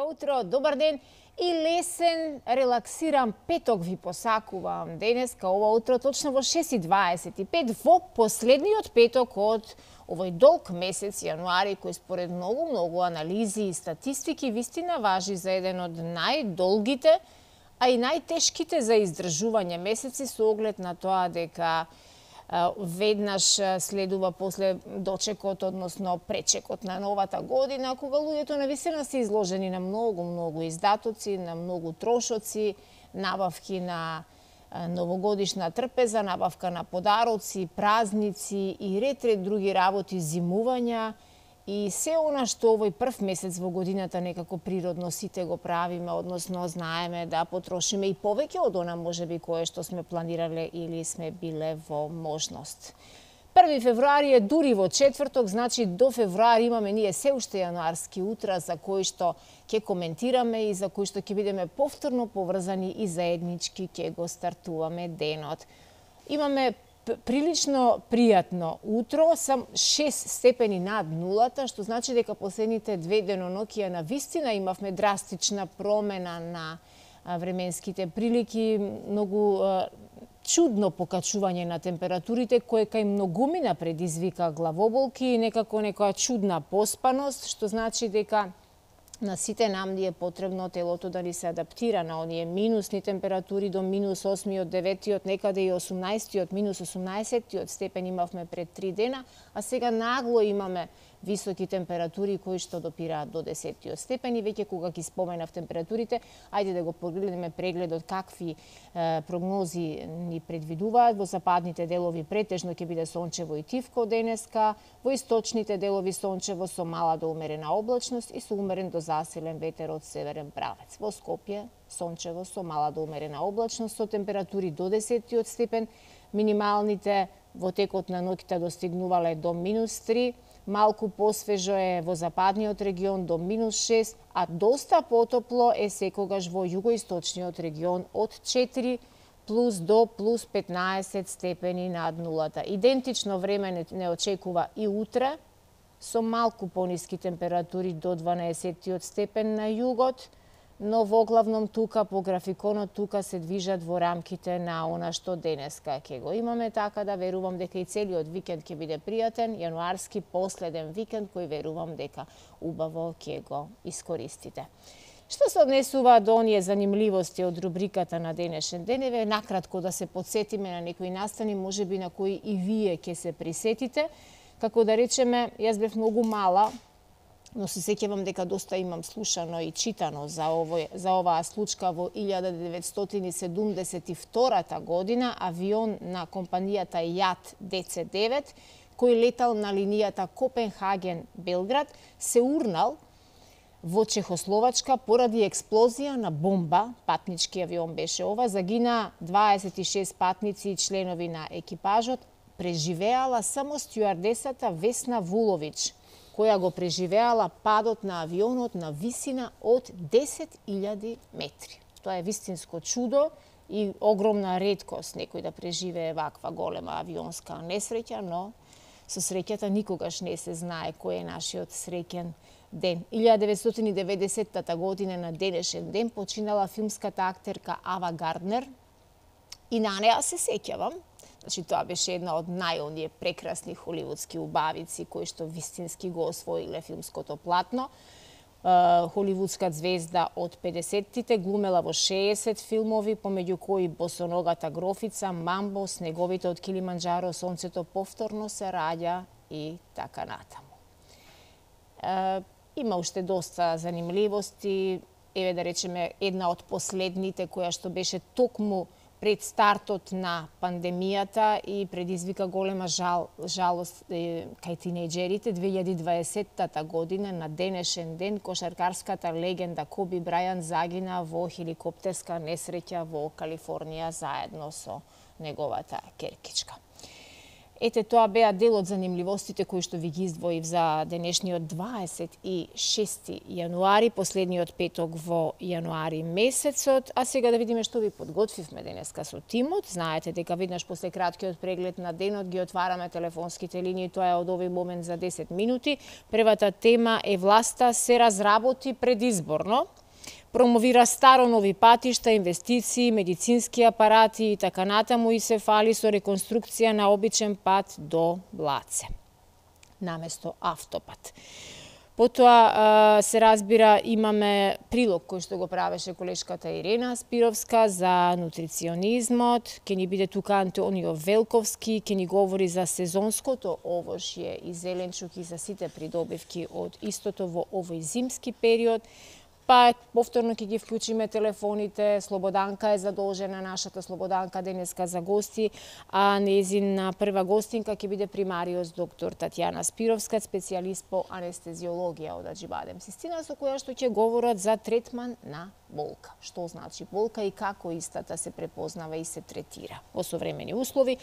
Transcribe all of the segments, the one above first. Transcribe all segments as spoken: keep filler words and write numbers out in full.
утро, добар ден и лесен, релаксиран петок ви посакувам денеска, ова утро, точно во шест и дваесет и пет, во последниот петок од овој долг месец јануари, кој според многу-многу анализи и статистики вистина важи за еден од најдолгите, а и најтешките за издржување месеци со оглед на тоа дека веднаш следува после дочекот, односно пречекот на новата година, кога луѓето навистина се изложени на многу-многу издатоци, на многу трошоци, набавки на новогодишна трпеза, набавка на подароци, празници и ред ред други работи, зимувања и се она што овој прв месец во годината некако природно сите го правиме, односно знаеме да потрошиме и повеќе од она можеби кое што сме планирале или сме биле во можност. први февруари е дури во четврток, значи до февруари имаме ние се уште јануарски утра за кои што ќе коментираме и за кои што ќе бидеме повторно поврзани и заеднички ќе го стартуваме денот. Имаме прилично пријатно утро, сам шест степени над нулата, што значи дека последните две деноноќија на вистина имавме драстична промена на временските прилики, многу чудно покачување на температурите, кое кај многумина предизвика главоболки и некако некоја чудна поспаност, што значи дека на сите нам ни е потребно телото да ни се адаптира на оние минусни температури до минус осмиот, деветиот, некаде и осумнаесеттиот, минус осумнаесеттиот степен имавме пред три дена, а сега нагло имаме високи температури кои што допираат до десеттиот степен и веќе кога ги споменав температурите, ајде да го погледнеме прегледот какви е, прогнози ни предвидуваат. Во западните делови претежно ќе биде сончево и тивко денеска, во источните делови сончево со мала до умерена облачност и со умерен до засилен ветер од северен правец. Во Скопје сончево со мала до умерена облачност со температури до десеттиот степен, минималните во текот на ноќта достигнувале до минус три, малку посвежо е во западниот регион до минус шест, а доста потопло е секогаш во југоисточниот регион од четири плюс до плюс петнаесет степени над нулата. Идентично време не, не очекува и утре, со малку пониски температури до дванаесеттиот степен на југот, но воглавном тука по графиконот тука се движат во рамките на она што денеска ќе го имаме, така да верувам дека и целиот викенд ќе биде пријатен, јануарски последен викенд кој верувам дека убаво ќе го искористите. Што се однесува до оние занимливости од рубриката на денешен ден, еве накратко да се подсетиме на некои настани, можеби на кои и вие ќе се присетите. Како да речеме, јас бев многу мала, но се сеќавам дека доста имам слушано и читано за, овој, за оваа случка во илјада деветстотини седумдесет и втората година, авион на компанијата Јат Д Ц девет, кој летал на линијата Копенхаген-Белград, се урнал во Чехословачка поради експлозија на бомба, патнички авион беше ова, загина дваесет и шест патници и членови на екипажот, преживеала само стюардесата Весна Вулович, која го преживеала падот на авионот на висина од десет илјади метри. Тоа е вистинско чудо и огромна реткост некој да преживее ваква голема авионска несреќа, но со среќата никогаш не се знае кој е нашиот среќен ден. илјада деветстотини и деветдесетта година на денешен ден починала филмската актерка Ава Гарднер и на неа се сеќавам. Значи, тоа беше една од најоние прекрасни холивудски убавици кои што вистински го освоиле филмското платно. Холивудска звезда од педесеттите, глумела во шеесет филмови, помеѓу кои Босоногата грофица, Мамбо, Снеговите од Килиманџаро, Сонцето повторно се раѓа и така натаму. Има уште доста занимливости, еве да речеме една од последните која што беше токму пред стартот на пандемијата и предизвика голема жал, жалост е, кај тинејџерите. две илјади и дваесетта година на денешен ден кошаркарската легенда Коби Брајан загина во хеликоптерска несреќа во Калифорнија заедно со неговата керкичка. Ете, тоа беа дел од занимливостите кои што ви ги издвоив за денешниот дваесет и шести јануари, последниот петок во јануари месецот. А сега да видиме што ви подготвивме денеска со тимот. Знаете дека веднаш после краткиот преглед на денот ги отвараме телефонските линии, тоа е од овој момент за десет минути. Првата тема е власта се разработи предизборно. Промовира старо нови патишта, инвестиции, медицински апарати и така натаму и се фали со реконструкција на обичен пат до Блаце, наместо автопат. Потоа се разбира имаме прилог кој што го правеше колешката Ирена Спировска за нутриционизмот, ќе ни биде тука Антонио Велковски, ќе ни говори за сезонското овошје и зеленчук и за сите придобивки од истото во овој зимски период. Па повторно ќе ги вклучиме телефоните. Слободанка е задолжена, нашата Слободанка денеска за гости, а нејзина прва гостинка ќе биде примариус доктор Татјана Спировска, специјалист по анестезиологија од Аџибадем Систина, со која што ќе говорат за третман на болка. Што значи болка и како истата се препознава и се третира во современи услови.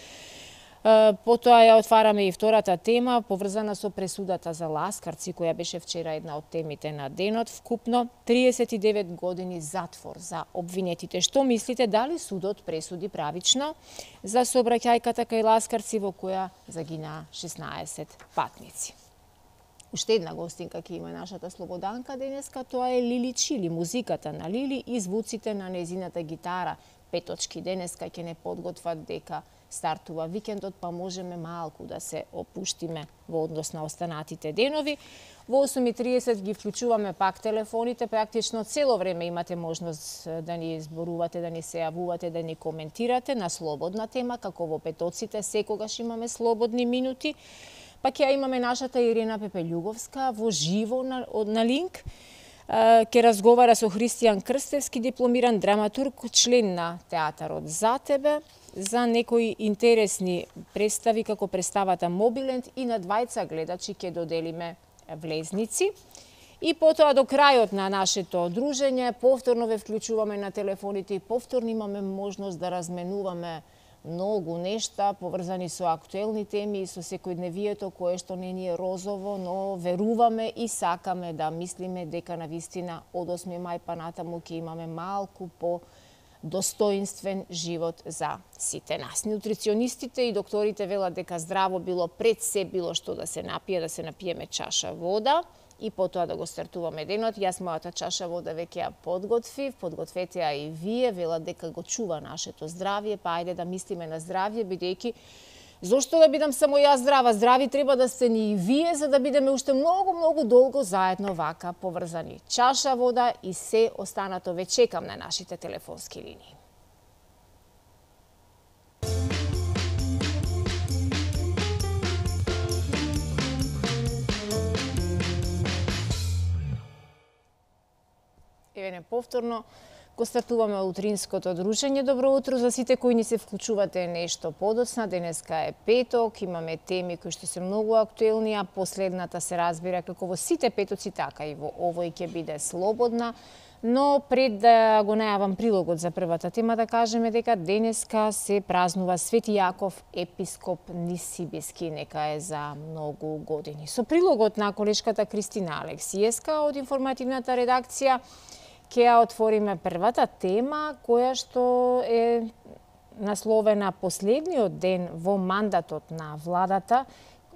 Потоа ја отвараме и втората тема, поврзана со пресудата за Ласкарци, која беше вчера една од темите на денот. Вкупно триесет и девет години затвор за обвинетите. Што мислите, дали судот пресуди правично за сообраќајката кај Ласкарци во која загинаа шеснаесет патници? Уште една гостинка ќе има нашата Слободанка денеска, тоа е Лили Чили, музиката на Лили и звуците на незината гитара. Петочки денеска ќе не подготват дека стартува викендот, па можеме малку да се опуштиме во однос на останатите денови. Во осум и триесет ги вклучуваме пак телефоните, практично цело време имате можност да ни зборувате, да ни се јавувате, да ни коментирате на слободна тема, како во петоците, секогаш имаме слободни минути. Па ќе имаме нашата Ирена Пепелјуговска во живо на, на линк. Ке разговара со Христијан Крстевски, дипломиран драматург, член на театарот За тебе, за некои интересни представи како представата Мобиленд и на двајца гледачи ќе доделиме влезници. И потоа до крајот на нашето дружење повторно ве вклучуваме на телефоните и повторно имаме можност да разменуваме многу нешта поврзани со актуелни теми и со секојдневието кое што не ни е розово, но веруваме и сакаме да мислиме дека на вистина од осми мај па натаму ќе имаме малку по достоинствен живот за сите нас. Нутриционистите и докторите велат дека здраво било пред се било што да се напие, да се напиеме чаша вода и потоа да го стартуваме денот. Јас мојата чаша вода веќе ја подготвив, подгответе ја и вие, велат дека го чува нашето здравје, па ајде да мислиме на здравје, бидејќи зошто да бидам само јас здрава? Здрави треба да сте ни и вие, за да бидеме уште многу, многу долго заедно вака поврзани. Чаша вода и се останато ве чекам на нашите телефонски линии. Еве повторно го стартуваме утринското дружење. Добро утро за сите кои ни се вклучувате нешто подоцна. Денеска е петок, имаме теми кои што се многу актуелни, а последната се разбира како во сите петоци, така и во овој ќе биде слободна. Но пред да го најавам прилогот за првата тема, да кажеме дека денеска се празнува Свети Јаков, епископ Нисибиски, нека е за многу години. Со прилогот на колешката Кристина Алексиевска од информативната редакција ќе ја отвориме првата тема, која што е насловена последниот ден во мандатот на владата,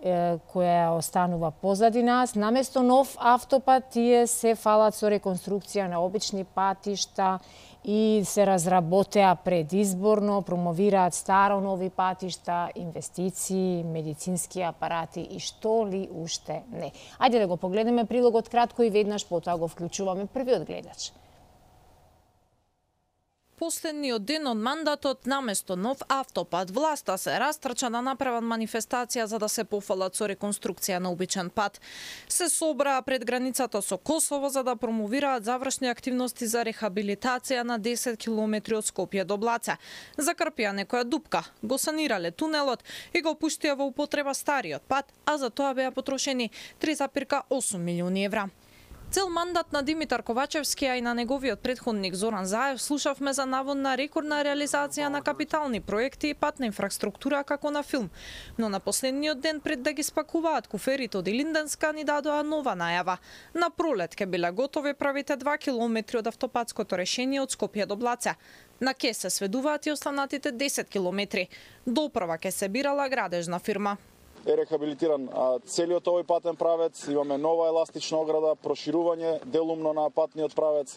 која останува позади нас. Наместо нов автопат, тие се фалат со реконструкција на обични патишта и се разработеа предизборно, промовираат старо нови патишта, инвестиции, медицински апарати и што ли уште не. Ајде да го погледнеме прилогот кратко и веднаш потоа го вклучуваме првиот гледач. Последниот ден од мандатот, наместо нов автопат, власта се растрча да направат манифестација за да се пофалат со реконструкција на обичен пат. Се собраа пред границата со Косово за да промовираат завршни активности за рехабилитација на десет километри од Скопје до Блаца. Закрпија некоја дупка, го санирале тунелот и го пуштија во употреба стариот пат, а за тоа беа потрошени три зарез осум милиони евра. Цел мандат на Димитар Ковачевски, а и на неговиот предходник Зоран Заев, слушавме за наводна рекордна реализација на капитални проекти и патна инфраструктура како на филм. Но на последниот ден пред да ги спакуваат куферите од Илинденска ни дадоа нова најава. На пролет ќе биле готови правите два километри од автопатското решение од Скопје до Блаце. На ке се сведуваат и останатите десет километри. Доправа ке се бирала градежна фирма. Е рехабилитиран целиот овој патен правец, имаме нова еластична ограда, проширување делумно на патниот правец,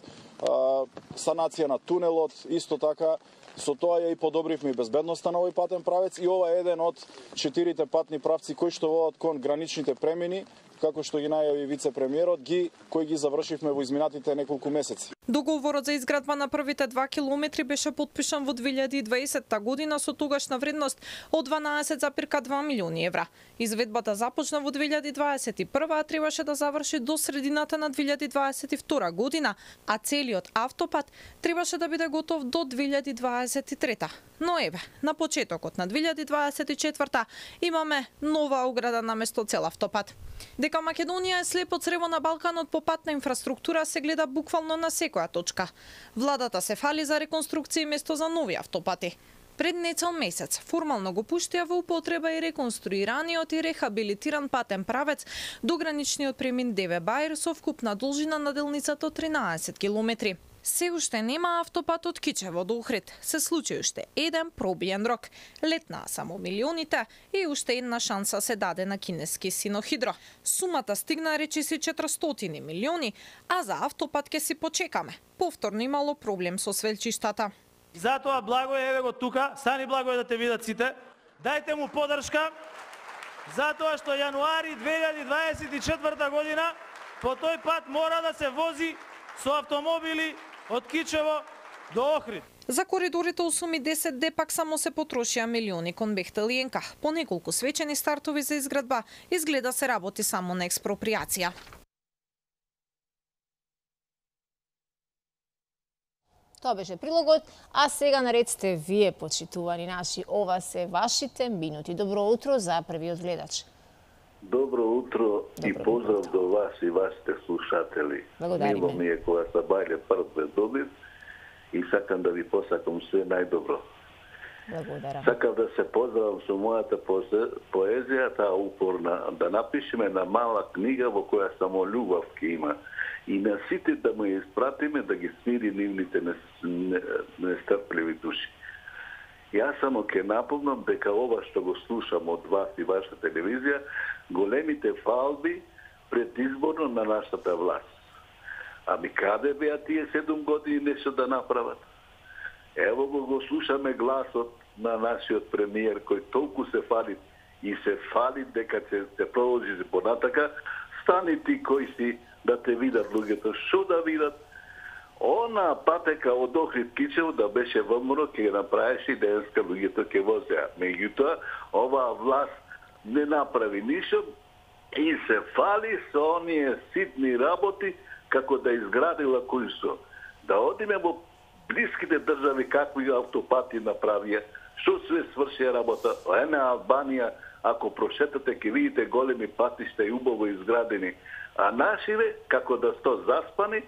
санација на тунелот, исто така со тоа ја и подобривме и безбедноста на овој патен правец и ова е еден од четирите патни правци кои што водат кон граничните премини, како што ги најави вице-премиерот, ги кои ги завршивме во изминатите неколку месеци. Договорот за изградба на првите два километри беше потпишан во две илјади и дваесетта година со тогашна вредност од дванаесет зарез два милиони евра. Изведбата започна во две илјади дваесет и прва, а требаше да заврши до средината на две илјади дваесет и втора година, а целиот автопат требаше да биде готов до две илјади дваесет и трета. Но еве, на почетокот на две илјади дваесет и четврта имаме нова ограда наместо цел автопат. Дека Македонија е слепо црево на Балканот по патна инфраструктура се гледа буквално на секоја точка. Владата се фали за реконструкција место за нови автопати. Пред нецел месец формално го пуштија во употреба и реконструираниот и рехабилитиран патен правец до граничниот премин Деве Баир со вкупна должина на делницата од тринаесет километри. Се уште нема автопат од Кичево до Охрид. Се случи уште еден пробиен рок. Летнаа само милионите и уште една шанса се даде на кинески Синохидро. Сумата стигна речиси четиристотини милиони, а за автопат ке си почекаме. Повторно имало проблем со свелчиштата. Затоа благо е, еве го тука, стани благо е да те видат сите. Дајте му подршка, затоа што јануари две илјади дваесет и четврта година по тој пат мора да се вози со автомобили од Кичево до Охрид. За коридорите осум и десет де пак само се потрошија милиони кон Бехтел и Енка. По неколку свечени стартови за изградба, изгледа се работи само на експроприација. Тоа беше прилогот, а сега наред сте вие, почитувани наши. Ова се вашите минути. Добро утро за првиот гледач. Добро утро Добро и поздрав утро. До вас и вашите слушатели. Благодариме. Мило ми е кога се бајле прв предобив и сакам да ви посакам се најдобро. Благодарам. Сакам да се поздравам со мојата поезија, таа упорна, да напишеме на мала книга во која само љубов ке има. И на сите да му ја испратиме да ги смири нивните нестрпливи души. Јас само ке напомнам дека ова што го слушам од вас и вашата телевизија, големите фалби предизборно на нашата власт. Ами каде беа тие седум години нешто да направат? Ево го го слушаме гласот на нашиот премиер кој толку се фали и се фали дека ќе се продолжи понатака. Стани ти кои си да те видат луѓето, што да видат? Она патека од Охрид Кичево да беше вмро, ќе направеше и денеска луѓето ќе возеа. Меѓутоа, оваа власт не направи ништо и се фали со оние ситни работи како да изградила Кујсо. Да одиме во блиските држави какви автопати направија, што све сврши работа. Ене Албанија, ако прошетате ќе видите големи патишта и убаво изградени. А нашиве, како да сто заспани,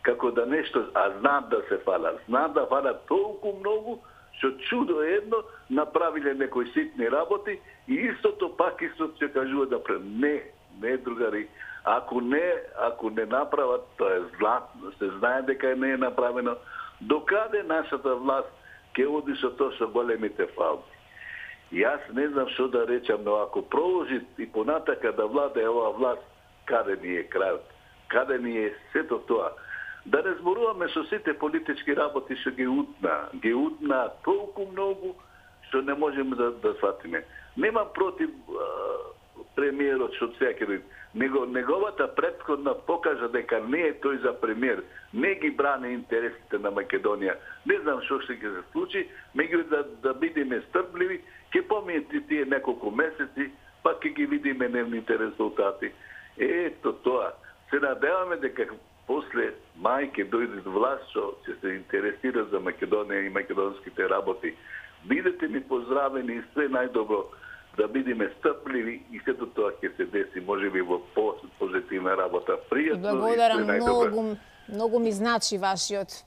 како да нешто, а знаат да се фалат. Знаат да фалат толку многу, што чудо едно направиле некои ситни работи и истото пак истото ќе кажува да пре... Не, не другари. Ако не, ако не направат, тоа е златно, се знае дека не е направено. Докаде нашата власт ќе оди со тоа со големите фалби? Јас не знам што да речам, но ако продолжи и понатака да владе оваа власт, каде ни е крајот? Каде ни е сето тоа? Да не зборуваме со сите политички работи што ги утна. Ги утна толку многу што не можеме да, да сватиме. Немам против а, премиерот што сега ќе дојде. Него, неговата претходна покажа дека не е тој за премиер. Не ги брани интересите на Македонија. Не знам што ќе се случи, меѓу да, да бидеме стрпливи, ќе помијете тие неколку месеци, па ќе ги видиме нивните резултати. Ето тоа. Се надеваме дека после мај ќе дојде власт што ќе се интересира за Македонија и македонските работи. Бидете ми поздравени и све најдобро, да бидеме стрпливи и сето тоа ќе се деси, можеби во позитивна на работа. Пријатно. Благодарам многу, многу ми значи вашиот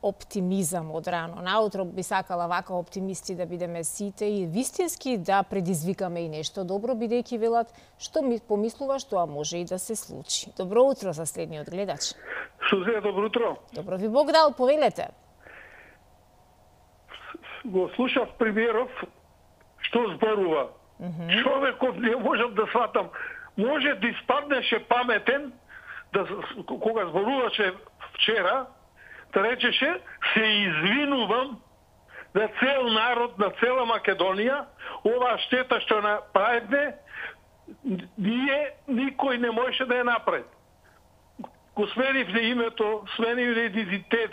оптимизам од рано. Наутро би сакала вака оптимисти да бидеме сите и вистински да предизвикаме и нешто добро, бидејќи велат што ми помислуваш, тоа може и да се случи. Добро утро за следниот гледач. Сузе, добро утро. Добро ви Бог дал, повелете. Го слушав премиеров што зборува. Mm -hmm. Човеков не можам да сватам. Може да испаднеше паметен да кога зборуваше вчера, да речеше се извинувам на цел народ, на цела Македонија, оваа штета што направивме, ние никој не можеше да ја направи. Го сменивме името, сменивме идентитет,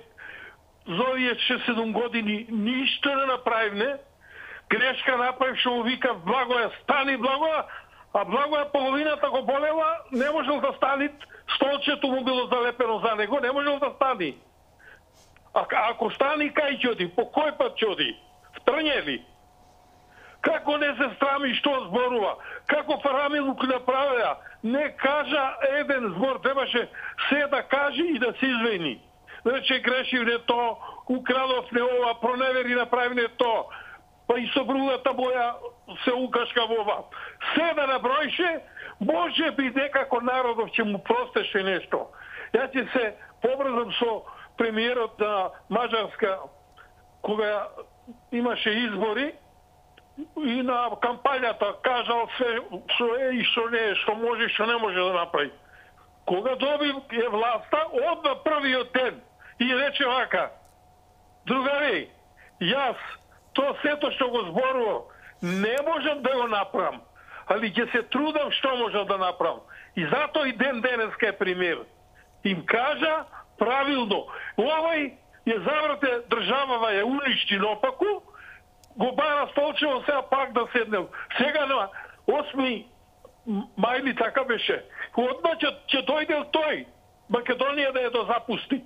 за овие шест седум години ништо не направивме, грешка направив што му вика Благоја, стани Благоја, а Благоја половината го болела, не можел да стани, столчето му било залепено за него, не можел да стани. А ако стани, кај ќе оди? По кој пат ќе оди? В трње ли? Како не се срами што зборува? Како Фарамилук направија? Не кажа еден збор, требаше се да каже и да се извини. Рече грешив не то, украдов не ова, проневери направи не то, па и со другата боја се укашка во ова. Се да наброише, може би некако народов ќе му простеше нешто. Ја ќе се побрзам со премиерот на Мажарска, кога имаше избори и на кампањата кажал се што е и што не е, што може и што не може да направи. Кога доби е власта, одма првиот ден и рече вака: другари, јас то сето што го зборувам не можам да го направам, али ќе се трудам што можам да направам. И затоа и ден денеска е премиер. Им кажа правилно, овај ја заврате државава, ја уништи наопаку, го бара столчево, сега пак да седнем. Сега на осми мајли така беше. Одма ќе, ќе дојде тој, Македонија да ја да запусти.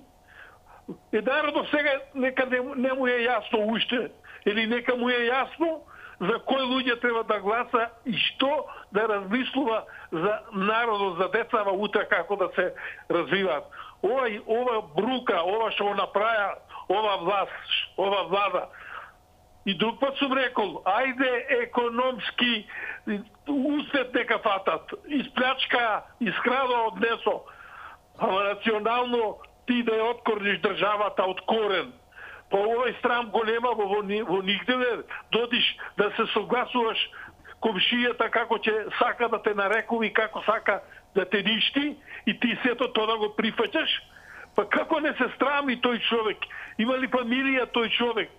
И народот сега нека не, не му е јасно уште, или нека му е јасно за кои луѓе треба да гласа и што да размислува за народот, за децава утре како да се развиваат. Ова, ова брука, ова што го направи ова власт, ова влада. И друг пат сум рекол, ајде економски услед нека фатат, исплячка, искрада однесо, ама национално ти да ја откорниш државата од корен. Па овој страм го нема во, во, во нигде, додиш да се согласуваш комшијата како ќе сака да те нарекува и како сака да те ништи и ти сето тоа да го прифаќаш. Па како не се страми тој човек? Има ли фамилија тој човек?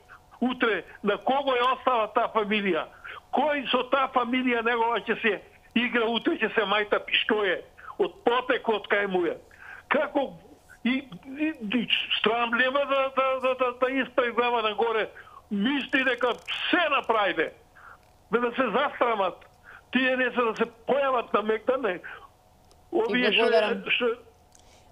Утре на кого е остава таа фамилија? Кој со таа фамилија негова ќе се игра, утре ќе се мајта пиштоје од потекот кај му е? Како и, и, и страм нема да, да, да, да, да исправи глава нагоре, мисли дека се направиде, бе да се застрамат, тие не се да се појават на Мегдане. Овие што, што...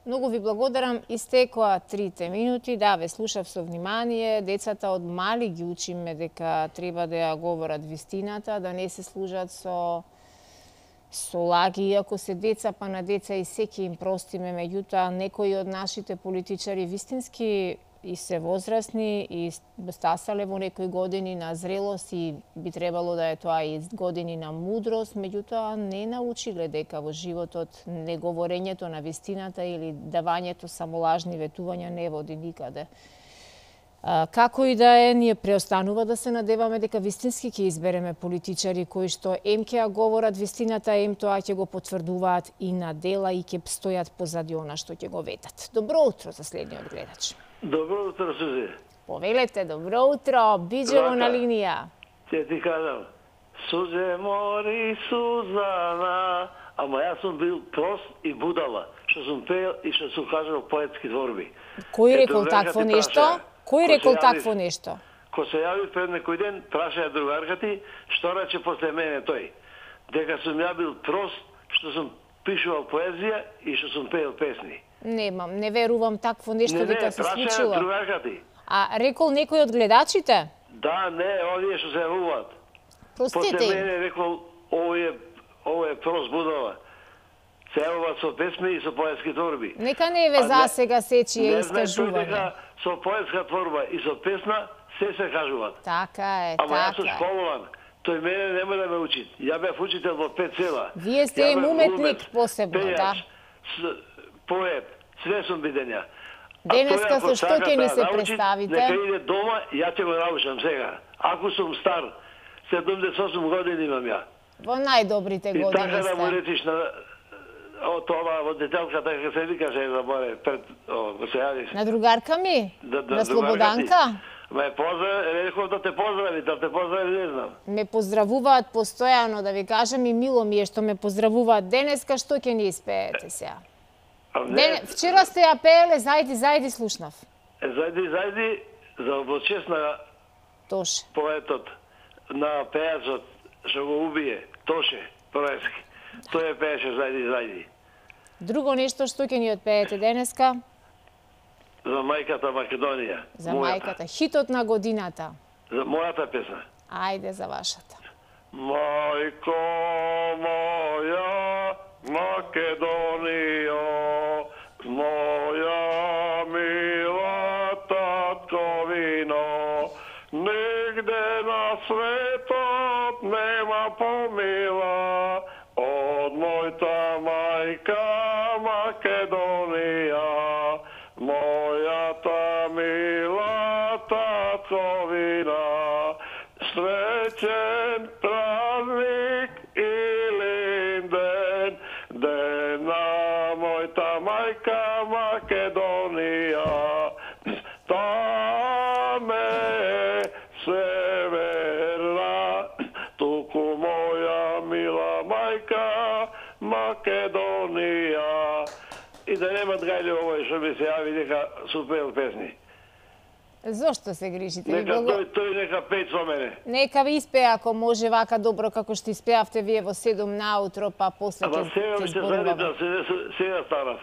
Многу ви благодарам. Истекоа трите минути. Да, ве слушав со внимание. Децата од мали ги учиме дека треба да ја говорат вистината, да не се служат со со лаги, иако се деца, па на деца и секи им простиме, меѓутоа некои од нашите политичари вистински и се возрастни и стасале во некои години на зрелост и би требало да е тоа и години на мудрост, меѓутоа не научиле дека во животот неговорењето на вистината или давањето само лажни ветувања не води никаде. Како и да е, ние преостанува да се надеваме дека вистински ќе избереме политичари кои што ем ќе ја говорат вистината, ем тоа ќе го потврдуваат и на дела и ќе стојат позади она што ќе го ветат. Добро утро за следниот гледач. Добро утро, Сузе. Повелете, добро утро, Биџево на линија. Ќе ти кажам, Сузе мори Сузана, ама јас сум бил прост и будала, што сум пеел и што сум кажал поетски творби. Кој рекол такво нешто? Кој рекол такво нешто? Ко се јави пред некој ден, прашаја другарка ти, што рече после мене тој. Дека сум ја бил прост, што сум пишувал поезија и што сум пеел песни. Немам, не верувам такво нешто дека се случило. Не, не, другарка ти. А рекол некој од гледачите? Да, не, овие што се јавуваат. Простите. После мене рекол, ово е, ово е прост будала. се јавува со песми и со поетски творби. Нека не ве за сега сечи е искажување. Дека со поетска творба и со песна се се кажуваат. Така е, Ама така јас сум е. школован. Тој мене нема да ме учи. Ја бев учител во пет села. Вие сте им уметник посебно, да. Поет, све сум биден ја. Денеска со што ќе ни се представите? Нека иде дома, ја ќе го научам сега. Ако сум стар, седумдесет и осум години имам ја. Во најдобрите години сте. И така да му речиш на тоа водителката дека се викаше да боре пред го се јавиш. На другарка ми? Да, да, на Слободанка? Ме поздрави, реков да те поздрави, да те поздрави, не знам. Ме поздравуваат постојано, да ви кажам, и мило ми е што ме поздравуваат. Денеска што ќе ни испеете сега? Ден... Вчера сте ја пееле Зајди, зајди слушнав. Зајди, зајди, за облачест на Тоше. Поетот, на пејачот, што го убие, Тоше, Проески. Тој е пееше Зајди, зајди. Друго нешто што ќе ни отпеете денеска? За мајката Македонија. За мајката, хитот на годината. За мојата песна. Ајде за вашата. Мајко моја Македонија, моја мила татковина, нигде на светот нема помила од мојата мајка Македонија, мојата мила татковина. Среќен празник илин ден, ден на мојата мајка Македонија. Таме е северна, туку моја мила мајка Македонија. И да немат гајле овој што ми се јави дека супел песни. Зошто се грижите? Нека Благо... тој, тој нека пеј со мене. Нека ви испеа, ако може вака добро како што испеавте вие во седум наутро, па после ќе ќе зборуваме. Сега старав.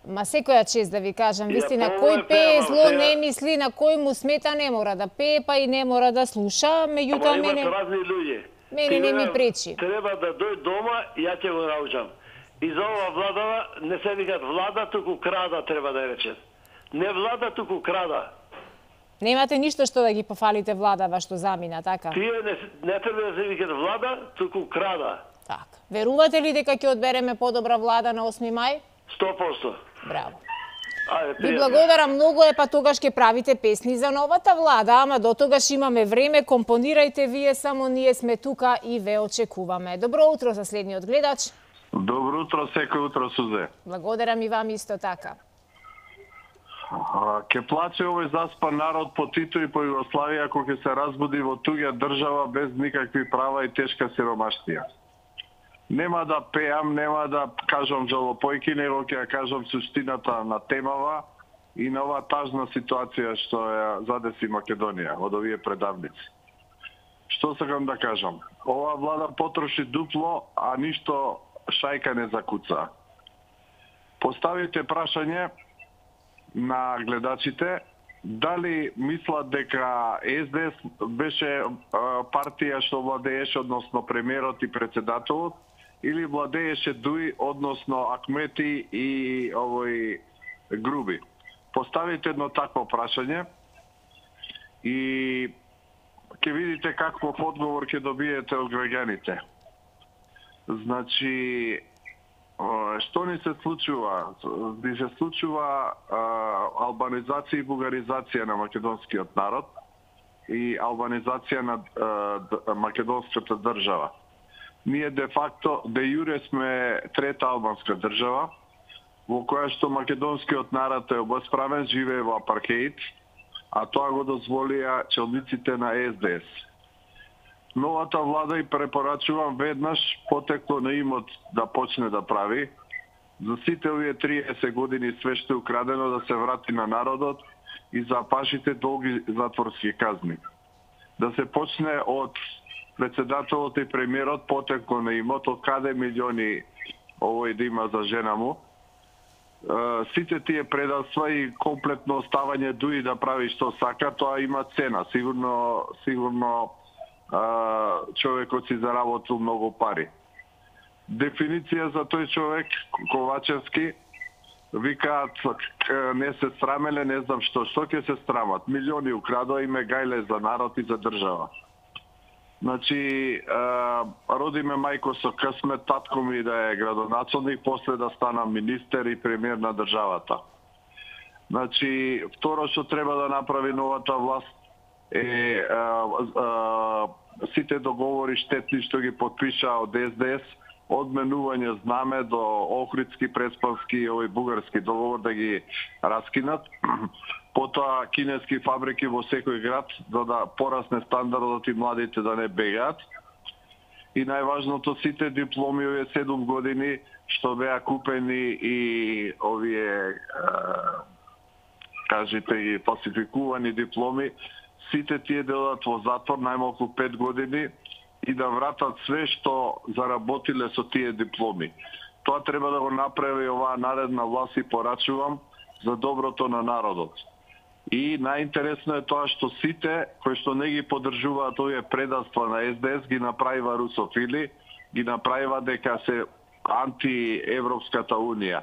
Ма секоја чест да ви кажам, вистина, кој пее зло не мисли, на кој му смета не мора да пее, па и не мора да слуша, меѓутоа мене... Ама имат разни луѓе. Мене не ми пречи. Треба да дојд дома, ја ќе го научам. И за ова владава не се викат влада, туку крада треба да речат. Не влада, туку крада. Немате ништо што да ги пофалите владава што замина, така? Тие не, не треба да се викат влада, туку крада. Така. Верувате ли дека ќе одбереме подобра влада на осми мај? сто проценти. Браво. Ајде, ви благодарам многу, е па тогаш ќе правите песни за новата влада, ама до тогаш имаме време, компонирајте вие, само ние сме тука и ве очекуваме. Добро утро за следниот гледач. Добро утро, секој утро, Сузе. Благодарам и вам исто така. Ке плаче овој заспан народ по Тито и по Југославија ако ќе се разбуди во туѓа држава без никакви права и тешка сиромаштија. Нема да пеам, нема да кажам жалопојки, него ќе ја кажам суштината на темава и на оваа тажна ситуација што ја задеси Македонија од овие предавници. Што сакам да кажам? Оваа влада потроши дупло, а ништо шајка не закуца. Поставите прашање на гледачите дали мислат дека Ес Де Ес беше партија што владееше, односно премиерот и председателот, или владееше Дуи, односно Акмети и овој Груби. Поставите едно такво прашање и ќе видите каков одговор ќе добиете од граѓаните. Значи, што ни се случува? Ни се случува а, албанизација и бугаризација на македонскиот народ и албанизација на а, македонската држава. Ние де факто, де јуре сме трета албанска држава, во која што македонскиот народ е обесправен, живее во апархеид, а тоа го дозволија челниците на Ес Де Ес. Новата влада и препорачувам веднаш потекло на имот да почне да прави. За сите овие триесет години све што е украдено да се врати на народот и запашите долги затворски казни. Да се почне од председателот и премиерот потекло на имот, од каде милиони овој да има за жена му. Сите тие предавства и комплетно оставање Дуи да прави што сака, тоа има цена. Сигурно, сигурно човекот си заработил многу пари. дефиниција за тој човек, Ковачевски, викаат не се срамеле, не знам што, што ќе се срамат. Милиони украдоа и ме гајле за народ и за држава. Значи, роди ме мајко со късмет, татко ми да е градоначалник, после да стана министер и премиер на државата. Значи, второ што треба да направи новата власт е а, а, сите договори штетни што ги подпиша од Ес Де Ес, одменување знаме до Охридски, Преспански и овој бугарски договор да ги раскинат. Потоа кинески фабрики во секој град, за да порасне стандардот и младите да не бегаат. И најважното, сите дипломи овие седум години што беа купени и овие кажете и фалсификувани дипломи, сите тие делат во затвор најмалку пет години и да вратат све што заработиле со тие дипломи. Тоа треба да го направи оваа наредна власт и порачувам за доброто на народот. И најинтересно е тоа што сите кои што не ги поддржуваат овие предавства на Ес Де Ес ги направива русофили, ги направива дека се антиевропската унија.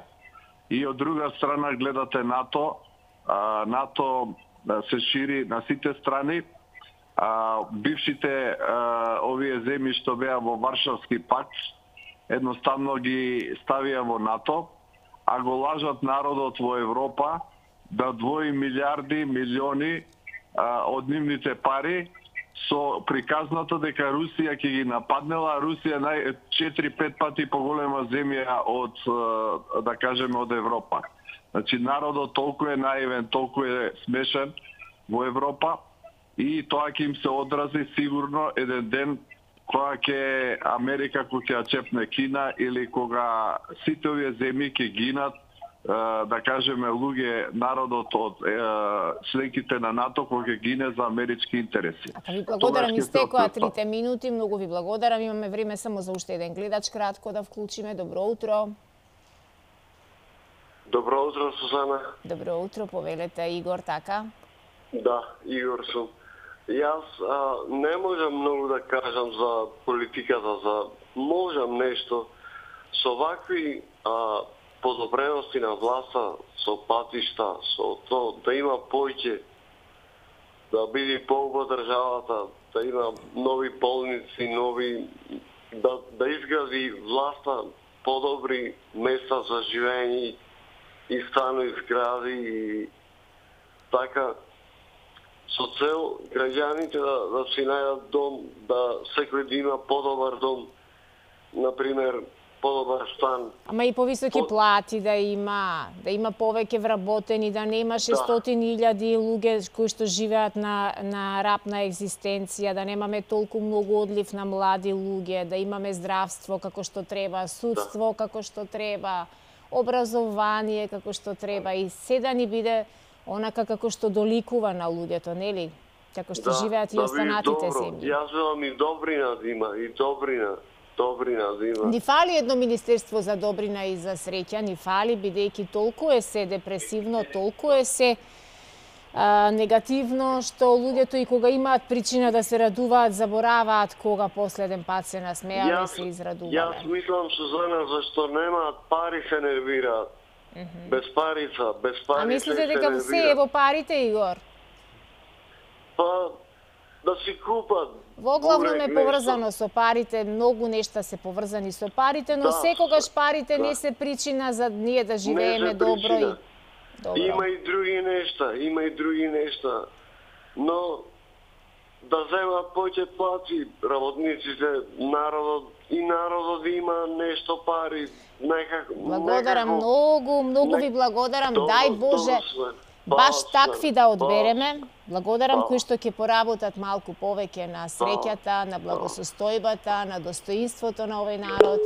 И од друга страна гледате НАТО, а, НАТО се шири на сите страни. А, бившите а, овие земји што беа во Варшавски пакт едноставно ги ставија во НАТО, а го лажат народот во Европа да двои милиарди, милиони а, од нивните пари со приказната дека Русија ќе ги нападнела, а Русија нај четири-пет пати поголема земја од, да кажеме, од Европа. Значи народот толку е наивен, толку е смешен во Европа и тоа ќе им се одрази сигурно еден ден кога ќе Америка кога ќе чепне Кина или кога сите овие земји ќе гинат, да кажеме, луѓе, народот од членките на НАТО кога ќе гине за амерички интереси. А ви благодарам, истекоа трите минути, многу ви благодарам, имаме време само за уште еден гледач кратко да вклучиме. Добро утро. Добро утро, Сузана. Добро утро, повелете, Игор, така? Да, Игор сум. Јас а, не можам многу да кажам за политиката, за можам нешто со вакви а, подобрености на власта, со патишта, со то да има поќе, да биде поубава државата, да има нови болници, нови да, да изгради власта подобри места за живење и станови згради и така со цел граѓаните да, да си најдат дом, да секој да има подобар дом, например подобар стан. Ама и повисоки По... плати да има, да има повеќе вработени, да нема шестстотини илјади луѓе кои што живеат на, на рапна екзистенција, да немаме толку многу одлив на млади луѓе, да имаме здравство како што треба, судство да. како што треба, образование како што треба и се да ни биде онака како што доликува на луѓето, нели? Како што да, живеат и да останатите земји. Јас велам и добрина да има, и добрина. Добрина да има. Ни фали едно министерство за добрина и за среќа, ни фали, бидејќи толку е се депресивно, толку е се а, негативно, што луѓето и кога имаат причина да се радуваат, забораваат кога последен пат се насмеале, се израдувале. Јас мислам, Сузана, зашто немаат пари се нервираат. Mm -hmm. Без парица, без пари. А мислите дека се е во парите, Игор? Па, да си купат. Воглавном е поврзано со парите, многу нешта се поврзани со парите, но да, секогаш парите да. не се причина за ние да живееме добро и добро. Има и други нешта, има и други нешта. Но да земат повеќе плати работниците, народот и народот има нешто пари, некако. Благодарам некако, многу, многу ви благодарам. Добро, Дај Боже. Баш такви да одбереме. Благодарам кои што ќе поработат малку повеќе на среќата, на благосостојбата, на достоинството на овој народ.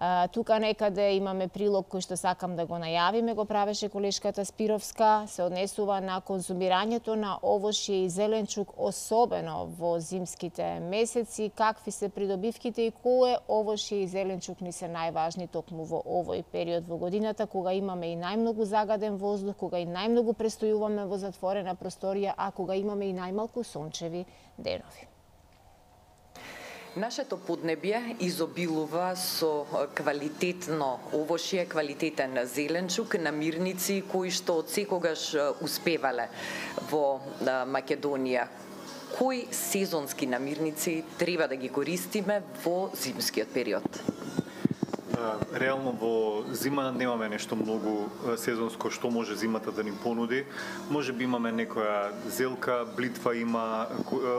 А, тука некаде имаме прилог кој што сакам да го најавиме, го правеше колешката Спировска, се однесува на конзумирањето на овошје и зеленчук, особено во зимските месеци, какви се придобивките и кое овошје и зеленчук ни се најважни токму во овој период во годината, кога имаме и најмногу загаден воздух, кога и најмногу престојуваме во затворена просторија, а кога имаме и најмалку сончеви денови. Нашето поднебје изобилува со квалитетно овошје, квалитетен зеленчук, намирници кои што од секогаш успевале во Македонија. Кои сезонски намирници треба да ги користиме во зимскиот период? Реално во зима немаме нешто многу сезонско што може зимата да ни понуди. Може би имаме некоја зелка, блитва има,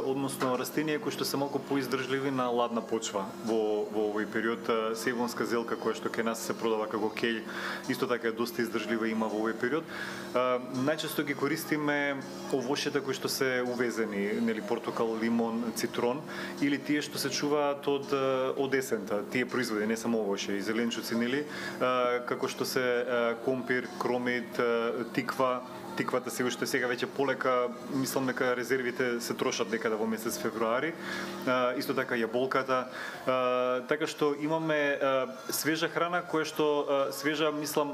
односно растенија кои што се малку поиздржливи на ладна почва. Во во овој период севонска зелка која што кај нас се продава како кеј, исто така е доста издржлива има во овој период. Најчесто ги користиме овошјата кои што се увезени, нели портокал, лимон, цитрон или тие што се чуваат од од есента, тие производи, не само овошје, зеленчуци, нели, како што се компир, кромит, тиква. Тиквата се уште сега веќе полека, мислам дека резервите се трошат некаде во месец февруари. Исто така јаболката. Така што имаме свежа храна која што свежа, мислам,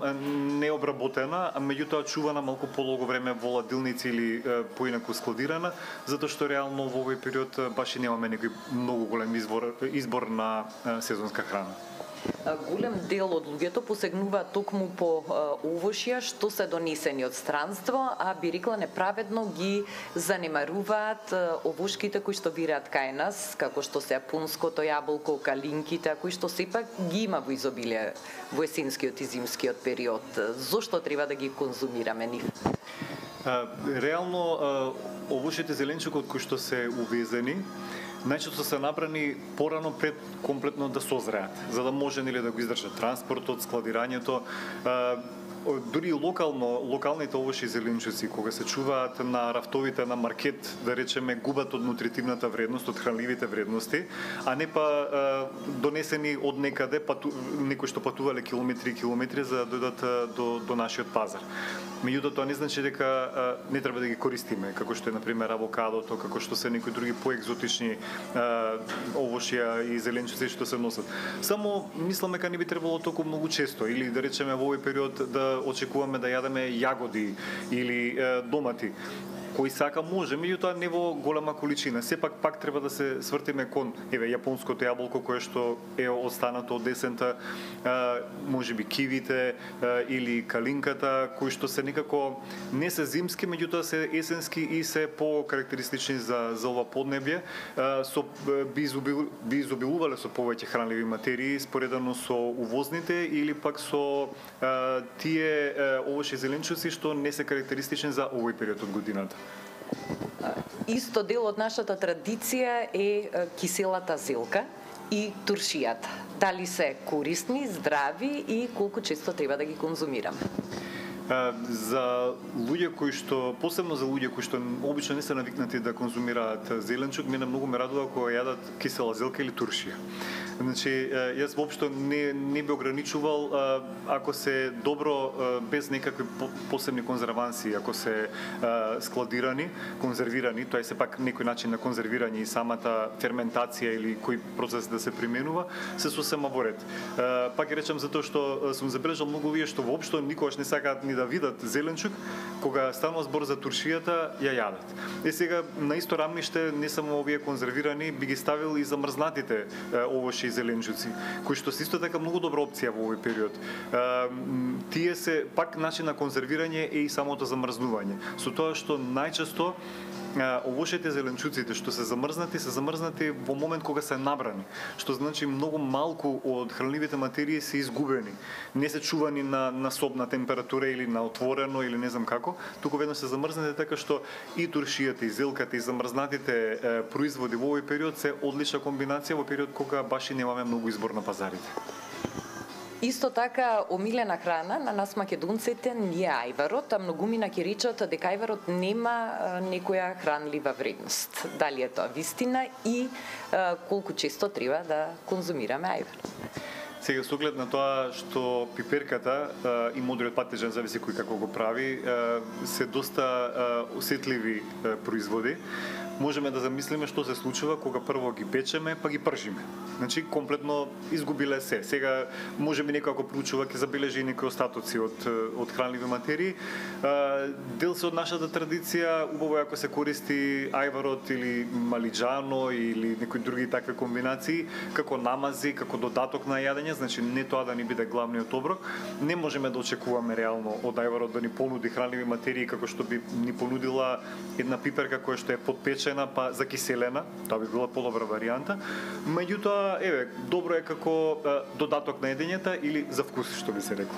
необработена, а меѓутоа чувана малку полого време во ладилници или поинаку складирана, затоа што реално во овој период баш и немаме некој многу голем избор избор на сезонска храна. Голем дел од луѓето посегнуваат токму по овошја што се донесени од странство, а би рекла неправедно ги занемаруваат овошките кои што вираат кај нас, како што се јапонското јаболко, калинките, кои што сепак ги има во изобилие во есенскиот и зимскиот период. Зошто треба да ги конзумираме нив? Реално овошите зеленчуки кои што се увезени најчесто се набрани порано пред комплетно да созреат, за да може нели да го издржат транспортот, складирањето. Дури локално, локалните овошји и зеленчуци кога се чуваат на рафтовите на маркет, да речеме, губат од нутритивната вредност, од хранливите вредности, а не па донесени од некаде, пату, некои што патувале километри и километри за да дојдат до, до нашиот пазар. Меѓутоа тоа не значи дека не треба да ги користиме, како што е на пример авокадото, како што се некои други поекзотични овошја и зеленчуци што се носат. Само мислам дека не би требало толку многу често или да речеме во овој период да очекуваме да јадеме јагоди или е, домати. Кој сака може, меѓутоа не во голема количина. Сепак пак треба да се свртиме кон еве јапонското јаболко кое што е останато од есента, можеби кивите или калинката, кои што се некако не се зимски, меѓутоа се есенски и се по-карактеристични за за ова поднебје, со би, изобил, би изобилувале со повеќе хранливи материи споредано со увозните или пак со а, тие овошји зеленчуци што не се карактеристични за овој период од годината. Исто дел од нашата традиција е киселата зелка и туршијата. Дали се корисни, здрави и колку често треба да ги конзумираме? За луѓе кои што, посебно за луѓе кои што обично не се навикнати да конзумираат зеленчук, мене многу ме радува кога јадат кисела зелка или туршија. Значи, јас воопшто не, не би ограничувал ако се добро, без некакви посебни конзерванси, ако се складирани, конзервирани, тоа е сепак некој начин на конзервирање и самата ферментација или кој процес да се применува, се сосема во ред. Пак ќе речам затоа што сум забележал многу луѓе што воопшто никогаш не сакаат ни да видат зеленчук, кога станува збор за туршијата, ја јадат. Е сега на исто рамниште не само овие конзервирани, би ги ставил и замрзнатите овошји и зеленчуци, кои што се исто така многу добра опција во овој период. Тие се пак начин на конзервирање е и самото замрзнување. Со тоа што најчесто овошите зеленчуците што се замрзнати, се замрзнати во момент кога се набрани, што значи многу малку од хранливите материи се изгубени. Не се чувани на, на собна температура или на отворено или не знам како, туку веднаш се замрзнати, така што и туршијата, и зелката, и замрзнатите е, производи во овој период се одлична комбинација во период кога баш и немаме многу избор на пазарите. Исто така, омилена храна на нас македонците ни е ајварот, а многумина ќе речат дека ајварот нема некоја хранлива вредност. Дали е тоа вистина и а, колку често треба да конзумираме ајвар? Сега, со оглед на тоа што пиперката а, и модриот патежан, зависи кој како го прави, а, се доста а, осетливи а, производи, можеме да замислиме што се случува кога прво ги печеме, па ги пржиме. Значи, комплетно изгубиле се. Сега, можеме некако проучува, ќе забележи некои остатоци од, од хранливи материи. Дел се од нашата традиција, убаво е ако се користи ајварот или малиџано или некои други такви комбинации, како намази, како додаток на јадење, значи не тоа да ни биде главниот оброк. Не можеме да очекуваме реално од ајварот да ни понуди хранливи материи како што би ни понудила една пиперка која што е подпечена па закиселена, тоа би била подобра варијанта. Меѓутоа, еве, добро е како е, додаток на едењето или за вкус, што би се рекло.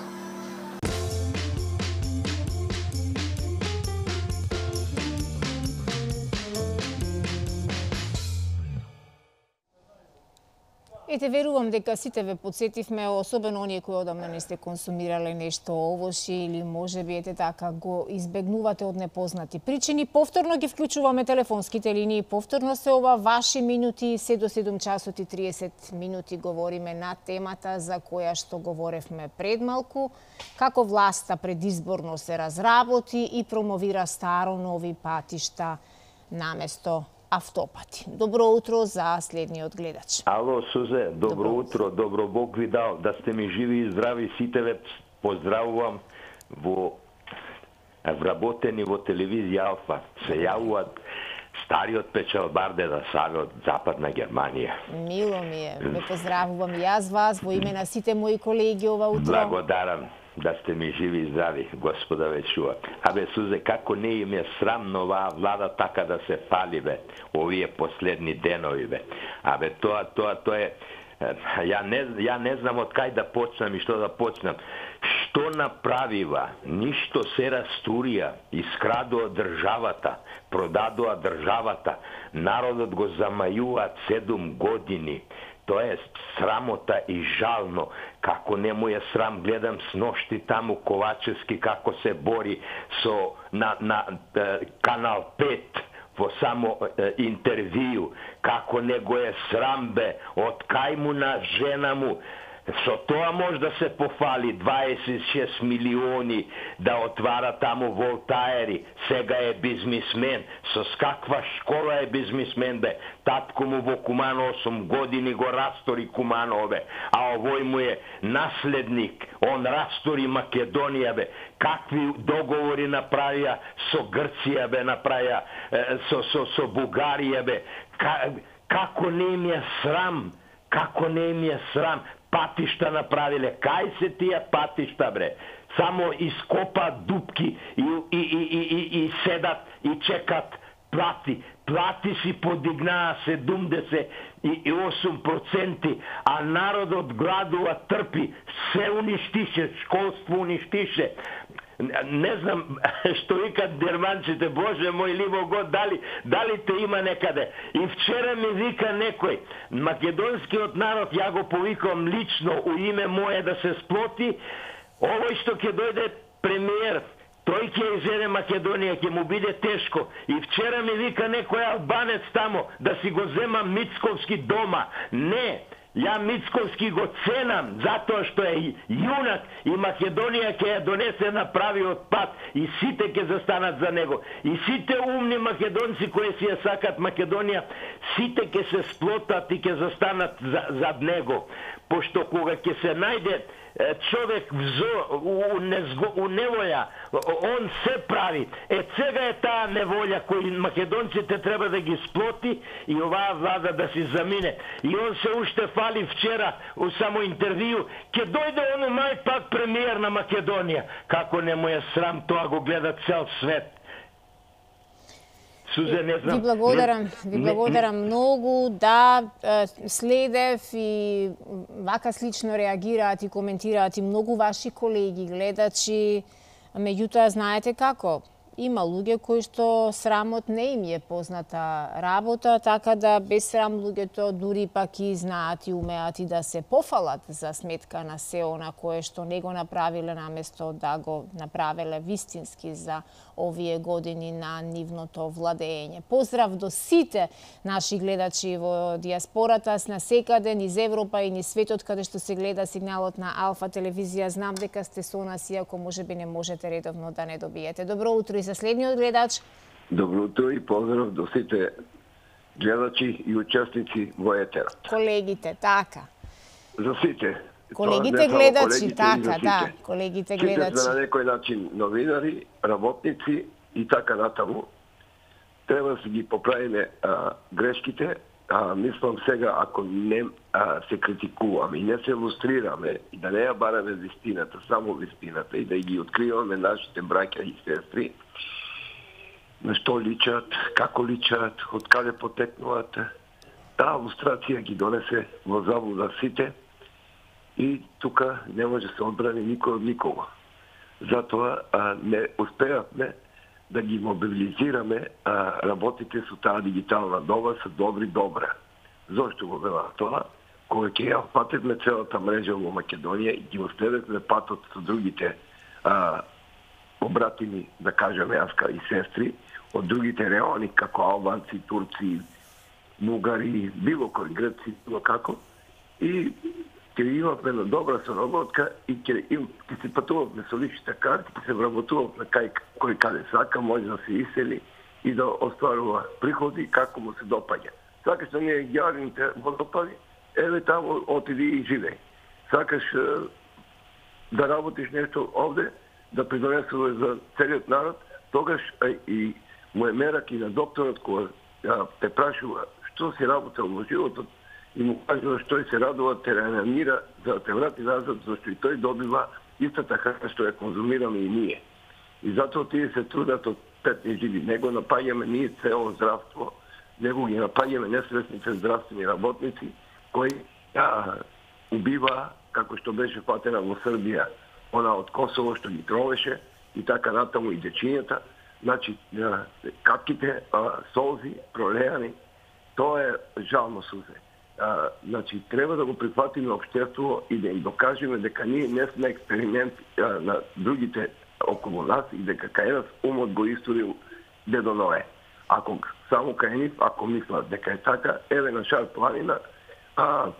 Ете, верувам дека сите ве подсетивме, особено оние кои одамна не сте консумирале нешто овошје или можеби ете така го избегнувате од непознати причини. Повторно ги вклучуваме телефонските линии, повторно се ова ваши минути, се до седум часот и триесет минути говориме на темата за која што говоревме пред малку, како власта предизборно се разработи и промовира старо нови патишта наместо автопати. Добро утро за следниот гледач. Ало, Сузе, добро, добро утро, добро Бог ви дал, да сте ми живи и здрави, сите ве поздравувам во вработени во телевизија Алфа. Се јавуваат стариот печалбар Деда Саве од Западна Германија. Мило ми е, ве поздравувам и јас вас во име на сите мои колеги ова утро. Благодарам. Да сте ми живи и здрави, Господа ве чува. Абе, Сузе, како не им е срамно оваа влада така да се пали, бе, овие последни денови, бе. Абе, тоа, тоа, тоа е... Ја не, ја не знам од кај да почнам и што да почнам. Што направива? Ништо се растурија, искрадува државата, продадува државата, народот го замајуваат седум години. Тоа е срамота и жално. Како не му е срам, гледам сношти таму Ковачевски како се бори со на, на е, Канал пет во само е, интервју. Како не го е срам, бе, од кај му на жена му. Со тоа може да се пофали дваесет и шест милиони да отвара таму волтаери. Сега е бизнисмен. Со каква школа е бизнисмен, бе? Татко му во Кумано осум години го растори Кумано, бе. А овој му е наследник. Он растори Македонија, бе. Какви договори направија со Грција, бе, направија со, со, со Бугарија, бе. Како не им е срам? Како не им е срам? Патишта направиле. Кај се тие патишта, бре? Само ископаат дупки и, и, и, и, и, и седат и чекат плати. Плати си подигнаа седумдесет и осум проценти, а народот гладува, трпи, се уништише, школство уништише. Не знам што викат германците, Боже мој ливо год, дали, дали те има некаде. И вчера ми вика некој, македонскиот народ, ја го повикам лично у име мое да се сплоти, овој што ќе дојде премиер, тој ќе изеде Македонија, ќе му биде тешко. И вчера ми вика некој албанец тамо, да си го зема Мицковски дома. Не! Ја Мицковски го ценам, затоа што е јунак и Македонија ќе ја донесе на правиот пат и сите ќе застанат за него. И сите умни македонци кои си ја сакат Македонија, сите ќе се сплотат и ќе застанат за, зад него. Пошто кога ќе се најде човек взо, у, незго, у неволја, он се прави. Е, сега е таа неволја кој македонците треба да ги сплоти и оваа влада да си замине. И он се уште фали вчера у само интервју, ќе дојде он мај пак премиер на Македонија. Како не му е срам, тоа го гледа цел свет. Сузе, не знам. Ви благодарам, ви благодарам не, многу, да, следев и вака слично реагираат и коментираат и многу ваши колеги, гледачи, меѓутоа знаете како? Има луѓе кои што срамот не им е позната работа, така да без срам луѓето дури пак и знаат и умеат и да се пофалат за сметка на се она кое што не го направиле наместо да го направиле вистински за овие години на нивното владење. Поздрав до сите наши гледачи во диаспората, на секаде, низ Европа и низ светот, каде што се гледа сигналот на Алфа телевизија. Знам дека сте со нас, иако можеби не можете редовно да не добиете. Добро утро и за следниот гледач. Добро утро и поздрав до сите гледачи и учесници во етерот. Колегите, така. За сите. Колегите гледачи, така, да, колегите гледачи. Сите на некој начин новинари, работници и така натаму. Треба да се ги поправиме а, грешките. А, мислам сега, ако не а, се критикуваме и не се илустрираме и да не ја бараме вистината, само вистината и да ги откриваме нашите браќа и сестри, на што личат, како личат, од каде потекнуваат, таа илустрација ги донесе во заблуда сите и тука не може да се одбрани никој од никого. Затоа а, не успеавме да ги мобилизираме а, работите со таа дигитална доба со добри добра. Зошто го велам тоа? Кога ќе ја патевме целата мрежа во Македонија и ги оставевме патот со другите а, обратими, да кажеме, јаска и сестри, од другите реони, како албанци, турци, бугари, било кој, греци, било како, и ќе имавме на добра соработка и ќе ќе се патувавме со личните карти, ќе се вработувавме кај кој каде сака, може да се исели и да остварува приходи како му се допаѓа. Сакаш да не јавните водопади, еве таму отиди и живеј. Сакаш да работиш нешто овде, да придонесуваш за целиот народ, тогаш и му е мерак и на докторот кој те прашува што си работел во животот и му кажува што се радува, те реанимира за да те врати назад, зашто и тој добива истата храна што ја конзумираме и ние. И затоа тие се трудат од петни живи. Него напаѓаме ние цело здравство, него ги напаѓаме несвесните здравствени работници кои ја убива, како што беше фатена во Србија, она од Косово што ги тровеше и така натаму и дечињата. Значи, капките, солзи, пролеани, тоа е жално сузе. А, значи, треба да го прифатиме општество и да им докажеме дека ние не сме експеримент а, на другите околу нас и дека кај нас умот го историл дедо Ное. Ако само кај нив, ако мислат дека е така, еве на Шар планина, а,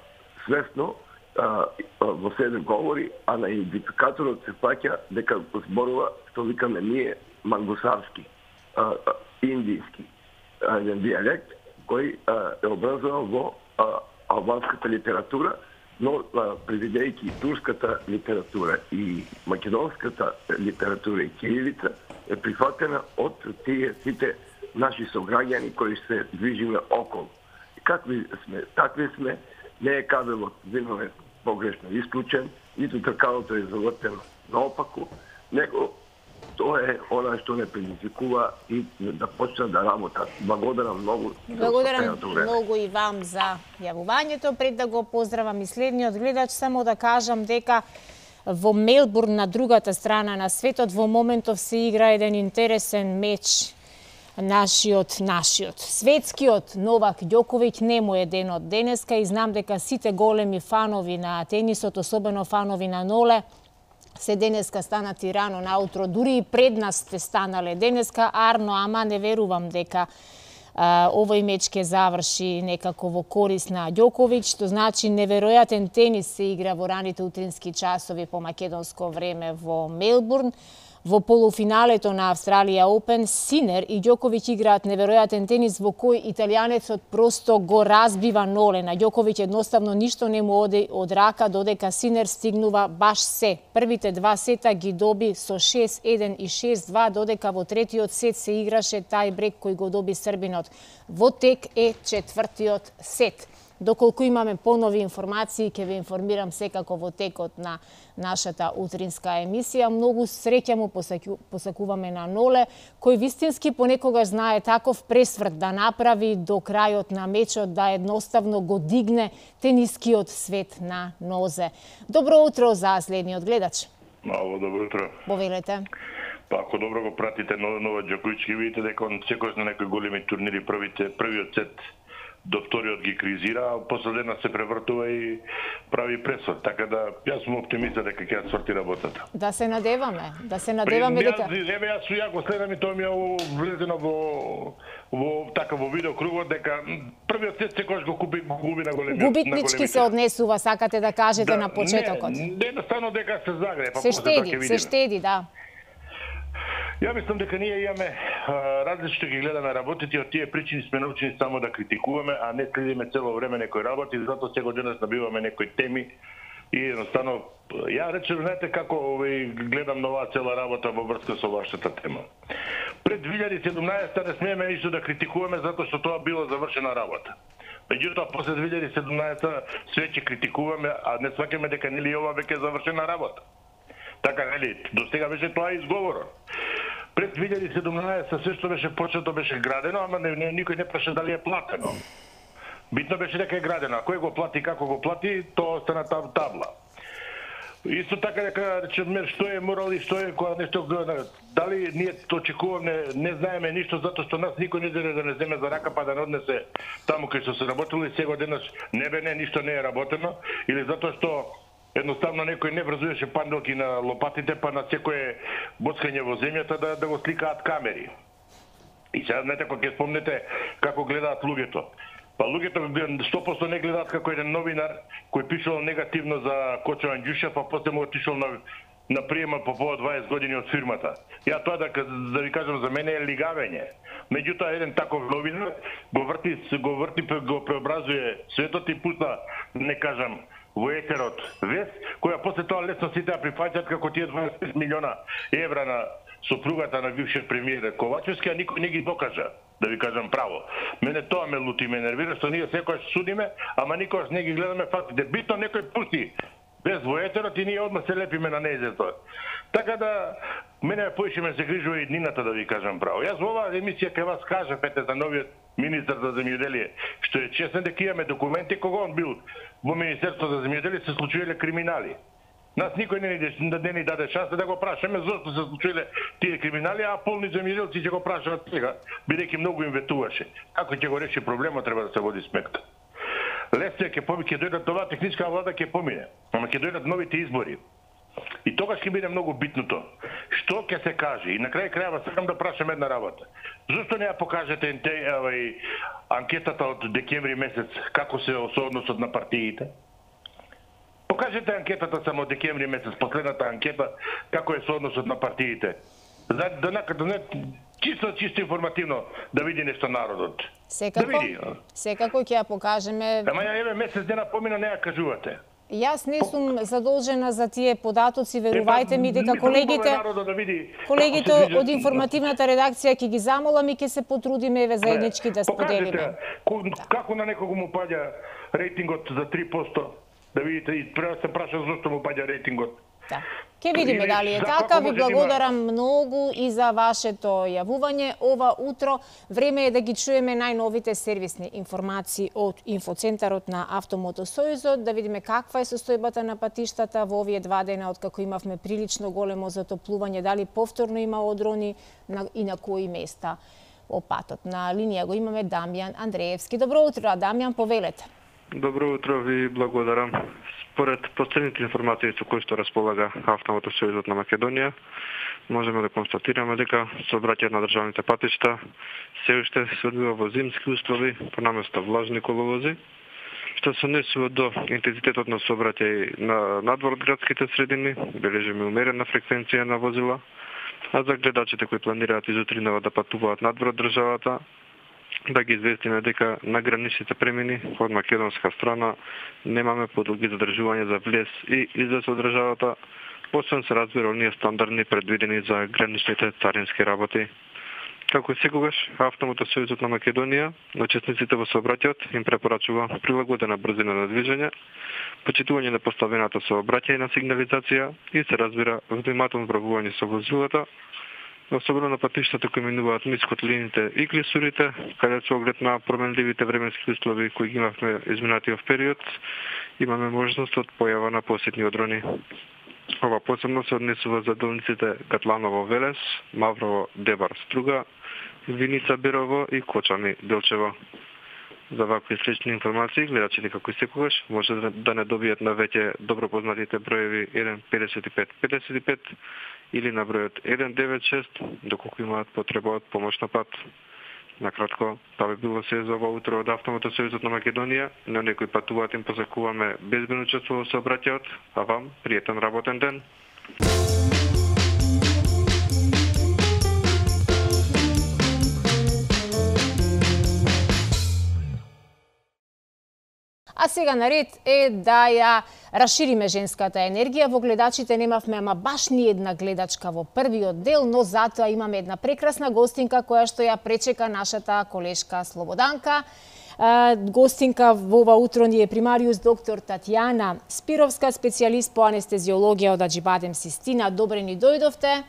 свесно а, во себе говори, а на идентификаторот се паќа дека зборува, што викаме ние, мангусарски, а, а, индијски, а, еден диалект кој а, е образован во а, албанската литература, но предвидејќи турската литература и македонската литература и кирилица е прифатена од тие сите наши сограѓани кои се движиме околу. И какви сме, такви сме, не е кабелот виновен погрешно исклучен, ниту тркалото е завртено наопаку, него тоа е она што не предизвикува и да почне да работат. Благодарам многу. Благодарам многу и вам за јавувањето. Пред да го поздравам и следниот гледач, само да кажам дека во Мелбурн, на другата страна на светот, во моментов се игра еден интересен меч. Нашиот, нашиот. Светскиот Новак Ѓоковиќ не му е денот денеска и знам дека сите големи фанови на тенисот, особено фанови на Ноле, се денеска станати рано наутро, дури и пред нас сте станале денеска, Арно, ама не верувам дека а, овој меч ќе заврши некако во корис на Ѓоковиќ, што значи неверојатен тенис се игра во раните утрински часови по македонско време во Мелбурн. Во полуфиналето на Австралија Опен, Синер и Ѓоковиќ играат неверојатен тенис во кој италијанецот просто го разбива Ноле. На Ѓоковиќ едноставно ништо не му оди од рака, додека Синер стигнува баш се. Првите два сета ги доби со шест еден и шест два, додека во третиот сет се играше тај брек кој го доби србинот. Во тек е четвртиот сет. Доколку имаме понови информации, ќе ве информирам секако во текот на нашата утринска емисија. Многу среќа му посакуваме на Ноле, кој вистински понекогаш знае таков пресврт да направи до крајот на мечот, да едноставно го дигне тенискиот свет на нозе. Добро утро за следниот гледач. Мало добро утро. Повелете. Па ако добро го пратите Новак Ѓоковиќ, ќе видите дека он секојаш на некои големи турнири првите првиот сет до вториот ги кризира, а после дена се превртува и прави пресврт. Така да јас сум оптимиста дека ќе сврти работата. Да се надеваме, да се надеваме дека Еве јас су јако следам и тоа ми е влезено во во така во видео кругот дека првиот сет секојаш го купи го губи на големиот. Губитнички се однесува, сакате да кажете да, на почетокот. Не, не едноставно дека се загре, па се штеди, се штеди, да. Ја мислам дека ние имаме различно ги гледаме работите, од тие причини сме научени само да критикуваме, а не следиме цело време некој работи, затоа сега денес набиваме некои теми и едноставно ја речем, знаете како овој гледам на оваа цела работа во врска со вашата тема. Пред две илјади и седумнаесета не смееме ништо да критикуваме затоа што тоа било завршена работа. Меѓутоа после две илјади и седумнаесета све ќе критикуваме, а не сваќаме дека нели ова веќе е завршена работа. Така нели, до сега беше тоа изговорот. Пред две илјади и седумнаесета се што беше почето беше градено, ама не, не, никој не праша дали е платено. Битно беше дека е градено, а кој го плати, како го плати, тоа остана там табла. Исто така дека речеме што е морал и што е кога нешто дали ние очекуваме, не знаеме ништо затоа што нас никој не даде да не земе за рака па да не однесе таму кај што се работило и сега денес не бе не ништо не е работено или затоа што едноставно некој не врзуваше панделки на лопатите па на секое боцкање во земјата да да го сликаат камери. И сега знаете кога ќе спомнете како гледаат луѓето. Па луѓето сто проценти не гледаат како еден новинар кој пишал негативно за Кочо Анѓушев, па после му отишол на на приема по повод дваесет години од фирмата. Ја тоа да да ви кажам за мене е лигавење. Меѓутоа еден таков новинар го врти го врти го преобразуе светот и пуста, не кажам, во етерот вест, која после тоа лесно сите ја прифаќаат како тие дваесет и пет милиона евра на сопругата на бившиот премиер Ковачевски, а никој не ги докажа, да ви кажам право. Мене тоа ме лути, ме нервира, што ние секојаш судиме, ама никогаш не ги гледаме фактите. Битно некој пусти без во етерот и ние одма се лепиме на нејзето. Така да, мене поише ме се грижува и днината, да ви кажам право. Јас во оваа емисија кај вас кажав ете за новиот министар за земјоделие, што е честен дека имаме документи кога он бил во Министерството за земјоделие се случувале криминали. Нас никој не ни, не ни даде шанса да го прашаме зошто се случиле тие криминали, а полни земјоделци ќе го прашаат сега, бидејќи многу им ветуваше. Како ќе го реши проблемот, треба да се води сметка. Лесно ќе помине, ќе дојдат оваа техничка влада ќе помине, ама ќе дојдат новите избори. И тогаш ќе биде многу битното. Што ќе се каже? И на крај крајава сакам да прашам една работа. Зошто не ја покажете овај анкетата од декември месец како се односот на партиите? Покажете анкетата само од декември месец, последната анкета, како е соодносот на партиите. За да накаде не чисто чисто информативно да види нешто народот. Секако, да види. Секако ќе ја покажеме. Ама ја еве месец дена помина не ја кажувате. Јас не сум задолжена за тие податоци, верувајте ми дека колегите колегите од информативната редакција ќе ги замолам и ќе се потрудиме еве заеднички да споделиме. Како на некого му паѓа рейтингот за три проценти? Да видите и прво се праша зошто му паѓа рейтингот. Да. Ке видиме дали е така. Ви благодарам многу и за вашето јавување ова утро. Време е да ги чуеме најновите сервисни информации од инфоцентарот на Автомотосојузот, да видиме каква е состојбата на патиштата во овие два дена откако имавме прилично големо затоплување, дали повторно има одрони и на кои места по патот. На линија го имаме Дамјан Андреевски. Добро утро, Дамјан, повелете. Добро утро, ви благодарам. Според последните информации со кои што располага Автомотосојузот на Македонија, можеме да констатираме дека сообраќајот на државните патишта се уште се одвива во зимски услови, понаместо влажни коловози, што се однесува до интензитетот на сообраќај на надвор од градските средини, бележиме умерена фреквенција на возила, а за гледачите кои планираат изутринава да патуваат надвор од државата, да ги известиме дека на граничните премини од македонска страна немаме подолги задржување за влез и излез од државата, освен се разбира оние стандардни предвидени за граничните царински работи. Како и секогаш, Автомотосојузот на Македонија на учесниците во сообраќајот им препорачува прилагодена брзина на движење, почитување на поставената сообраќајна сигнализација и се разбира внимателно правување со возилата, особено на патиштата кои минуваат низ котлините и клисурите, каде со оглед на променливите временски услови кои ги имавме изминатиот период, имаме можност од појава на посетни одрони. Ова посебно се однесува за делниците Гатланово Велес, Маврово Дебар Струга, Виница Берово и Кочани Делчево. За вакви слични информации, гледачите како и секогаш може да не добијат на веќе добро познатите броеви еден педесет и пет педесет и пет или на бројот еден девет шест, доколку имаат потреба од помош на пат. Накратко, тоа би било се за ова утро од Автомотосојузот на Македонија. На некои патуваат им посакуваме безбедно учество во сообраќајот, а вам пријатен работен ден. А сега наред е да ја расшириме женската енергија. Во гледачите немавме ама баш ни една гледачка во првиот дел, но затоа имаме една прекрасна гостинка која што ја пречека нашата колешка Слободанка. Гостинка во ова утро ни е примариус доктор Татјана Спировска, специјалист по анестезиологија од Аџибадем Систина. Добре ни дојдовте.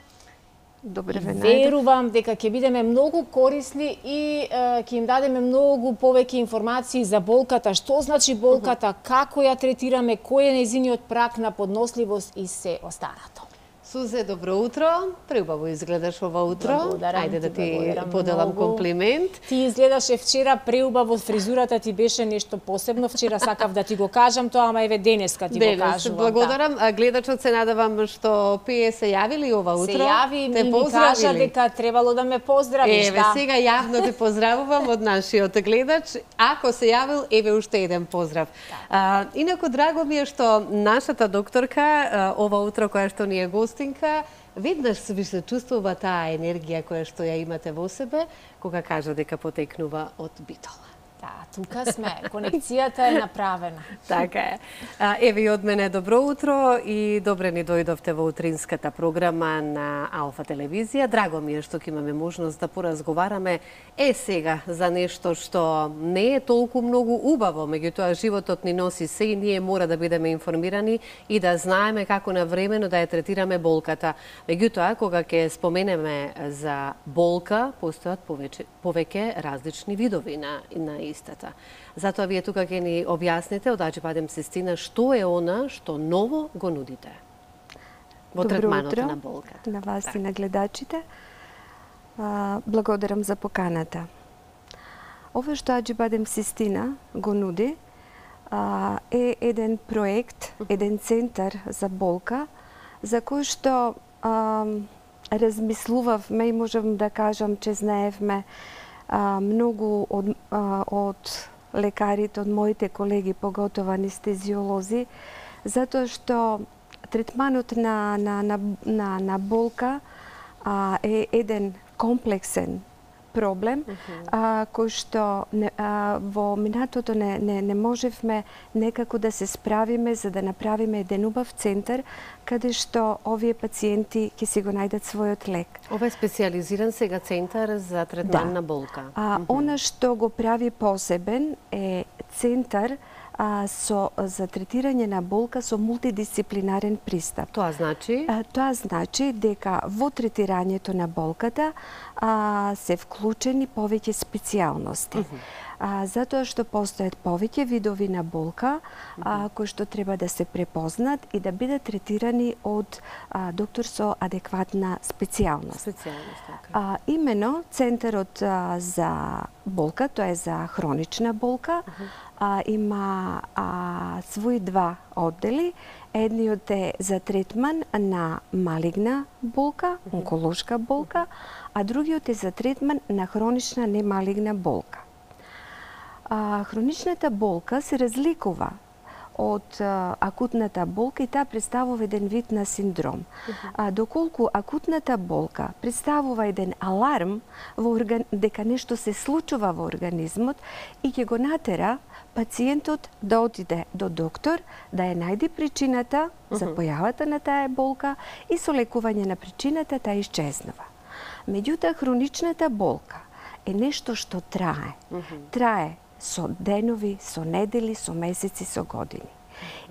Добре ве најдов. Верувам дека ќе бидеме многу корисни и ќе им дадеме многу повеќе информации за болката, што значи болката, како ја третираме, кој е нејзиниот прак на подносливост и се останато. Сузе, добро утро. Преубаво изгледаш ова утро. Благодарам. Ајде да ти благодарам поделам многу. комплимент. Ти изгледаше вчера преубаво, фризурата ти беше нешто посебно. Вчера сакав да ти го кажам тоа, ама еве денеска ти Денес, го кажувам. благодарам. Да. Гледачот се надевам што пие се јавили ова утро. Се јави те и ми кажа дека требало да ме поздравиш. Еве, да. сега јавно те поздравувам од нашиот гледач. Ако се јавил, еве уште еден поздрав. А, инаку, драго ми е што нашата докторка, а, ова утро која што ни е гостинка, веднаш ви се чувствува таа енергија која што ја имате во себе, кога кажа дека потекнува од Битола. Да, тука сме. Конекцијата е направена. Така е. Еве и од мене добро утро и добре ни дојдовте во утринската програма на Алфа телевизија. Драго ми е што ќе имаме можност да поразговараме е сега за нешто што не е толку многу убаво, меѓутоа животот ни носи се и ние мора да бидеме информирани и да знаеме како навремено да ја третираме болката. Меѓутоа, кога ќе споменеме за болка, постојат повеќе, повеќе различни видови на, на истата. Затоа вие тука ќе ни објасните од Аџибадем Систина што е она што ново го нудите во третманот на болка. На вас и на гледачите. Благодарам за поканата. Ова што Аџибадем Систина го нуди е еден проект, еден центар за болка, за кој што размислувавме и можам да кажам, че знаевме А, многу од, а, од лекарите, од моите колеги, поготово анестезиолози, затоа што третманот на, на, на, на, на болка а, е еден комплексен проблем, uh -huh. а, кој што не, а, во минатото не, не, не можевме некако да се справиме за да направиме еден убав центар каде што овие пациенти ќе си го најдат својот лек. Ова е специјализиран сега центар за третман да. на болка. А, uh -huh. Она што го прави посебен е центар а, со, за третирање на болка со мултидисциплинарен пристап. Тоа значи? А, тоа значи дека во третирањето на болката а, се вклучени повеќе специјалности. Uh -huh. А, затоа што постојат повеќе видови на болка, а, кои што треба да се препознат и да бидат третирани од а, доктор со адекватна специјалност. Специјалност, така. А, имено, центарот а, за болка, тоа е за хронична болка, uh -huh. а, има а, своји два оддели. Едниот е за третман на малигна болка, онколошка болка, а другиот е за третман на хронична немалигна болка. А, хроничната болка се разликува од а, акутната болка и таа представува еден вид на синдром. Uh -huh. А, доколку акутната болка представува еден аларм во орган... дека нешто се случува во организмот и ќе го натера пациентот да отиде до доктор, да ја најде причината uh -huh. за појавата на таа болка и со лекување на причината таа исчезнува. Меѓутоа, хроничната болка е нешто што трае. Uh -huh. Трае со денови, со недели, со месеци, со години.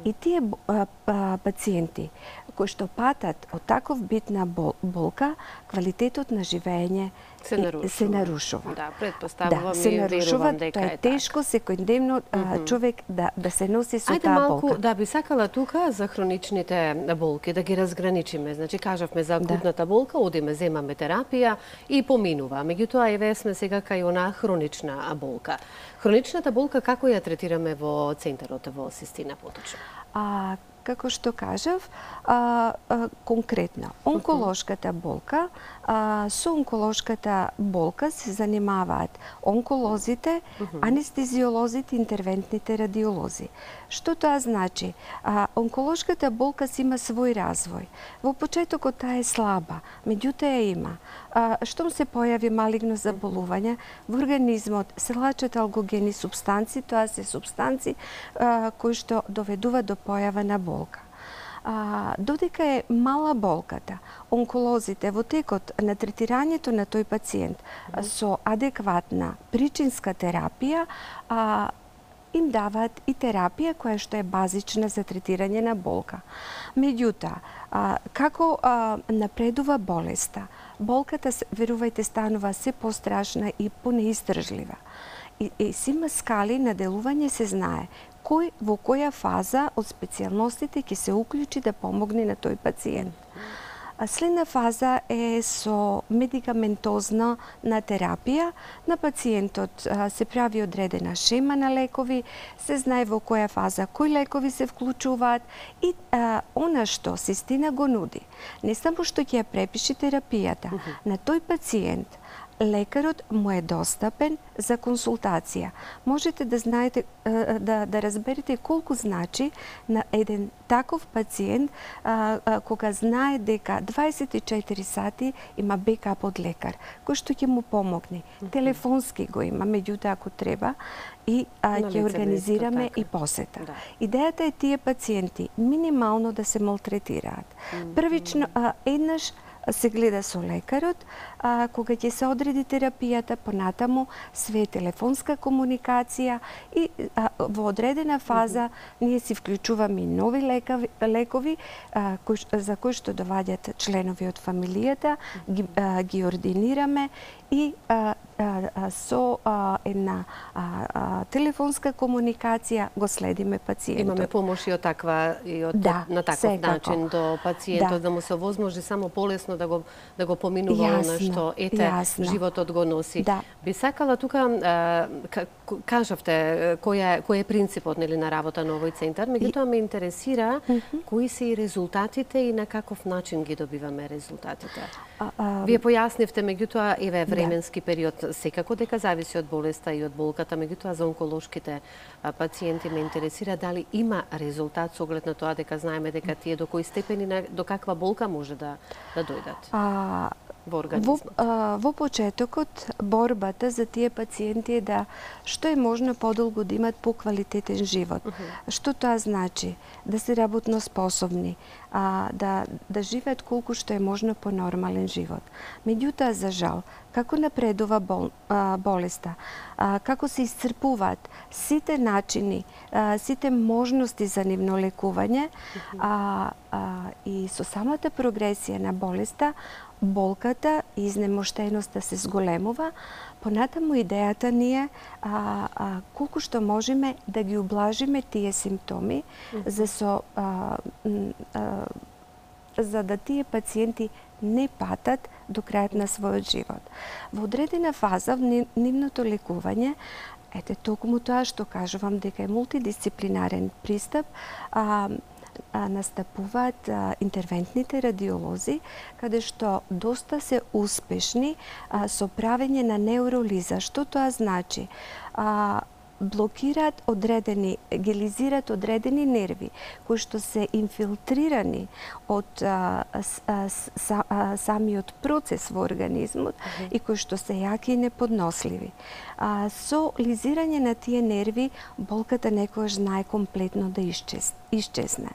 И тие а, а, пациенти кои што патат од таков вид на бол, болка, квалитетот на живење се нарушува. Се нарушува. Да, предпоставувам да, се и нарушува, верувам дека тоа е е тешко секојдневно mm -hmm. човек да да се носи со Ајде таа малку, болка. да, би сакала тука за хроничните болки да ги разграничиме. Значи кажавме за акутната да. болка, одиме, земаме терапија и поминува. Меѓутоа еве сме сега кај она хронична болка. Хроничната болка како ја третираме во центарот во Систина поточно? А како што кажав, а, а, конкретно, онколошката болка, а, со онколошката болка се занимаваат онколозите, анестезиолозите, интервентните радиолози. Што тоа значи? А, онколошката болка си има свој развој. Во почетокот таа е слаба, меѓутоа ја има. А, штом се појави малигно заболување, во организмот се лачат алгогени субстанци, тоа се субстанци а, кои што доведува до појава на болка. А, додека е мала болката, онколозите во текот на третирањето на тој пациент со адекватна причинска терапија, а, им даваат и терапија која што е базична за третирање на болка. Меѓутоа, како а, напредува болеста, болката, верувајте, станува се пострашна и понеиздржлива. И, и си има скали на делување, се знае кој во која фаза од специјалностите ќе се уклучи да помогне на тој пациент. Следна фаза е со медикаментозна на терапија. На пациентот се прави одредена шема на лекови, се знае во која фаза кои лекови се вклучуваат и а, она што систина го нуди. Не само што ќе ја препиши терапијата, uh -huh. на тој пациент лекарот му е достапен за консултација. Можете да знаете, да, да разберете колку значи на еден таков пациент а, а, кога знае дека дваесет и четири сати има бекап од лекар, кој што ќе му помогне. Mm-hmm. Телефонски го има, меѓутоа ако треба и а, ќе организираме и посета. Да. Идејата е тие пациенти минимално да се малтретираат. Mm-hmm. Првично, а, еднаш се гледа со лекарот, а, кога ќе се одреди терапијата, понатаму све телефонска комуникација и а, во одредена фаза mm -hmm. ние си вклучуваме и нови лекави, лекови а, кои, за кои што доваѓат членови од фамилијата, ги, а, ги ординираме и а, а, а, со а, една а, а, телефонска комуникација го следиме пациентот. Имаме помош и од таква и од да, на таков секако. начин до пациентот да. да му се овозможи само полесно да го да го поминува она што ете јасно. животот го носи. Да. Би сакала тука а, кажавте кој е кој е принципот, нели, на работа на овој центар, меѓутоа ме интересира mm -hmm. кои се и резултатите и на каков начин ги добиваме резултатите. А, а, Вие појаснивте, меѓутоа еве временски да. период, секако дека зависи од болеста и од болката, меѓутоа за онколошките пациенти ме интересира дали има резултат со оглед на тоа дека знаеме дека тие до кој степени, до каква болка може да да дојдат. А, во организмот. Во, а, во почетокот борбата за тие пациенти е да што е можно подолго да имат поквалитетен живот. Uh -huh. Што тоа значи? Да се работно способни, а, да да живеат колку што е можно по нормален живот. Меѓутоа, за жал, како напредува бол, а, болеста, а, како се исцрпуваат сите начини, а, сите можности за нивно лекување, uh -huh. а, а, и со самата прогресија на болеста, болката и изнемоштеноста се зголемува, понатаму идејата ни е а, а, колку што можеме да ги ублажиме тие симптоми, mm -hmm. за со а, а, за да тие пациенти не патат до крајот на својот живот. Во одредена фаза в нивното лекување, ете токму тоа што кажувам дека е мултидисциплинарен пристап, а, А, настапуваат а, интервентните радиолози, каде што доста се успешни а, со правење на неуролиза. Што тоа значи? А, блокираат одредени, гелизираат одредени нерви, кои што се инфилтрирани од а, а, са, а, самиот процес во организмот uh -huh. и кои што се јаки и неподносливи. А, со лизирање на тие нерви, болката некојаш знае комплетно да исчез, исчезне.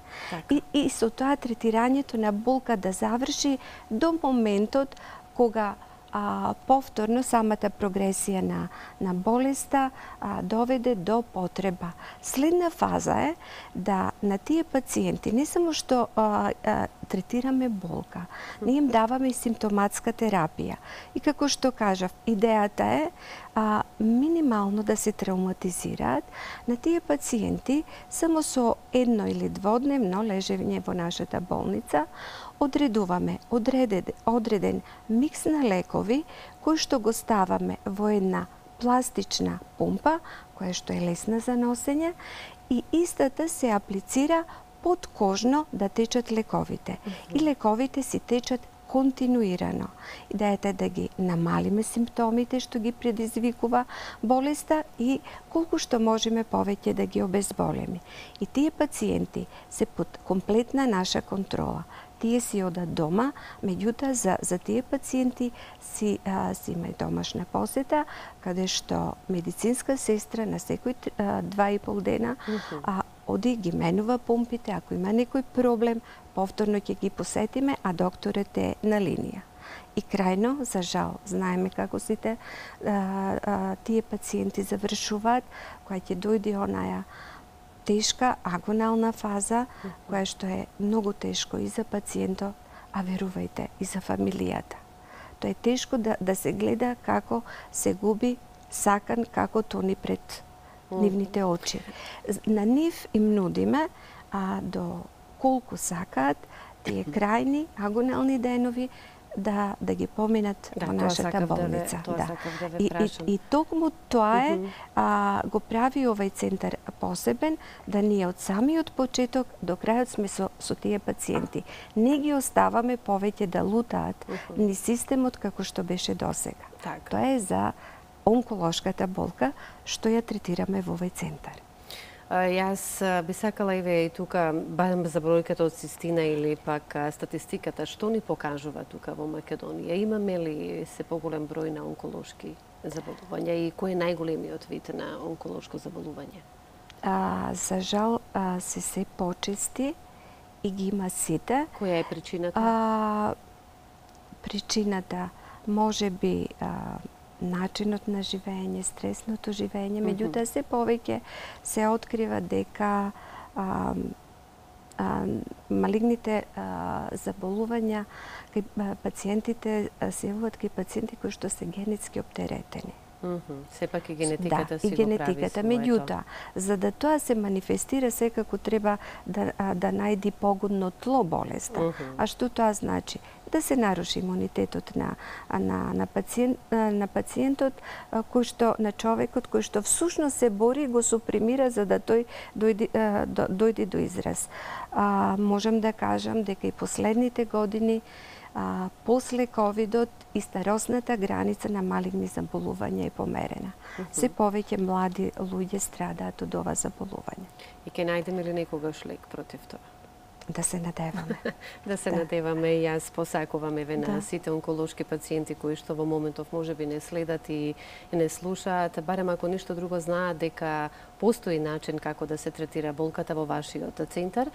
И, и со тоа третирањето на болка да заврши до моментот кога А, повторно самата прогресија на, на болеста а, доведе до потреба. Следна фаза е да на тие пациенти не само што а, а, третираме болка, ние им даваме и симптоматска терапија. И како што кажав, идејата е а, минимално да се травматизираат на тие пациенти само со едно или дводневно лежење во нашата болница. Одредуваме одреден, одреден микс на лекови кои што го ставаме во една пластична пумпа, која што е лесна за носење, и истата се аплицира подкожно да течат лековите. И лековите си течат континуирано. Идејата е да ги намалиме симптомите што ги предизвикува болеста и колку што можеме повеќе да ги обезболиме. И тие пациенти се под комплетна наша контрола. Тие си одат дома, меѓутоа за, за тие пациенти си, а, си има домашна посета, каде што медицинска сестра на секој а, два и пол дена а, оди ги менува помпите, ако има некој проблем, повторно ќе ги посетиме, а докторот е на линија. И крајно, за жал, знаеме како сите а, а, тие пациенти завршуваат, која ќе дојде онаја тешка агонална фаза, која што е многу тешко и за пациентот, а верувајте, и за фамилијата. Тоа е тешко да, да се гледа како се губи сакан, како тони пред нивните очи. На нив им нудиме а, до колку сакаат тие крајни агонални денови да да ги поминат да, во нашата болница. Да, да. да И, и, и токму тоа е, а, го прави овај центар посебен, да ние од самиот почеток до крајот сме со, со тие пациенти. Не ги оставаме повеќе да лутаат ни системот како што беше досега. Так. Тоа е за онколошката болка што ја третираме во овој центар. Јас би сакала и ве и тука, барем за бројката од цистина или пак статистиката, што ни покажува тука во Македонија? Имаме ли се поголем број на онколошки заболувања и кој е најголемиот вид на онколошко заболување? А, за жал а, се се почести и ги има сите. Која е причината? А, причината може би а, начинот на живење, стресното живење, меѓутоа се повеќе се открива дека а, а, малигните а, заболувања кај пациентите се јавуваат кај пациенти кои што се генетски оптеретени. Mm -hmm. Сепак и генетиката да, си и генетиката. го прави Меѓутоа, за да тоа се манифестира, секако треба да, да најди погодно тло болеста. Mm -hmm. А што тоа значи? Да се наруши имунитетот на, на, на, пациент, на пациентот, кој што, на човекот кој што всушност се бори и го супримира за да тој дојде, дојде до израз. А, можам да кажам дека и последните години А, после ковидот и старосната граница на малигни заболувања е померена. Uh -huh. Се повеќе млади луѓе страдаат од ова заболување. И ќе најдеме ли некогаш лек против тоа? Да се надеваме. да се да. надеваме и јас посакувам еве на да. сите онколошки пациенти кои што во моментов можеби не следат и не слушаат, барем ако ништо друго знаат дека постои начин како да се третира болката во вашиот центар.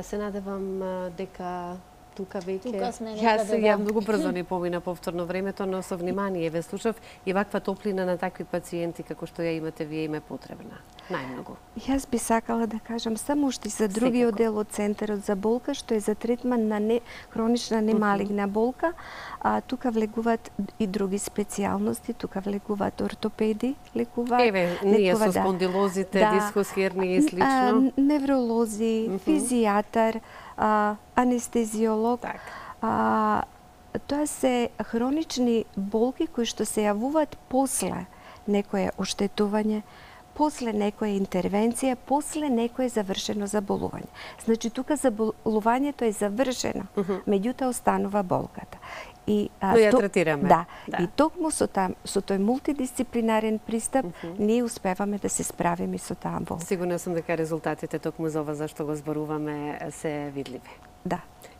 Се надевам дека тука веќе. Јас ја многу брзо ни помина повторно времето, но со внимание ве слушав и ваква топлина на такви пациенти како што ја имате вие им е потребна. Најмногу. Јас би сакала да кажам само уште за другиот дел од центарот за болка, што е за третман на не, хронична немалигна болка. А, тука влегуваат и други специјалности, тука влегуваат ортопеди, лекуваат. Еве, ние со спондилозите, да, дискус херни и слично. А, невролози, uh -huh. физијатар, а, анестезиолог. Так. А, тоа се хронични болки кои што се јавуваат после некое оштетување, после некоја интервенција, после некое завршено заболување. Значи, тука заболувањето е завршено, uh -huh. меѓутоа останува болката. И, а, Но ја третираме. Да, да. И токму со, там, со тој мултидисциплинарен пристап, uh -huh. ние успеваме да се справиме со таа болка. Сигурна сум дека резултатите токму за ова за што го зборуваме се видливи. Да.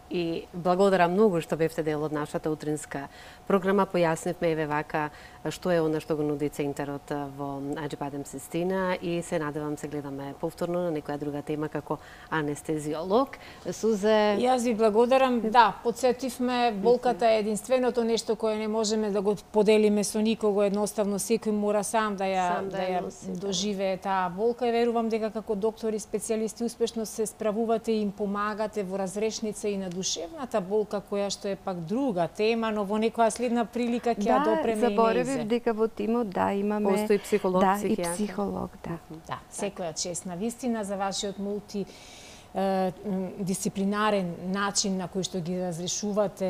И благодарам многу што бевте дел од нашата утринска програма. Појаснивме еве вака што е она што го нуди центарот во Аџибадем Систина и се надевам се гледаме повторно на некоја друга тема како анестезиолог. Сузе... Јас ви благодарам. Да, подсетивме, болката е единственото нешто кое не можеме да го поделиме со никого. Едноставно секој мора сам да ја, сам да да ја носи, доживее таа болка и верувам дека како доктори специјалисти успешно се справувате и им помагате во разрешница и на душевната болка, која што е пак друга тема, но во некоја следна прилика ќе ја допреме и неизе. Да, дека во тимот, да, имаме... Постои психолог, да, психијатар. И психолог, да. Да, секоја чест на вистина за вашиот мулти дисциплинарен начин на кој што ги разрешувате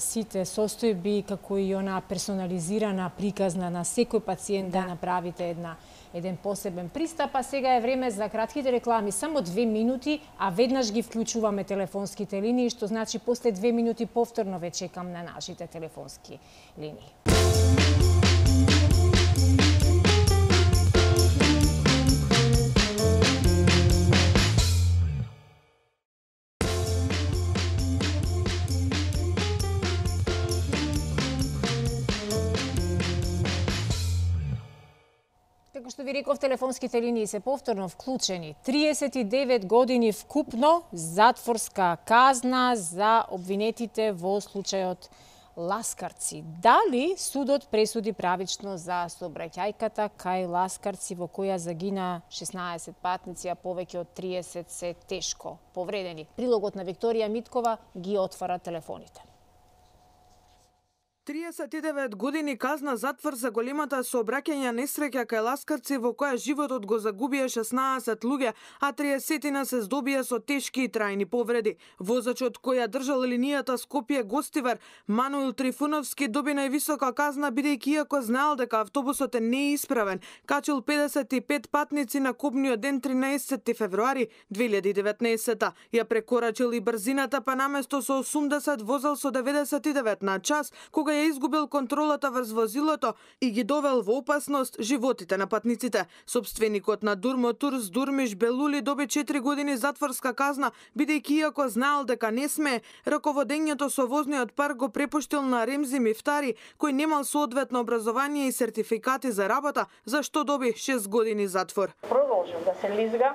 сите состојби, како и она персонализирана приказна на секој пациент да, да направите една еден посебен пристап, а сега е време за кратките реклами, само две минути, а веднаш ги вклучуваме телефонските линии, што значи после две минути повторно ве чекам на нашите телефонски линии. Како што ви реков, телефонските линии се повторно вклучени. триесет и девет години вкупно затворска казна за обвинетите во случајот Ласкарци. Дали судот пресуди правично за сообраќајката кај Ласкарци во која загина шеснаесет патници, а повеќе од триесет се тешко повредени? Прилогот на Викторија Миткова ги отвара телефоните. триесет и девет години казна затвор за големата сообраќајна несреќа кај Ласкарци во која животот го загубија шеснаесет луѓе, а триесет се здобија со тешки и трајни повреди. Возачот кој ја држал линијата Скопје Гостивар, Мануил Трифуновски, доби највисока казна бидејќи иако знаел дека автобусот е неисправен, качил педесет и пет патници на кобниот ден тринаесетти февруари две илјади и деветнаесетта. Ја прекорачил и брзината, па наместо со осумдесет возел со деветдесет и девет на час, кога ја изгубил контролата врз возилото и ги довел во опасност животите на патниците. Собственикот на Дурмотурс Дурмиш Белули доби четири години затворска казна, бидејќи иако знаел дека не смее, раководењето со возниот парк го препуштил на Ремзи Мифтари, кој немал соодветно образование и сертификати за работа, за што доби шест години затвор. Продолжил да се лизга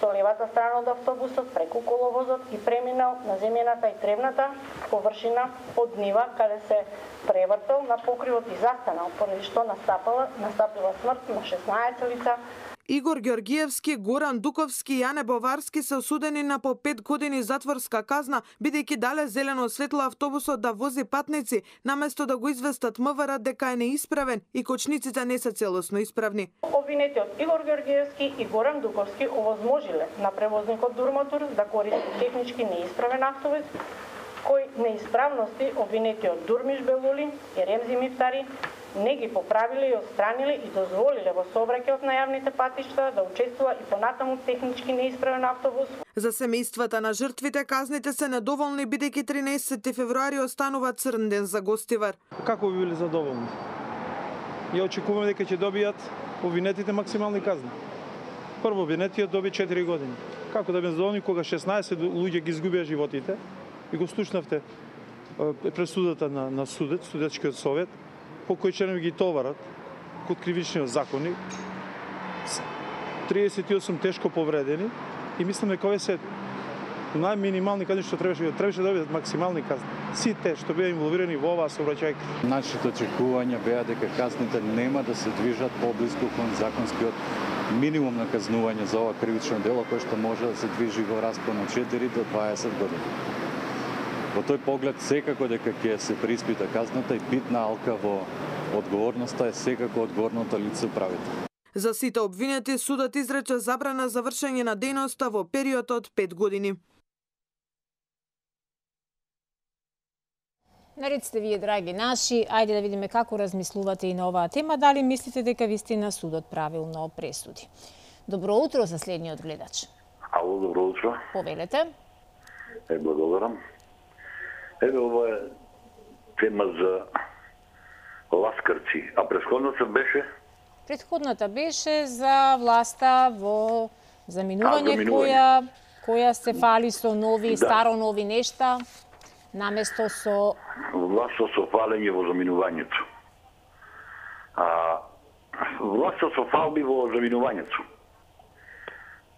со левата страна од автобусот преку коловозот и преминал на земјаната и тревната површина од нива, каде се превртел на покривот и застанал, поради што настапила, настапила смрт на шеснаесет лица. Игор Ѓоргиевски, Горан Дуковски и Јане Боварски се осудени на по пет години затворска казна, бидејќи дале зелено светло автобусот да вози патници, наместо да го известат МВР дека е неисправен и кочниците не се целосно исправни. Обвинетиот Игор Ѓоргиевски и Горан Дуковски овозможиле на превозникот Дурмотурс да користи технички неисправен автобус, кој неисправности обвинетиот Дурмиш Белули и Ремзи Мифтари не ги поправиле и отстраниле и дозволиле во сообраќајот на јавните патишта да учествува и понатаму технички неисправен автобус. За семејствата на жртвите казните се недоволни, бидејќи тринаесетти февруари останува црн ден за Гостивар. Како би биле задоволни? Ја очекуваме дека ќе добијат обвинетите максимални казни. Прво обвинетиот доби четири години. Како да бе задоволни кога шеснаесет луѓе ги изгубија животите и го слушнавте пресудата на, на судет, судечкиот совет, по кој членови ги товарат код кривичниот законник, триесет и осум тешко повредени и мислам дека овие се најминимални казни што требаше требаше да бидат максимални казни. Сите што беа инволвирани во оваа сообраќајка. Нашите очекувања беа дека казните нема да се движат поблиску кон законскиот минимум на казнување за ова кривично дело, кој што може да се движи во распон од четири до дваесет години. Во тој поглед секако дека ќе се преиспита казната и битна алка во одговорноста е секако одговорното лице управител. За сите обвинети судот изрече забрана за вршење на дејноста во период од пет години. Наред сте вие, драги наши, ајде да видиме како размислувате и на оваа тема, дали мислите дека вистина судот правилно пресуди. Добро утро за следниот гледач. Ало, добро утро. Повелете. Е, благодарам. Еве, ова е тема за Ласкарци, а предходната беше? Предходната беше за власта во заминување, а, заминување. која, која се фали со нови, да. старо нови нешта, наместо со... Власта со фалење во заминувањето. А, власта со фалби во заминувањето.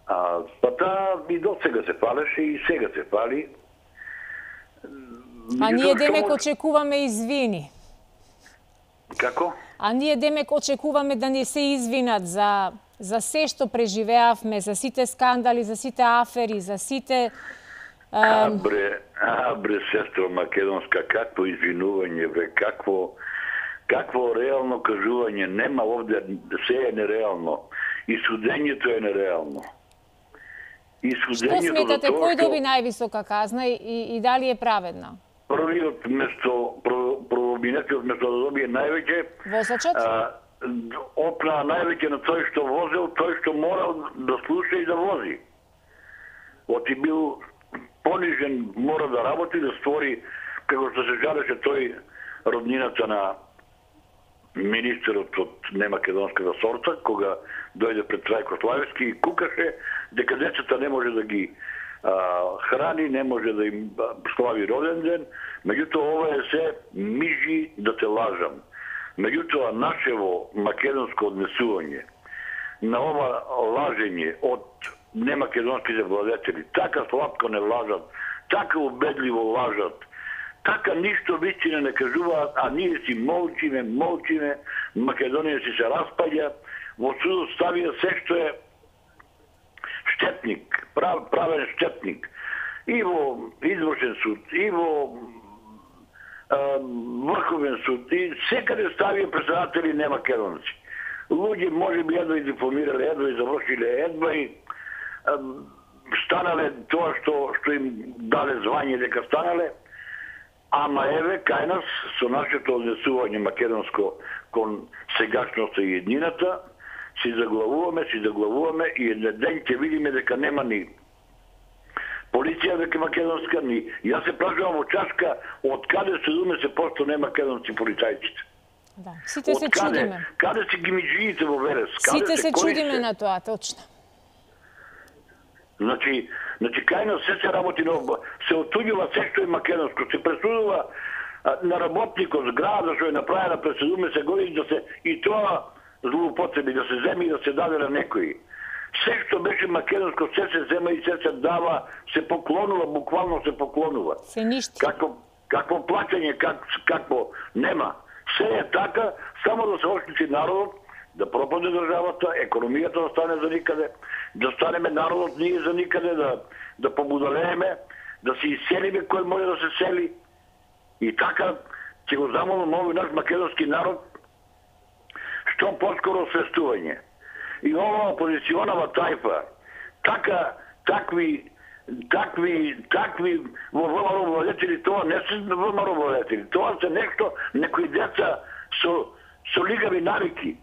А, па таа и до сега се фалеше и сега се фали. А ние демек очекуваме извини. Како? А ние демек очекуваме да не се извинат за за се што преживеавме, за сите скандали, за сите афери, за сите... А, бре, а, бре, сестро македонска, какво извинување, бре, какво, какво реално кажување, нема овде, се е нереално. И судењето е нереално. И судењето... Што сметате, кој доби највисока казна и, и дали е праведна? Првиот место, правобинетиот место да добие највеќе... Возачот? опна највеќе на тој што возел, тој што морал да слуша и да вози. Оти бил понижен, мора да работи, да створи, како што се жалеше тој, роднината на министерот од немакедонската сорта, кога дојде пред Трајко Славевски и кукаше дека децата не може да ги а, храни, не може да им слави роден ден. Меѓутоа, ова е се мижи да те лажам. Меѓутоа, нашево македонско однесување на ова лажење од немакедонските владетели, така слабко не лажат, така убедливо лажат, така ништо вистина не кажуваат, а ние си молчиме, молчиме, Македонија си се распаѓа, во судот ставија се што е штетник, прав, правен штетник, и во извршен суд, и во а, врховен суд, и секаде ставија председатели немакедонци. Луѓе може би едва и дипломирале, едва и завршиле, едва и а, станале тоа што, што им даде звање дека станале. Ама еве, кај нас, со нашето однесување македонско кон сегашноста и еднината, си заглавуваме, си заглавуваме и еден ден ќе видиме дека нема ни полиција дека македонска, ни... Јас се прашувам во Чашка, од каде седумдесет проценти не македонски полицајците? Да, сите се чудиме. Каде се гимиджиите во Верес? Сите се чудиме на тоа, точно. Значи, значи кај нас се се работи, но се отуѓува се што е македонско, се пресудува а, на работникот зграда што е направена пред седумдесет години да се и тоа злоупотреби, да се земи и да се даде на некои. Се што беше македонско, се се зема и се се дава, се поклонува, буквално се поклонува. Се ништи. Како, какво плаќање, как, какво нема. Се е така, само да се оштити народот, да пропаде државата, економијата да стане за никаде, да станеме народот ние за никаде, да, да побудалееме, да се иселиме кој може да се сели. И така ќе го замолам овој наш македонски народ што поскоро освестување. И ова опозиционава тајфа, така, такви, такви, такви во ВМРО владетели, тоа не се ВМРО владетели, тоа се нешто, некои деца со, со лигави навики.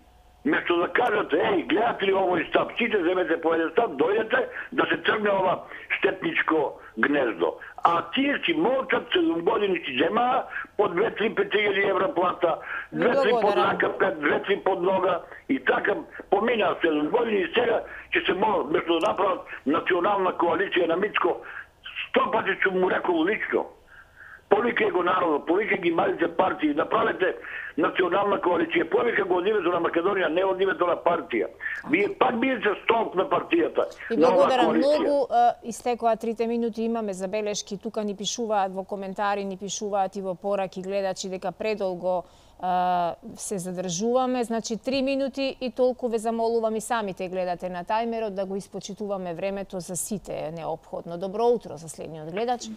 Место да кажат, еј, гледате ли овој стап, сите земете по еден стап, дојдете да се тргне ова штетничко гнездо. А тие си молчат, седум години си земаа, по две-три петијади евра плата, две-три под рака, две-три под нога, и така поминаа седум години и сега ќе се молат, место да направат национална коалиција на Мицко, сто пати ќе му рекол лично. Повикај го народот, повикај ги малите партии, направете национална коалиција, повикај го од името на Македонија, не од името на партија. Вие пак бидете столб на партијата. И благодарам многу, истекоа трите минути, имаме забелешки, тука ни пишуваат во коментари, ни пишуваат и во пораки гледачи дека предолго се задржуваме, значи три минути и толку ве замолувам и самите гледате на тајмерот да го испочитуваме времето за сите е неопходно. Добро утро за следниот гледач.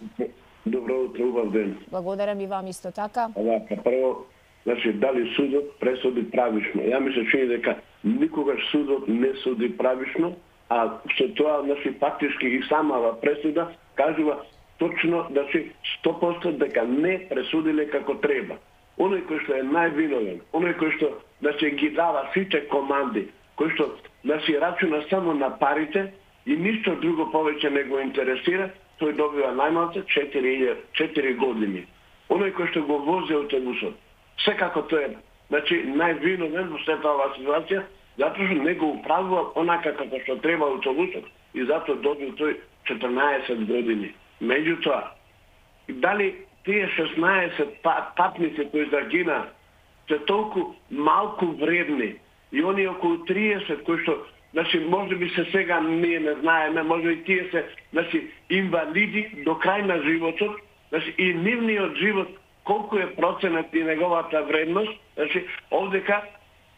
Добро утро, убав ден. Благодарам и вам исто така. Овака, прво, значи, дали судот пресуди правишно? Ја ми се чини дека никогаш судот не суди правишно, а со тоа, значи, фактички и самава пресуда кажува точно, значи, сто проценти дека не пресудиле како треба. Оној кој што е највиновен, оној кој што, значи, ги дава сите команди, кој што, значи, рачуна само на парите и ништо друго повеќе не го интересира, тој добива најмалце четири години. Оној кој што го вози автобусот, секако тој е, значи, највиновен во сета оваа ситуација, затоа што не го управува онака како што треба автобусот и затоа добил тој четрнаесет години. Меѓутоа, дали тие шеснаесет патници кои загина се толку малку вредни и они околу триесет кои што, значи, може би се сега ние не знаеме, може и тие се, значи, инвалиди до крај на животот, значи, и нивниот живот, колку е проценат и неговата вредност, значи, овдека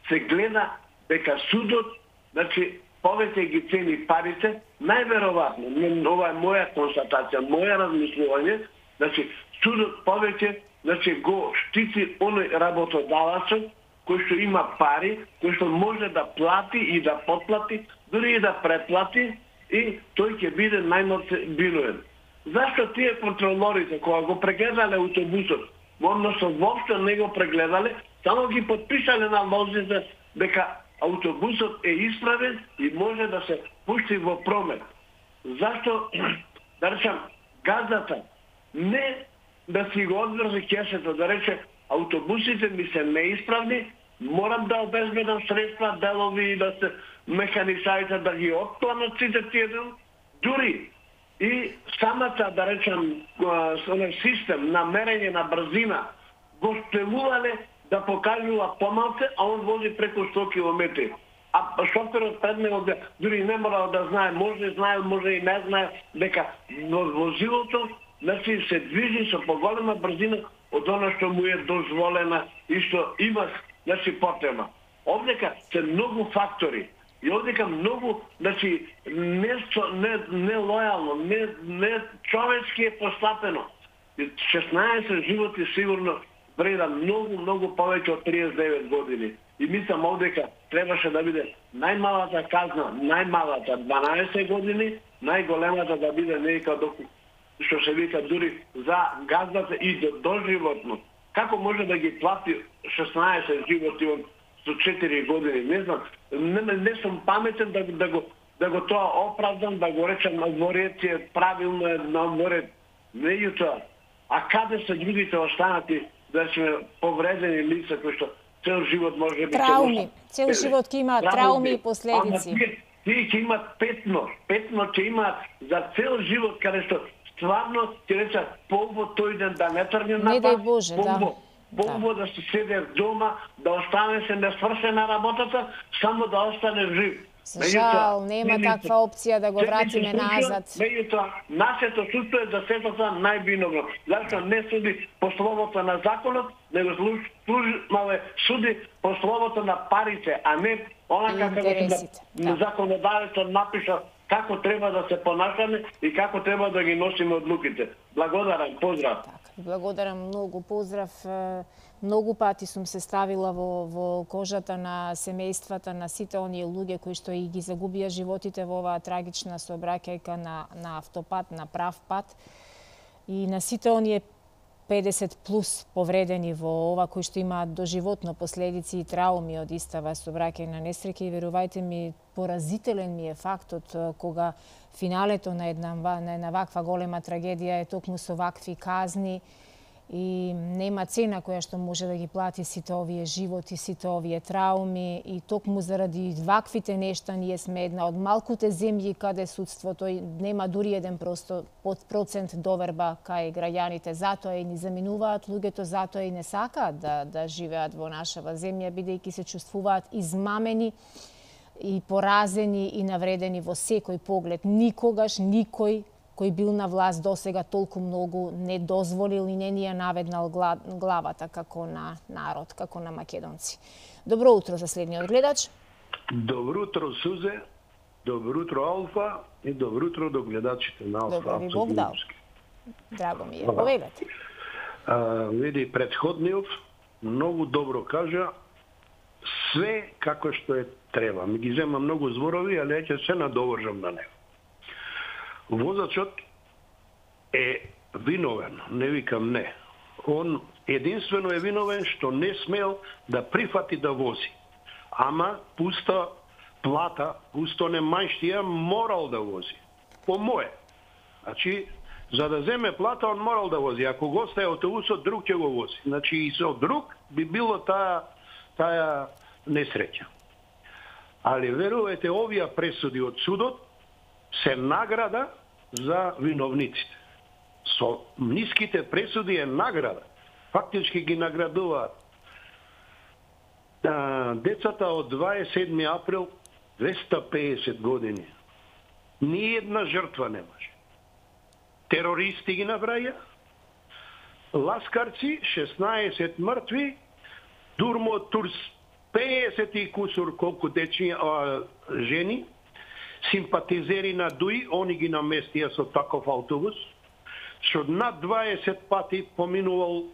се гледа дека судот, значи, повеќе ги цени парите, најверојатно, ова е моја констатација, моја размислување, значи, судот повеќе, значи, го штити оној работодавачот, кој што има пари, кој што може да плати и да потплати, дури и да преплати, и тој ќе биде најмалце виновен. Зашто тие контролорите, кога го прегледале автобусот, односно воопшто не го прегледале, само ги подпишале на лозите дека автобусот е исправен и може да се пушти во промет. Зашто, да речем, газдата не да си го одврзи кесето, да рече, автобусите ми се неисправни, морам да обезбедам средства, делови и да се механисаите да ги отпланат сите тие дел, дури и самата, да речем, систем на мерење на брзина го спелувале да покажува помалце, а он вози преку сто километри. А шоферот пред него дури не морал да знае, може знае, може и не знае, дека возилото значи се движи со поголема брзина од она што му е дозволена и што има значи потреба. Овдека се многу фактори и овдека многу значи не не не лојално, не не човечки е постапено. шеснаесет животи сигурно вреда многу многу повеќе од триесет и девет години. И мислам овдека требаше да биде најмалата казна, најмалата дванаесет години, најголемата да биде нека до што се вика дури за газдата и до доживотно. Како може да ги плати шеснаесет животи од со четири години? Не знам, не, не сум паметен да, да го да го тоа оправдам, да го речам на двореци, правилно е на дворец. Меѓутоа, а каде се другите останати да сме повредени лица кои што цел живот може би трауми, цел живот ќе имаат трауми и последици. Тие ќе имаат петно, петно ќе имаат за цел живот каде што стварно ќе речат полво тој ден да не тргне на не дај Боже, да. Полво да се седе дома, да остане се несвршена работата, само да остане жив. Жал, нема таква опција да го вратиме назад. Меѓутоа, нашето судство е за сетата највиновно. Зашто не суди по словото на законот, него служмале суди по словото на парите, а не онака како да законодавецот напиша како треба да се понашаме и како треба да ги носиме одлуките. Благодарам, поздрав. Така, благодарам многу, поздрав. Многу пати сум се ставила во, во кожата на семејствата на сите оние луѓе кои што и ги загубија животите во оваа трагична сообраќајка на, на автопат, на прав пат. И на сите оние педесет плюс повредени во ова кои што имаат доживотно последици и трауми од истава сообраќајна несреќа. И верувајте ми, поразителен ми е фактот кога финалето на една, на една ваква голема трагедија е токму со вакви казни и нема цена која што може да ги плати сите овие животи, сите овие трауми и токму заради ваквите нешта ние сме една од малкуте земји каде судството нема дури еден просто под процент доверба кај граѓаните. Затоа и ни заминуваат луѓето, затоа и не сакаат да, да живеат во нашава земја, бидејќи се чувствуваат измамени и поразени и навредени во секој поглед. Никогаш никој кој бил на власт досега толку многу не дозволил и не ни ја наведнал главата како на народ, како на македонци. Добро утро за следниот гледач. Добро утро, Сузе. Добро утро, Алфа. И добро утро до гледачите на Алфа. Добро ви Бог дал. Драго ми е. Повелете. Види, предходниот многу добро кажа све како што е треба. Ми ги зема многу зборови, али ќе се надовржам на него. Возачот е виновен, не викам не. Он единствено е виновен што не смел да прифати да вози. Ама пуста плата, пусто немајштија морал да вози. По мое. Значи, за да земе плата, он морал да вози. Ако го остае автобусот, друг ќе го вози. Значи, и со друг би било таа, таа несреќа. Али верувате, овие пресуди од судот се награда за виновниците. Со ниските пресуди е награда. Фактички ги наградуваат децата од дваесет и седми април двеста и педесет години. Ни една жртва немаше. Терористи ги набраја, ласкарци, шеснаесет мртви, Дурмо Турс, педесет и кусур колку дечи, а, жени, симпатизери на ДУИ, они ги наместија со таков автобус, што над дваесет пати поминувал,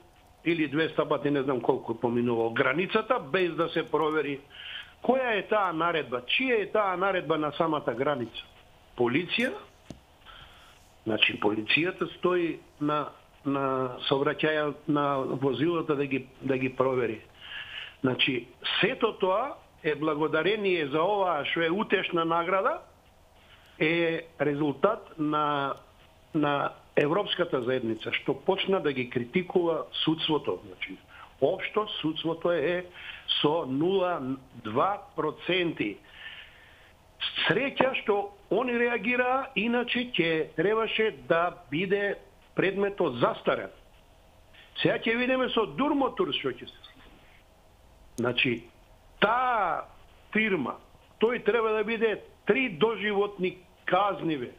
или двеста пати, не знам колку поминувал границата, без да се провери која е таа наредба, чија е таа наредба на самата граница. Полиција, значи полицијата стои на, на сообраќаја на возилата да ги, да ги провери. Значи, сето тоа е благодарение за оваа што е утешна награда, е резултат на на Европската заедница, што почна да ги критикува судството. Значи, општо судството е со нула целу два проценти. Среќа што они реагираа, иначе ќе требаше да биде предметот застарен. Сега ќе видиме со Дурмотур што ќе се случи. Значи, таа фирма, тој треба да биде три доживотни казниве.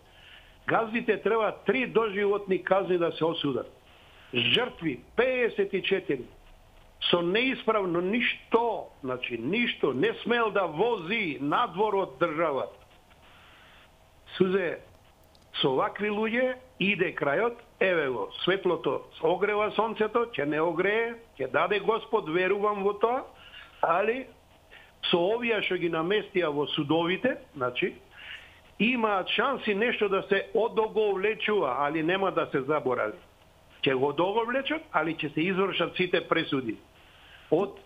Газдите треба три доживотни казни да се осудат. Жртви пеесет и четири. Со неисправно ништо, значи ништо, не смел да вози надвор од државата. Сузе, со вакви луѓе иде крајот, еве го, светлото огрева сонцето, ќе не огрее, ќе даде Господ, верувам во тоа, али со овие што ги наместија во судовите, значи, имаат шанси нешто да се одоговлечува, али нема да се заборави. Ќе го одоговлечат, али ќе се извршат сите пресуди. Од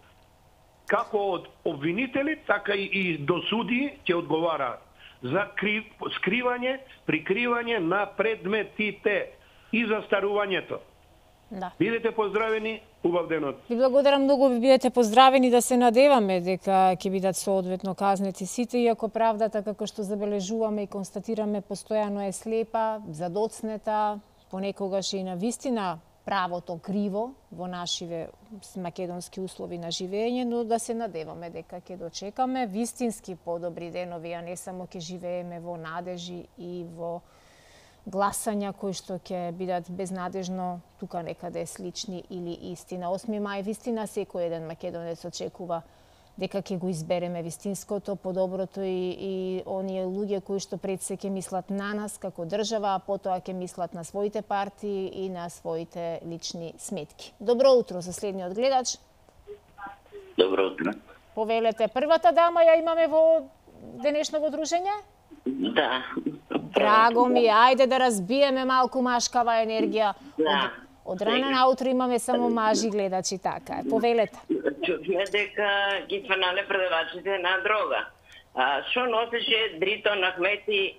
како од обвинители, така и до суди ќе одговараат за кри, скривање, прикривање на предметите и застарувањето. Да. Бидете поздравени, убав денот. Ви благодарам многу, ви бидете поздравени, да се надеваме дека ќе бидат соодветно казнети сите, иако правдата, како што забележуваме и констатираме, постојано е слепа, задоцнета, понекогаш и на вистина правото криво во нашиве македонски услови на живење, но да се надеваме дека ќе дочекаме вистински подобри денови, а не само ќе живееме во надежи и во гласања кои што ќе бидат безнадежно тука некаде слични или истина. осми мај вистина секој еден македонец очекува дека ќе го избереме вистинското, подоброто и, и оние луѓе кои што пред се ќе мислат на нас како држава, а потоа ќе мислат на своите партии и на своите лични сметки. Добро утро за следниот гледач. Добро утро. Повелете, првата дама ја имаме во денешното дружење? Да. Драго ми, ајде да разбиеме малку машкава енергија. Да. Од, од рана наутро имаме само мажи гледачи, така е. Повелете. Чувме дека ги фанале продавачите на дрога. А, шо носеше Дритон Ахмети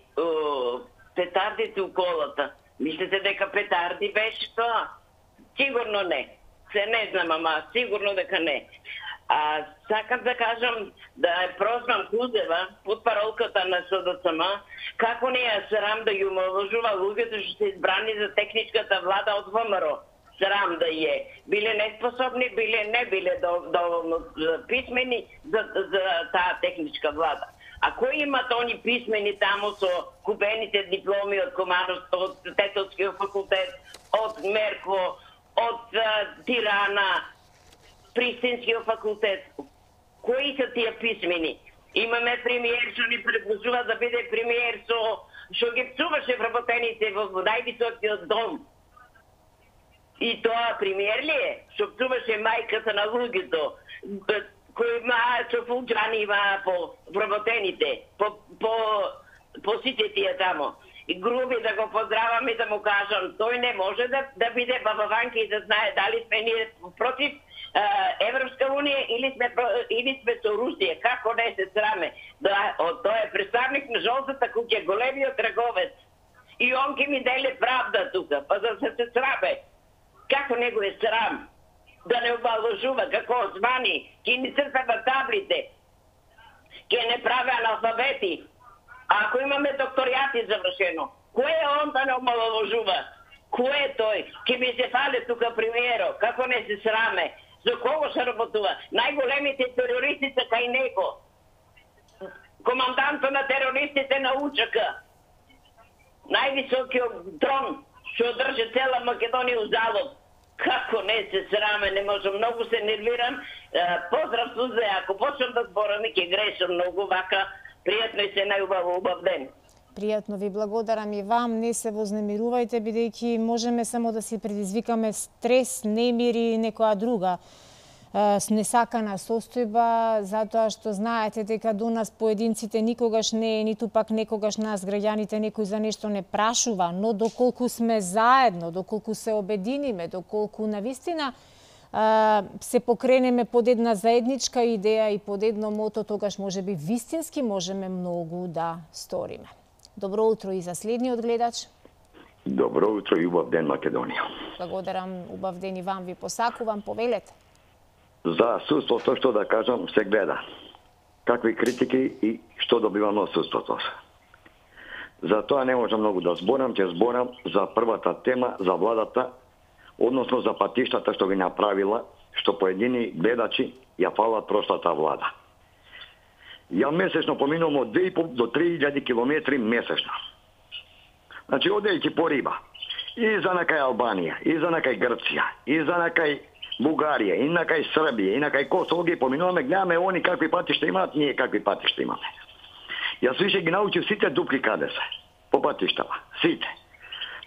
петардите у колата? Мислите дека петарди беше тоа? Сигурно не. Се не знам, ама сигурно дека не. А сакам да кажам да е прозвам Кузева под паролката на СДСМ, како не е срам да ги омалважува луѓето што се избрани за техничката влада од ВМРО. Срам да е. Биле неспособни, биле не биле доволно писмени за, за таа техничка влада. А кои имат они писмени таму со купените дипломи од Комановско, од Тетовскиот факултет, од Мерко, од Тирана, Пристинскиот факултет? Кои се тие писмени? Имаме премиер што ни предложува да биде премиер со што ги псуваше вработените во највисокиот дом. И тоа премиер ли е? Што псуваше мајката на луѓето, кои има со фулџани има по вработените, по, по, по сите тие тамо. И груби да го поздравам и да му кажам, тој не може да, да биде бабаванки и да знае дали сме ние против Европска унија или сме или сме со Русија. Како не се сраме? Да, тој е представник на жолтата куќа, големиот траговец. И он ки ми деле правда тука, па да се се сраме. Како не го е срам? Да не обалважува, како османи, ки ни црта на таблите, ки не прави аналфабети. А ако имаме докторијати завршено, кој е он да не обалважува? Кој е тој? Ки ми се фале тука премиеро, како не се сраме? За кого се работува? Најголемите терористи се кај него. Команданто на терористите на УЧК. Највисокиот трон што држи цела Македонија у залог. Како не се сраме, не можам, многу се нервирам. Поздрав Сузе, ако почнам да зборам и ќе грешам многу, вака пријатно и се најубаво убав ден. Пријатно ви благодарам и вам, не се вознемирувајте, бидејќи можеме само да си предизвикаме стрес, немири и некоја друга несакана состојба, затоа што знаете дека до нас поединците никогаш не е, ниту пак некогаш нас граѓаните некој за нешто не прашува, но доколку сме заедно, доколку се обединиме, доколку навистина се покренеме под една заедничка идеја и под едно мото, тогаш може би вистински можеме многу да сториме. Добро утро и за следниот гледач. Добро утро и убав ден, Македонија. Благодарам, убав ден и вам ви посакувам, повелете. За судството што да кажам се гледа. Какви критики и што добивам од судството. За тоа не можам многу да зборам, ќе зборам за првата тема, за владата, односно за патиштата што ги направила, што поедини гледачи ја фалат прошлата влада. Ја месечно поминувам од две и по до три илјади километри месечно. Значи, одејќи по риба, и за накај Албанија, и за накај Грција, и за накај Бугарија, и накај Србија, и накај Косово ги поминуваме, гледаме они какви патишта имаат, ние какви патишта имаме. Јас више ги научив сите дупки каде се, по патиштава, сите.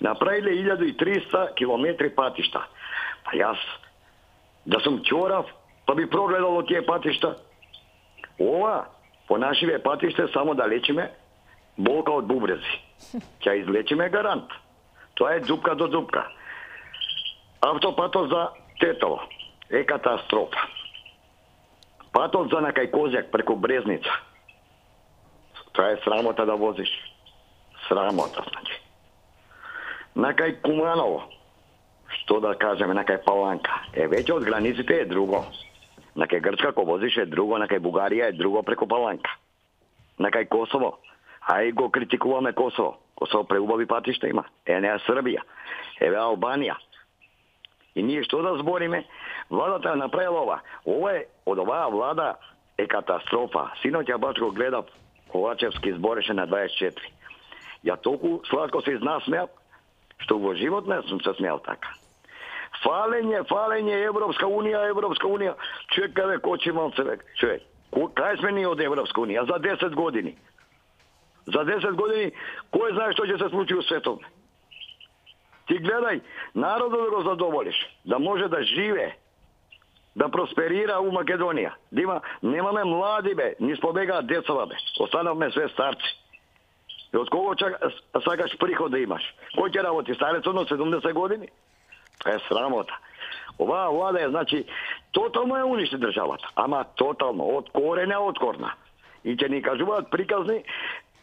Направиле илјаду и триста километри патишта. Па јас, да сум чорав, па би прогледал од тие патишта. Ова, по нашиве патиште, само да лечиме болка од бубрези. Ќе излечиме гарант. Тоа е дупка до дупка. Автопатот за Тетово е катастрофа. Патот за накај Козјак преку Брезница. Тоа е срамота да возиш. Срамота, значи. Накај Куманово, што да кажеме, накај Паланка, е веќе од границите е друго. Накај Грчка ко возиш е друго, накај Бугарија е друго преку Паланка. Накај Косово, ај го критикуваме Косово. Косово преубави патишта има. Е, не е Србија. Еве Албанија. И ние што да збориме? Владата е направила ова. Ова е, од оваа влада е катастрофа. Синоќа баш го гледав, Ковачевски збореше на дваесет и четири. Ја толку сладко се изнасмеав, што во живот не сум се смеал така. Фалење, фалење, Европска унија, Европска унија. Чекаве, кочи малце, човек. Кај сме ние од Европска унија? За десет години. За десет години, кој знае што ќе се случи у светот? Ти гледај, народот да го задоволиш, да може да живее, да просперира у Македонија. Да има, немаме млади бе, ни спобегаат децава бе. Останавме све старци. И од кого чак, сакаш приход да имаш? Кој ќе работи? Старецот на седумдесет години? Тоа е срамота. Оваа влада е, значи, тотално ја уништи државата. Ама тотално, од корене од корна. И ќе ни кажуваат приказни,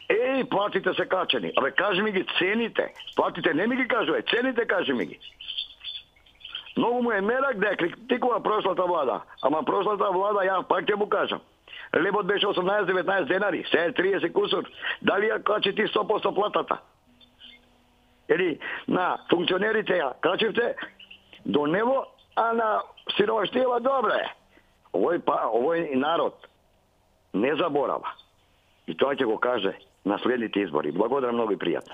еј, платите се качени. Абе, кажи ми ги цените. Платите не ми ги кажува, цените кажи ми ги. Многу му е мерак да ја критикува прошлата влада. Ама прошлата влада, ја пак ќе му кажам. Лебот беше осумнаесет деветнаесет денари, се е триесет кусур. Дали ја качи ти сто проценти платата? Или на функционерите ја качивте до него, а на сиромаштијава добре. Овој, па, овој народ не заборава. И тоа ќе го каже на следните избори. Благодарам многу и пријатно.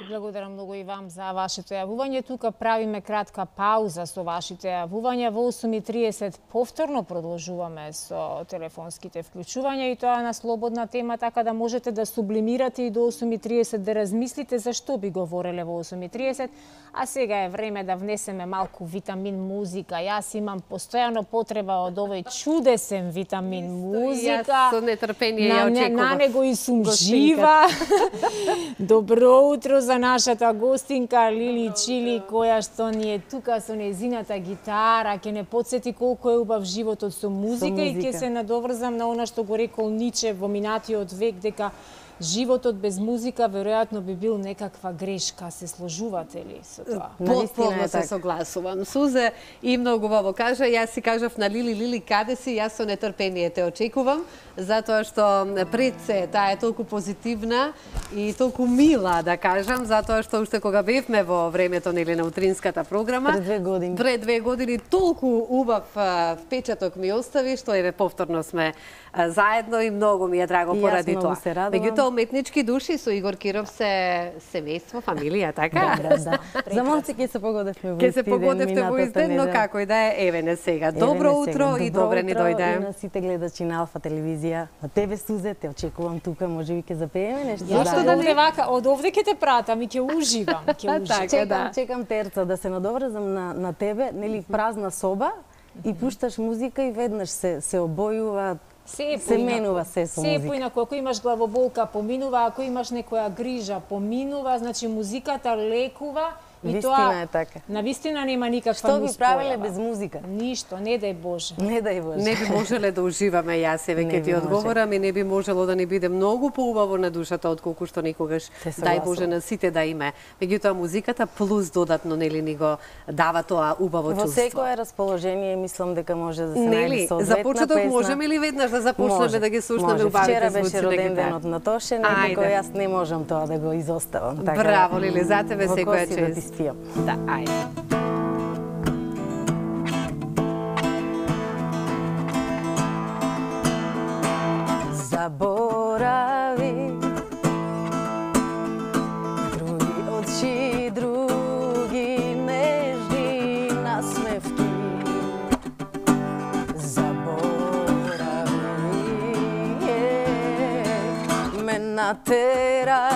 Благодарам многу и вам за вашето јавување. Тука правиме кратка пауза со вашите јавувања. Во осум и триесет повторно продолжуваме со телефонските вклучувања и тоа на слободна тема, така да можете да сублимирате и до осум и триесет да размислите за што би говореле во осум и триесет. А сега е време да внесеме малку витамин музика. Јас имам постојано потреба од овој чудесен витамин музика. Јас со нетрпение ја очекував. На него и сум жива. Добро утро за нашата гостинка Лили Чили, која што ни е тука со незината гитара, ќе не подсети колку е убав животот со музика, со музика. И ќе се надоврзам на она што го рекол Ниче во минатиот век, дека животот без музика веројатно би бил некаква грешка. Се сложувате ли со тоа? Потполно се согласувам. Сузе и многу во кажа. Јас си кажав на Лили, Лили, каде си? Јас со нетрпение те очекувам, затоа што пред се таа е толку позитивна и толку мила, да кажам, затоа што уште кога бевме во времето нели на утринската програма, пред две години, пред две години толку убав впечаток ми остави, што еве повторно сме заедно и многу ми е драго поради тоа. Меѓутоа уметнички души со Игор Киров се семејство, фамилија, така? Да, да. За малце ќе се погодевме во Ке се погодевте во изден, но како и да е, еве не сега. Добро утро и добре ни дојде. И на сите гледачи на Алфа телевизија. На тебе, Сузе, те очекувам тука, може би ќе запееме нешто. Зашто да не вака, од овде ќе те пратам и ќе уживам, ќе уживам. Чекам, чекам терца да се надоврзам на на тебе, нели празна соба и пушташ музика и веднаш се се обојува. Се, се менува се со музика. Се поинако, ако имаш главоболка, поминува, ако имаш некоја грижа, поминува, значи музиката лекува Вистина е така. На вистина нема никаква Што би нуспојава. правеле без музика? Ништо, не дај Боже. Не дај Боже. Не би можеле да уживаме, јас еве ќе ти одговорам, и не би можело да ни биде многу поубаво на душата отколку што некогаш, дај Боже, на сите да име. Меѓутоа музиката плюс додатно нели ни го дава тоа убаво Во чувство. секое расположение мислам дека може да се Нели, најде соодветна за почеток песна. можеме ли веднаш да започнеме Може, да ги слушнеме може. убавите Вчера звуци беше на роден гитара? денот на Тоше, некако Ајде. јас не можам тоа да го изоставам. Така, Браво, Лили, за тебе во секоја коси да ти чест. спијам. Да, ајде. Заборави други очи, други нежни насмевки. Заборави е, ме натера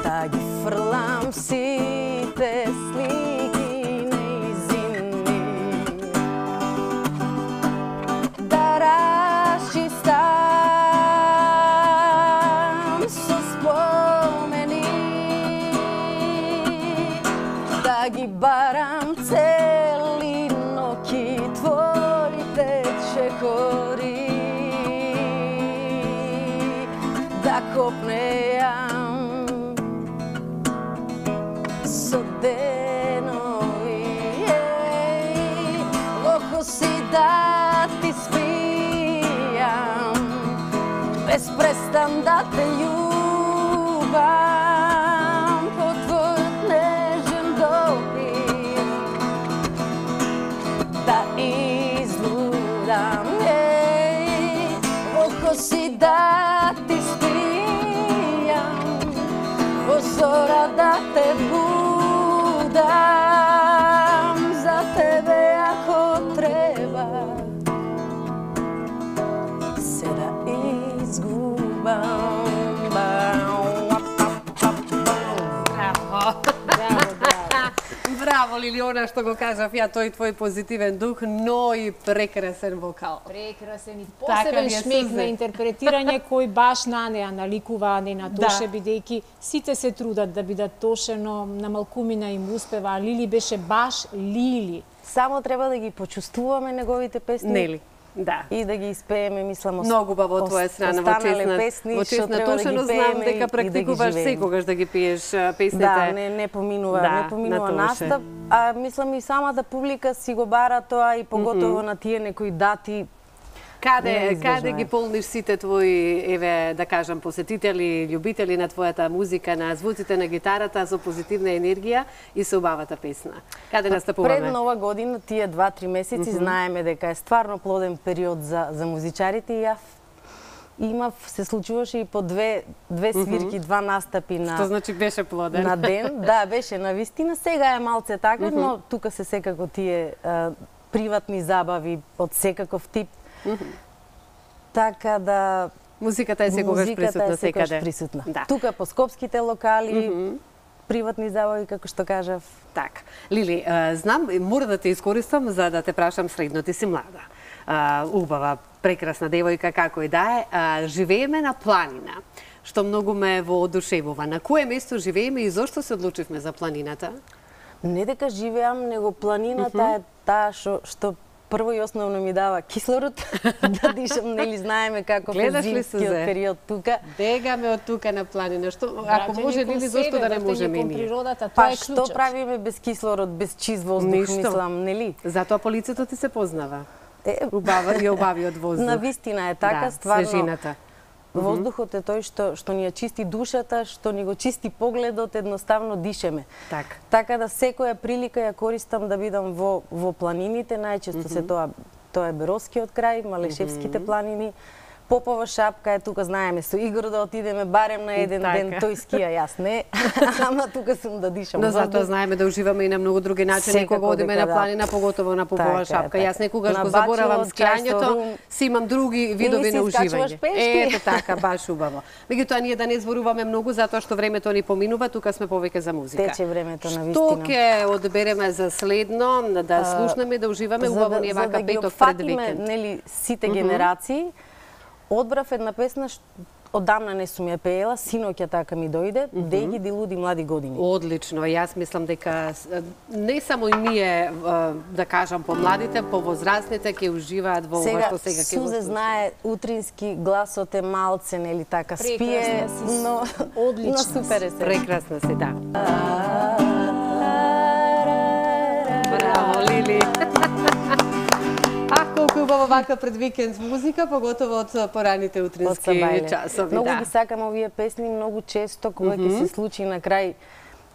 да ги фрлам сите слики неизинни, да расчистам со спомени, да ги барам цели ноќи твоите чекори, да копнеам со денови, во коси да ти спијам, без престан да те љубам, по твојот нежен допир, да излудам, во коси да ти спијам, во зора да те будам, за тебе ако треба се да изгубам. Браво. Браво, Лили, она што го кажав ја, тој твој позитивен дух, но и прекрасен вокал. Прекрасен и Така посебен ми е шмек сузе. на интерпретирање кој баш на неа наликува, не на Тоше, Да. бидејќи сите се трудат да бидат Тоше, но на малкумина им успева, а Лили беше баш Лили. Само треба да ги почувствуваме неговите песни. Нели? Да. И да ги испееме, мислам, ост- Многу баво од твоја страна во останале честна, песни, во што честна треба да ги Тошено, знам пееме дека и да ги практикуваш живееме. секогаш да ги пиеш а, песните. Да, не, не поминува, Да, не поминува на Тоше. настап, а мислам и самата публика си го бара тоа и поготово Мгм. на тие некои дати. Каде, Неизбежно каде е. ги полниш сите твои, еве, да кажам, посетители, љубители на твојата музика, на звуците на гитарата со позитивна енергија и со убавата песна? Каде настапуваме? Пред нова година, тие два-три месеци, Мгм. знаеме дека е стварно плоден период за, за музичарите и ја имав, се случуваше и по две, две свирки, Мгм. два настапи на... Што значи беше плоден? На ден, да, беше на вистина. Сега е малце така, Мгм. но тука се секако тие а, приватни забави од секаков тип. Така да... Музиката е секогаш музиката присутна е секогаш секаде. присутна. Да. Тука по скопските локали, Мгм. приватни забави, како што кажав. Така. Лили, а, знам, мора да те искористам за да те прашам следно. Ти си млада, а, убава, прекрасна девојка, како и да е. А, живееме на планина, што многу ме воодушевува. На кое место живееме и зошто се одлучивме за планината? Не дека живеам, него планината Мгм. е таа што, што прво и основно ми дава кислород, да дишам, нели знаеме како Гледаш е ли зимскиот сузе? период тука. Бегаме од тука на планина. Што, ако Враќање може, кон Лили, себе, зошто да не враќање можеме и кон ние? природата, тоа Па е што клучот. правиме без кислород, без чист воздух, Ништо. мислам, нели? Затоа по лицето ти се познава. Е, Убава и обавиот воздух. На вистина е така, Да, стварно. свежината. Мгм. Воздухот е тој што што ни ја чисти душата, што ни го чисти погледот, едноставно дишеме. Така. Така да секоја прилика ја користам да бидам во во планините, најчесто се Мгм. тоа тоа е Бероскиот крај, Малешевските Мгм. планини. Попова шапка е тука, знаеме, со Игор да отидеме барем на еден Така. ден, тој скија, јас не, ама тука сум да дишам Но воздух. затоа знаеме да уживаме и на многу други начини Секако кога одиме дека на да. планина, поготово на попова Така е, шапка. така. Јас некогаш На го заборавам бачилот, чај со скијањето, рум. си имам други видови си на искачуваш уживање. пешки. Ето така, баш убаво. Меѓутоа ние да не зборуваме многу затоа што времето ни поминува, тука сме повеќе за музика. Тече времето на Што вистина. ќе одбереме за следно, да А, слушнеме, да уживаме, за убаво да- ни е за вака да ги петок пред опфатиме, викенд. нели, сите Мгм. генерации, одбрав една песна ш- одамна не сум ја пеела, синоќа така ми дојде, mm -hmm. Деги ди луди млади години. Одлично, јас мислам дека не само и ние, да кажам, помладите, повозрастните ќе уживаат во ова што сега ќе го Сузе знае утрински, гласот е малце, нели така, спие, но одлично, но супер е се. Прекрасна си, да. Браво, Лили. Ах, колку е убаво вака пред викенд музика, поготово од пораните утрински часови. Многу ги сакам овие песни, многу често кога ќе се случи на крај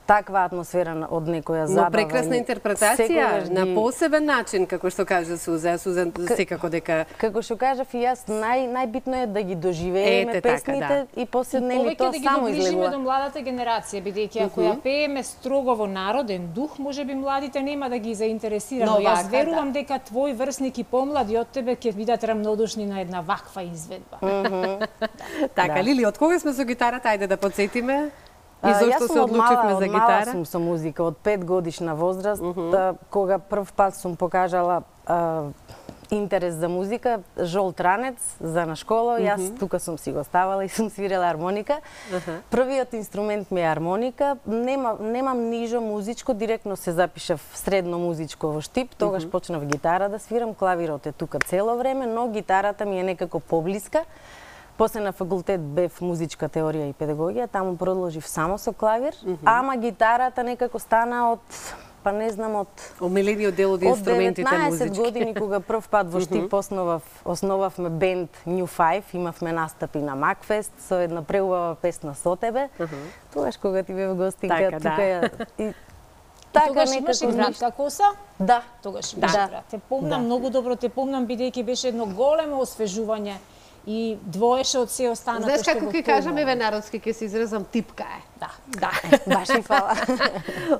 таква атмосфера од некоја забава. Но прекрасна интерпретација, на посебен начин, како што кажа Суза. Суза секако дека... Како што кажав и јас, нај, најбитно е да ги доживееме песните така, да. И после нели тоа да само излегува. И повеќе да ги доближиме до младата генерација, бидејќи ако ја пееме строго во народен дух, можеби младите нема да ги заинтересира, но, но јас вака, верувам да. дека твој врсник и помлади од тебе ќе бидат рамнодушни на една ваква изведба. Така, да. Лили, од кога сме со гитарата, ајде да подсетиме? И зошто се одлучивме за гитара? Јас сум со музика, од пет годишна возраст, uh -huh. да, кога прв пат сум покажала а, интерес за музика, жолт ранец за на школа, јас uh -huh. тука сум си го ставала и сум свирела армоника. Uh -huh. Првиот инструмент ми е армоника, Нема, немам нижо музичко, директно се запишав средно музичко во Штип, тогаш uh -huh. почнав гитара да свирам, клавирот е тука цело време, но гитарата ми е некако поблиска. После на факултет бев музичка теорија и педагогија, таму продолжив само со клавир, mm -hmm. ама гитарата некако стана од, па не знам, од... Омилениот дел од инструментите музички. Од деветнаесет години, кога прв пат во Штип основав, основавме бенд New Five, имавме настапи на Макфест со една преубава песна Со тебе, mm -hmm. тогаш кога ти бев гостинка, така, тука да. ја... И... Така, тогаш имаше кратка коса? Да. Тогаш имаше да. Те помнам, да. многу добро те помнам, бидејќи беше едно големо освежување и двоеше од се останато што го помнам. Знаеш како ќе кажам, еве народски ќе се изразам, типка е. Да. Да. Баш ми фала.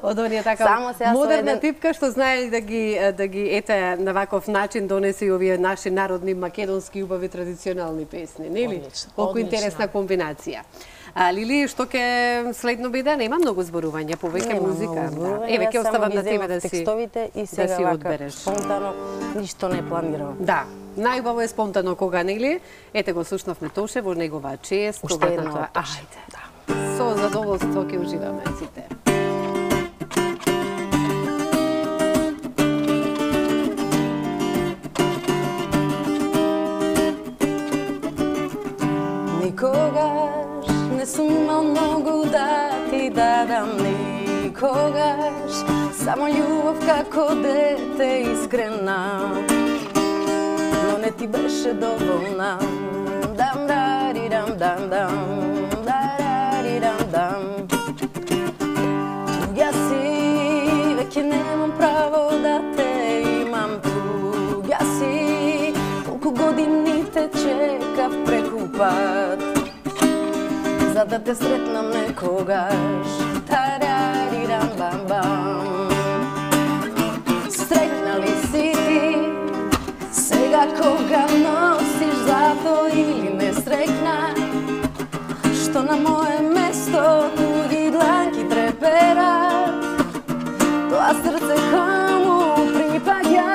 Од оние така модерна еден... типка што знае да ги да ги ете на ваков начин донесе и овие наши народни македонски убави традиционални песни, нели? Колку интересна комбинација. А Лили, што ќе следно биде? Нема многу зборување, повеќе музика. Да. Еве ќе оставам на тебе да си текстовите и сега да си вака, одбереш. Спонтано ништо не планирам. Да. Најубаво е спонтано кога, нели? Ете го слушнавме Тоше во негова чест. Уште едно од Ајде, да. Со задоволство ќе уживаме сите. Никогаш не сум имал многу да ти дадам, никогаш само љубов како дете искрена, но не ти беше доволна. Дам дарирам дам дам дарирам дам. Туѓа си, веќе немам право да те имам. Туѓа си, колку години те чекав преку пат, за да те сретнам некогаш. Тарарирам бам бам. Стрекна ли си ти сега кога носиш злато или не стрекна? Што на моje место туѓи дланки треперат, тоа срце кому припаѓа.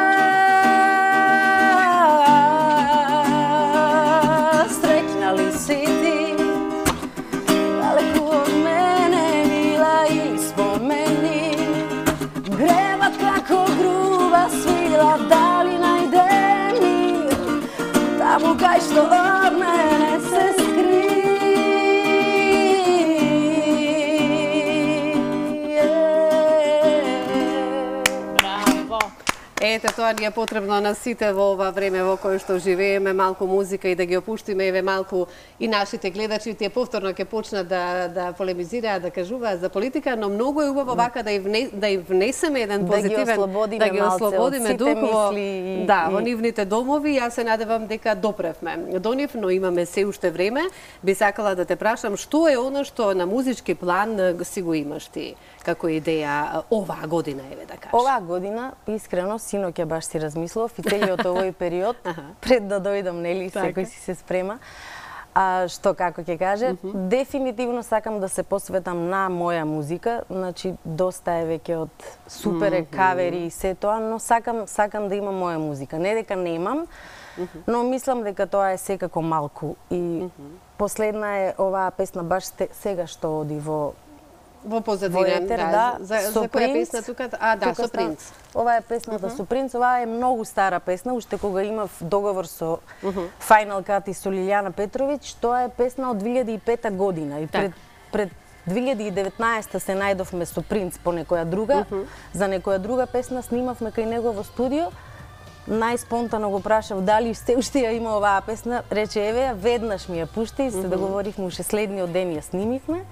Стрекна ли си ти далеку од мене мила или спомени? Гребат како груба свила, дали најде мир таму кај што од мене се скри? Ете, тоа ни е потребно на сите во ова време во кое што живееме, малку музика и да ги опуштиме, еве малку и нашите гледачи, тие повторно ќе почнат да да полемизираат, да кажуваат за политика, но многу е убаво вака да и вне, да и внесеме еден позитивен, да ги ослободиме, да ги ослободиме дух во, и, да, и... во нивните домови. Јас се надевам дека допревме до нив, но имаме се уште време. Би сакала да те прашам што е она што на музички план си го имаш ти како идеја оваа година, еве да кажеш. Оваа година, искрено, синоќа баш си размислував и целиот овој период, пред да дојдам, нели, секој си се спрема. А што како ќе каже, uh -huh. дефинитивно сакам да се посветам на моја музика, значи доста е веќе од супер е кавери и се тоа, но сакам сакам да имам моја музика. Не дека немам, но мислам дека тоа е секако малку и последна е оваа песна баш сега што оди во во позадина, етер, да, да, за, за која песна тука? А, да, тука со Принц. Ова е песната со Принц, ова е многу стара песна, уште кога имав договор со Uh -huh. Final Cut и со Лилјана Петровиќ, тоа е песна од две илјади и пета година и пред, пред две илјади и деветнаесета се најдовме со Принц по некоја друга, uh -huh. за некоја друга песна снимавме кај него во студио. Најспонтано го прашав дали се уште ја има оваа песна, рече еве ја, веднаш ми ја пушти, се договоривме уште следниот ден ја снимивме.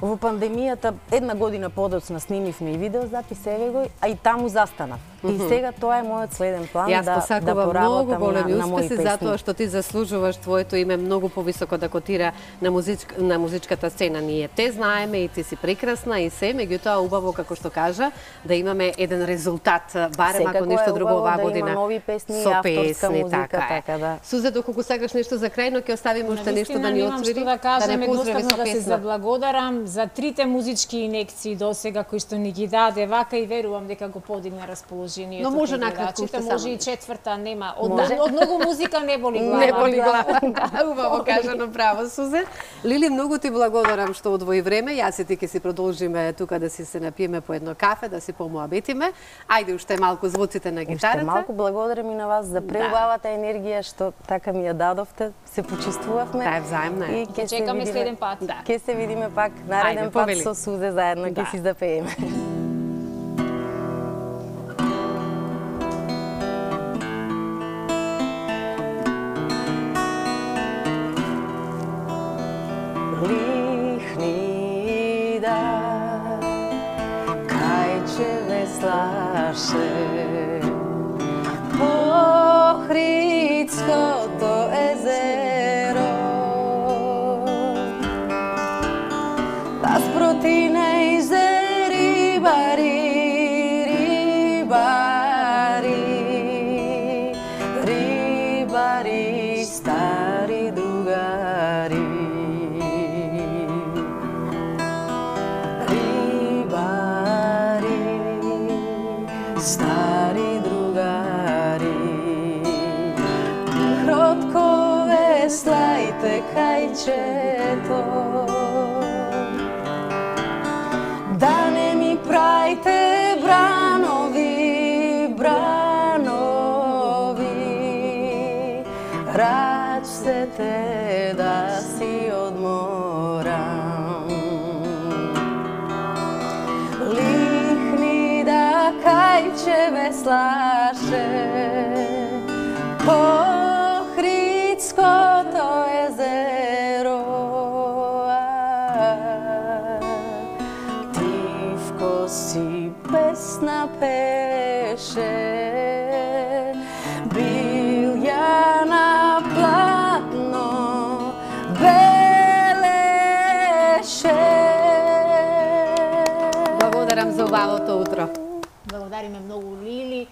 Во пандемијата една година подоцна снимивме и видеозапис, еве го, а и таму застанав. И сега тоа е мојот следен план Јас да да поработам на, големи на мои успеси песни. затоа што ти заслужуваш твоето име многу повисоко да котира на музичка, на музичката сцена. Ние те знаеме и ти си прекрасна и се, меѓутоа убаво како што кажа да имаме еден резултат, барем Секако ако ништо друго оваа да година. Има нови песни, со авторска песни, музика, така, така да. Сузе, доколку сакаш нешто за крај, но ќе оставиме уште нешто да ни отвори, што да кажам, не поздрави со да се песна. заблагодарам за трите музички инекции досега кои што ни ги даде, вака и верувам дека го подигна расположението. Но може кај накратко уште може само и четврта, нема. Од, Може. од многу музика не боли глава. Не боли глава. Да, убаво кажано, право, Сузе. Лили, многу ти благодарам што одвои време. Јас и ти ќе си продолжиме тука да си се напиеме по едно кафе, да си помоабетиме. Ајде уште малку звуците на гитарата. Уште малку благодарам и на вас за преубавата енергија што така ми ја дадовте. Се почувствувавме. Таа е взаимна. И ќе се чекаме видиме следен пат. Да. Ќе се видиме пак нареден Ајде, пат повели. со Сузе заедно ќе Да. си запееме. Лихни да кајче веслаше по Охридското езеро да спроти најзе рибари, рибари, рибари, стари другари. Рибари, стари другари, кротко веслајте кајчето, да не ми прајте бранови, бранови, рачете да си одморам. Лихни да кајче веслаше по Охридското езеро, тивко си песна пеше, бил ја на платно белеше. Благодарам за убавото утро. Благодариме многу, Лили.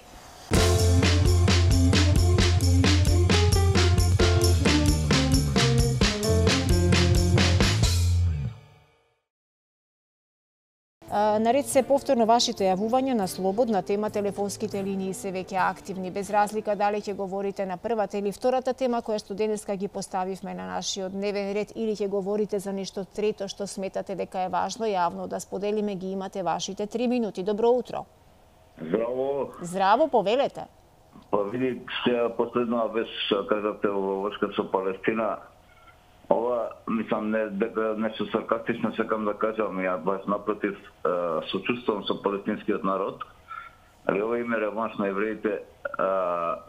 Наред се повторно вашите јавувања на слободна тема, телефонските линии се веќе активни, без разлика дали ќе говорите на првата или втората тема која што денеска ги поставивме на нашиот дневен ред или ќе говорите за нешто трето што сметате дека е важно јавно да споделиме, ги имате вашите три минути. Добро утро. Здраво. Здраво, повелете. Па види, сега последна вест кажате во врска со Палестина. Ова, мислам, не дека нешто саркастично сакам да кажам, ја баш напротив сочувствувам со палестинскиот народ. Али ова име реванш на евреите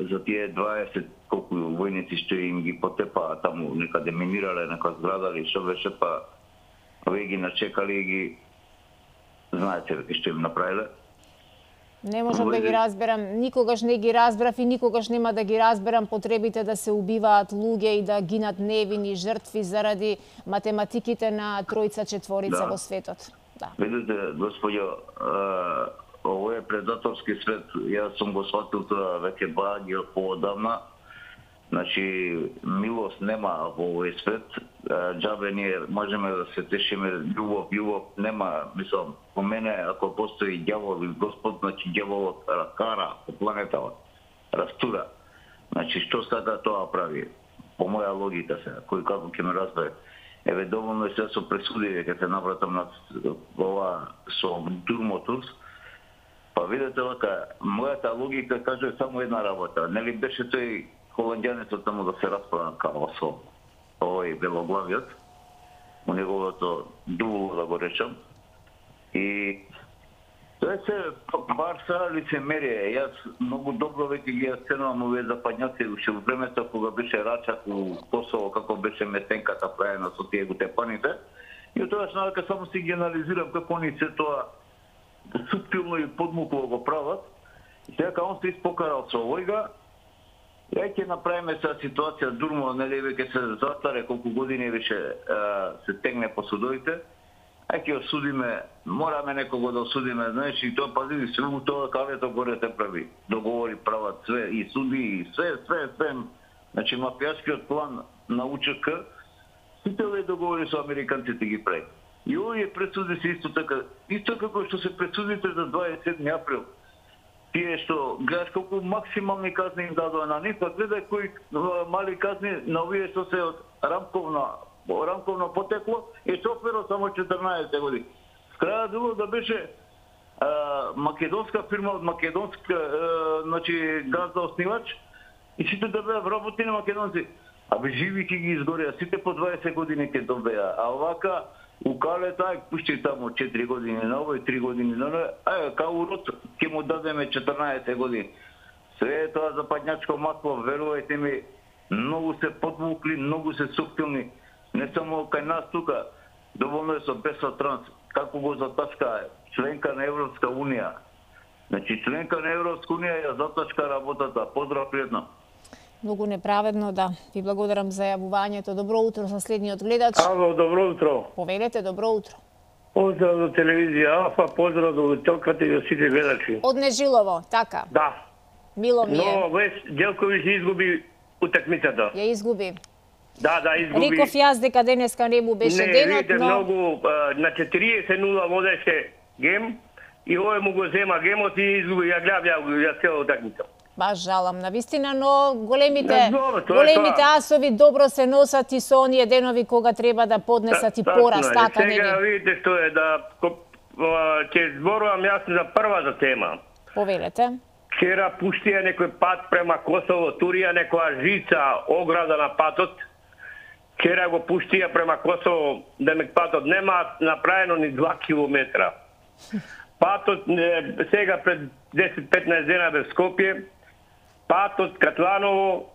за тие дваесет колку војници што им ги потепаа таму, некаде минирале нека зграда или што беше, па овие ги начекали и ги знаете што им направиле. Не можам да ги разберам, никогаш не ги разбрав и никогаш нема да ги разберам потребите да се убиваат луѓе и да гинат невини жртви заради математиките на тројца четворица Да. во светот. Да. Видите, господјо, ово е предаторски свет. Јас сум го сватил тоа веќе баѓа поодамна. Значи, милост нема во овој свет. Џабе ние можеме да се тешиме, љубов, љубов нема. Мислам, по мене, ако постои ѓавол или Господ, значи ѓаволот кара по планетава, растура. Значи, што сака тоа прави? По моја логика сега, кој како ќе ме разбере. Еве, доволно е се со пресудиве, ќе се навратам на ова со Турмотурс. Па видете вака, мојата логика каже само една работа. Нели беше тој холандјанецот таму да се расправа као со овој белоглавиот, у неговото дуло, да го речам. И тоа се барса лицемерие. Јас многу добро веќе ги оценувам овие западњаци уште во времето кога беше Рачак у Косово, како беше метенката правена со тие гутепаните. И од тоа што само си ги анализирам како они се тоа суптилно и подмукло го прават. И сега он се испокарал со овојга. Ја ќе направиме сега ситуација Дурмо, нели веќе се застаре колку години више се тегне по судовите. Ај ќе осудиме, мораме некого да осудиме, знаеш, и тоа пази, све у тоа калето горе те прави. Договори прават све, и суди, и све, све, све. Значи, мафијашкиот план на У Ч К, сите овие договори со американците ги прави. И овие пресуди се исто така, исто како што се пресудите за дваесет и седми април. Тие што, гледаш колку максимални казни им дадоа на нив, па гледај кои мали казни на овие што се од рамковна рамковно потекло и шоферот само четрнаесет години. Краја било да беше а, македонска фирма од македонска а, значи газда основач и сите да беа вработени македонци. Абе живи ќе ги изгореа, сите по дваесет години ќе добеа. А овака у Калета ај пушти таму четири години на овој, три години на овој, ај као урод ќе му дадеме четрнаесет години. Све е тоа западњачко масло, верувајте ми, многу се подвукли, многу се суптилни. Не само кај нас тука, доволно е со Беса Транс, како го затачка членка на Европска унија. Значи, членка на Европска унија ја затачка работата. Поздрав пријатно. Многу неправедно, да. Ви благодарам за јавувањето. Добро утро за следниот гледач. Ало, добро утро. Повелете, добро утро. Поздрав до телевизија Алфа, поздрав до телката и до сите гледачи. Од Нежилово, така? Да. Мило ми е. Но Вес Ѓелковиќ изгуби утакмицата. Ја изгуби. Да, да, изгуби. Реков јас дека денеска не му беше не, денот, видите, но... многу, а, на четириесет нула водеше гем и овој му го зема гемот и изгуби. Ја гледам ја, ја цела утакмица. Баш жалам на вистина, но големите Не, добро, тоа е големите тоа. асови добро се носат и со оние денови кога треба да поднесат и пораз, така нели? Сега видите што е да ќе зборувам јас за првата тема. Повелете. Вчера пуштија некој пат према Косово, турија некоја жица ограда на патот. Вчера го пуштија према Косово, да ме патот нема направено ни два километра. Патот сега пред десет-петнаесет дена бе Скопје. Патот Катланово,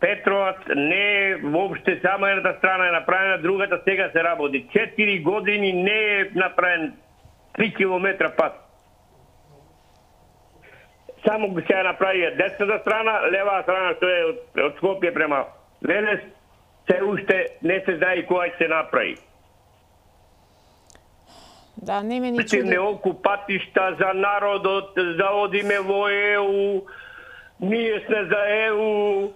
Петровац не е воопште само едната страна е направена, другата сега се работи. Четири години не е направен три километра пат. Само го се направија десната страна, левата страна што е од, од Скопје према Велес, се уште не се знае која ќе се направи. Да, не ме ни чуди. Неолку патишта за народот, да одиме во Е У, ние сме за Е У.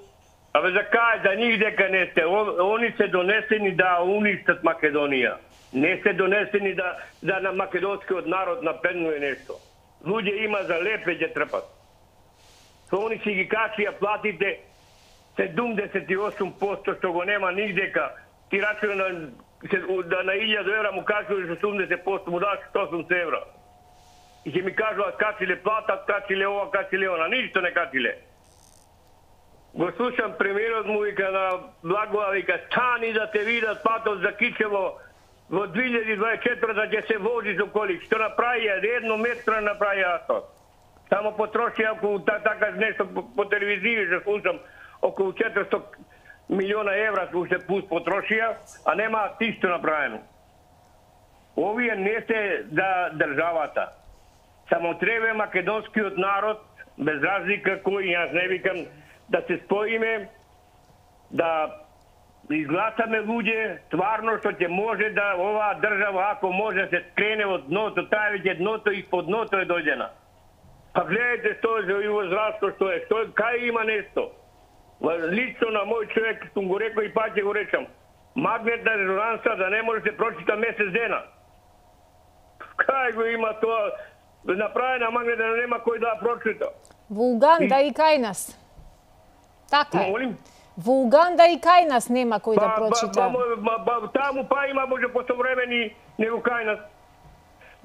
Абе за кај, за нив дека не сте. Они се донесени да уништат Македонија. Не се донесени да, да на македонскиот народ напреднува нешто. Луѓе има за лепе ќе трпат. Со они си ги качија платите седумдесет и осум проценти што го нема нигдека. Ти рачува на да на илјаду евра му кажуваш седумдесет проценти му даш осумдесет евра. И ќе ми кажуваат качиле плата, качиле ова, качиле она, ништо не качиле. Го слушам премиерот му вика на Благоа, вика стани да те видат патот за Кичево во две илјади дваесет и четврта ќе се вози со коли. Што направија? Едно метро направија асфалт. Само потрошија околу така нешто по, по телевизија се слушам околу четиристотини милиона евра уште пус потрошија, а нема тишто направено. Овие не се за државата. Само треба македонскиот народ, без разлика кој, јас не викам, да се споиме, да изгласаме луѓе, стварно што ќе може да оваа држава, ако може да се крене од дното, таа веќе дното и под дното е дојдена. Па гледайте што е за и возрасто, што е, што е, кај има нешто. Лично на мој човек, сум го рекол и пак ќе го речам, магнетна резонанса да не може да се прочита месец дена. Кај го има тоа, направена магнетна, нема кој да прочита. Во Уганда и, и кај нас. Така е. Молим? Во Уганда и кај нас нема кој да прочита. Ба, ба, ба, таму па има може посовремени него кај нас.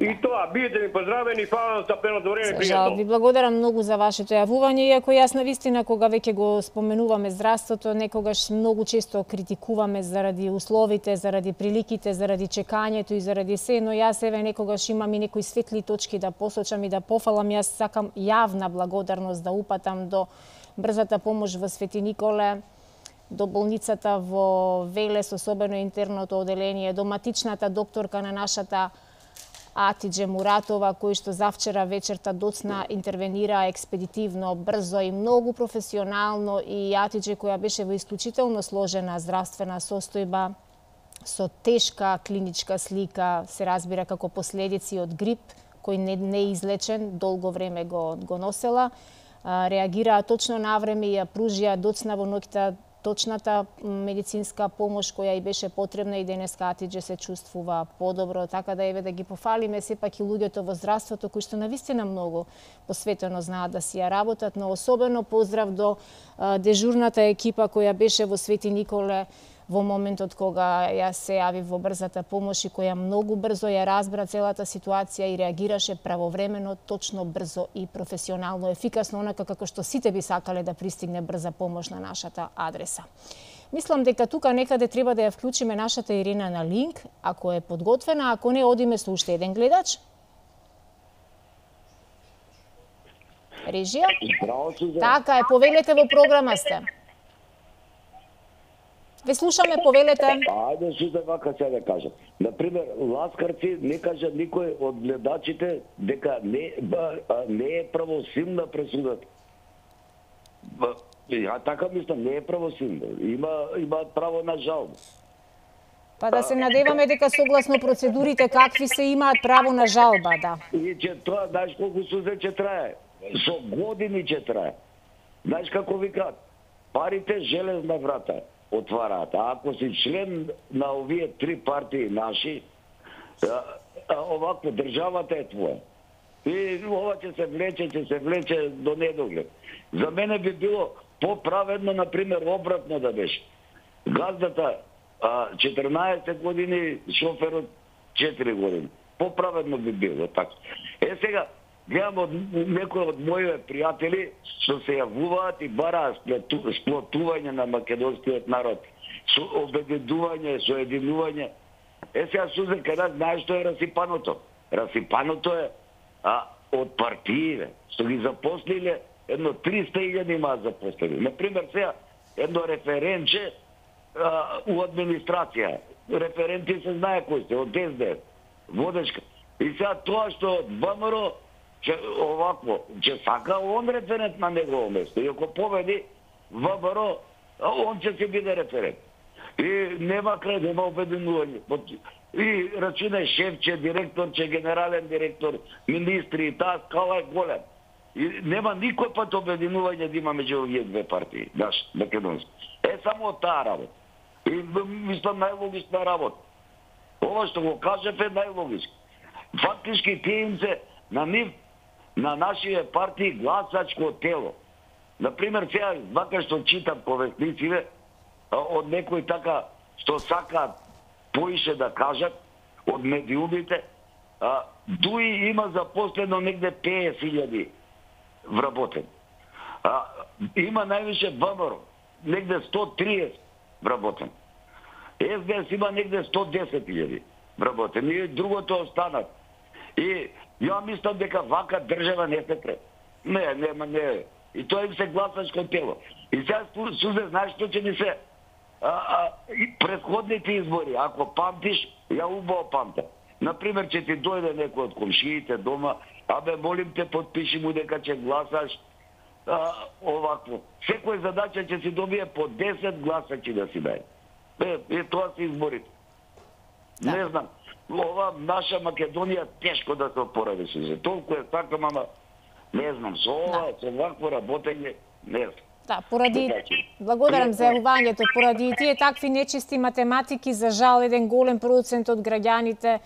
И тоа, бидете ми поздравени, фала за пеното време, пријатно. Жал, ви благодарам многу за вашето јавување, иако јас навистина кога веќе го споменуваме здравството, некогаш многу често критикуваме заради условите, заради приликите, заради чекањето и заради се, но јас еве некогаш имам и некои светли точки да посочам и да пофалам. Јас сакам јавна благодарност да упатам до брзата помош во Свети Николе, до болницата во Велес, особено интерното оделение, до матичната докторка на нашата Атидже Муратова, кој што завчера вечерта доцна интервенира експедитивно, брзо и многу професионално, и Атидже која беше во исклучително сложена здравствена состојба, со тешка клиничка слика, се разбира како последици од грип, кој не, не е излечен, долго време го, го носела, реагираа точно на време и ја пружија доцна во ноќта точната медицинска помош која и беше потребна, и денеска Атидже се чувствува подобро, така да еве да ги пофалиме сепак и луѓето во здравството кои што навистина многу посветено знаат да си ја работат, но особено поздрав до а, дежурната екипа која беше во Свети Николе во моментот кога ја се јави во брзата помош и која многу брзо ја разбра целата ситуација и реагираше правовремено, точно, брзо и професионално, ефикасно, онака како што сите би сакале да пристигне брза помош на нашата адреса. Мислам дека тука некаде треба да ја вклучиме нашата Ирина на линк, ако е подготвена, ако не, одиме со уште еден гледач. Режија? Така е, повелете, во програма сте. Ве слушаме, повелете. Ајде Сузе вака се да кажам. Например, Ласкарци не кажа никој од гледачите дека не, ба, не е правосилна пресудата. Ја така мислам, не е правосилна. Има, има право на жалба. Па да се надеваме дека согласно процедурите какви се имаат право на жалба, да. И че тоа, знаеш колку Сузе ќе трае? Со години ќе трае. Знаеш како викаат? Парите железна врата отвараат. А ако си член на овие три партии наши, а, а, овакво државата е твоја. И ова ќе се влече, ќе се влече до недоглед. За мене би било поправедно, например, обратно да беше. Газдата а, четрнаесет години, шоферот четири години. Поправедно би било така. Е сега, гледам од некои од моите пријатели што се јавуваат и бараат сплотување на македонскиот народ, со обединување, со единување. Е сега Сузе, каде знаеш што е расипаното? Расипаното е а, од партиите, што ги запослиле, едно триста илјади имаат запослени. Например, сега едно референче а, у администрација. Референти се знае кои се, од Ес Де Еф, водечка. И сега тоа што од ВМРО че овакво, че сака он референт на негово место. И ако победи ВМРО, он ќе се биде референт. И нема крај, нема обединување. И рачунај шефче, директорче, генерален директор, министри, и таа скала е голем. И нема никој пат обединување да има меѓу овие две партии, наш, македонски. Е само таа работа. И мислам најлогична работа. Ова што го кажев е најлогично. Фактички тие им се на нив, на нашите партии гласачко тело. Например, сега, вака што читам повестниците, од некои така што сакаат поише да кажат, од медиумите, дуи има запослено негде петдесет илјади вработени. А, има највише ВМРО, негде сто триесет вработени. Ес Де Ес има негде сто десет илјади вработени. И другото останат. И ја мислам дека вака држава не се треба. Не, нема, не. И тоа им се гласачко тело. И сега Сузе, знаеш што ќе ни се? А, а, и предходните избори, ако памтиш, ја убаво памта. Например, ќе ти дојде некој од комшиите дома, абе, молим те, подпиши му дека ќе гласаш а, овакво. Секој задача ќе си добие по десет гласачи да си даде. Е, е, тоа се изборите. Да. Не знам. Ова наша Македонија тешко да се опоради се. Толку е сакам, ама не знам, со ова, да. Со вакво работење, не знам. Да, поради, благодарам за јавувањето, поради тие такви нечисти математики, за жал, еден голем процент од граѓаните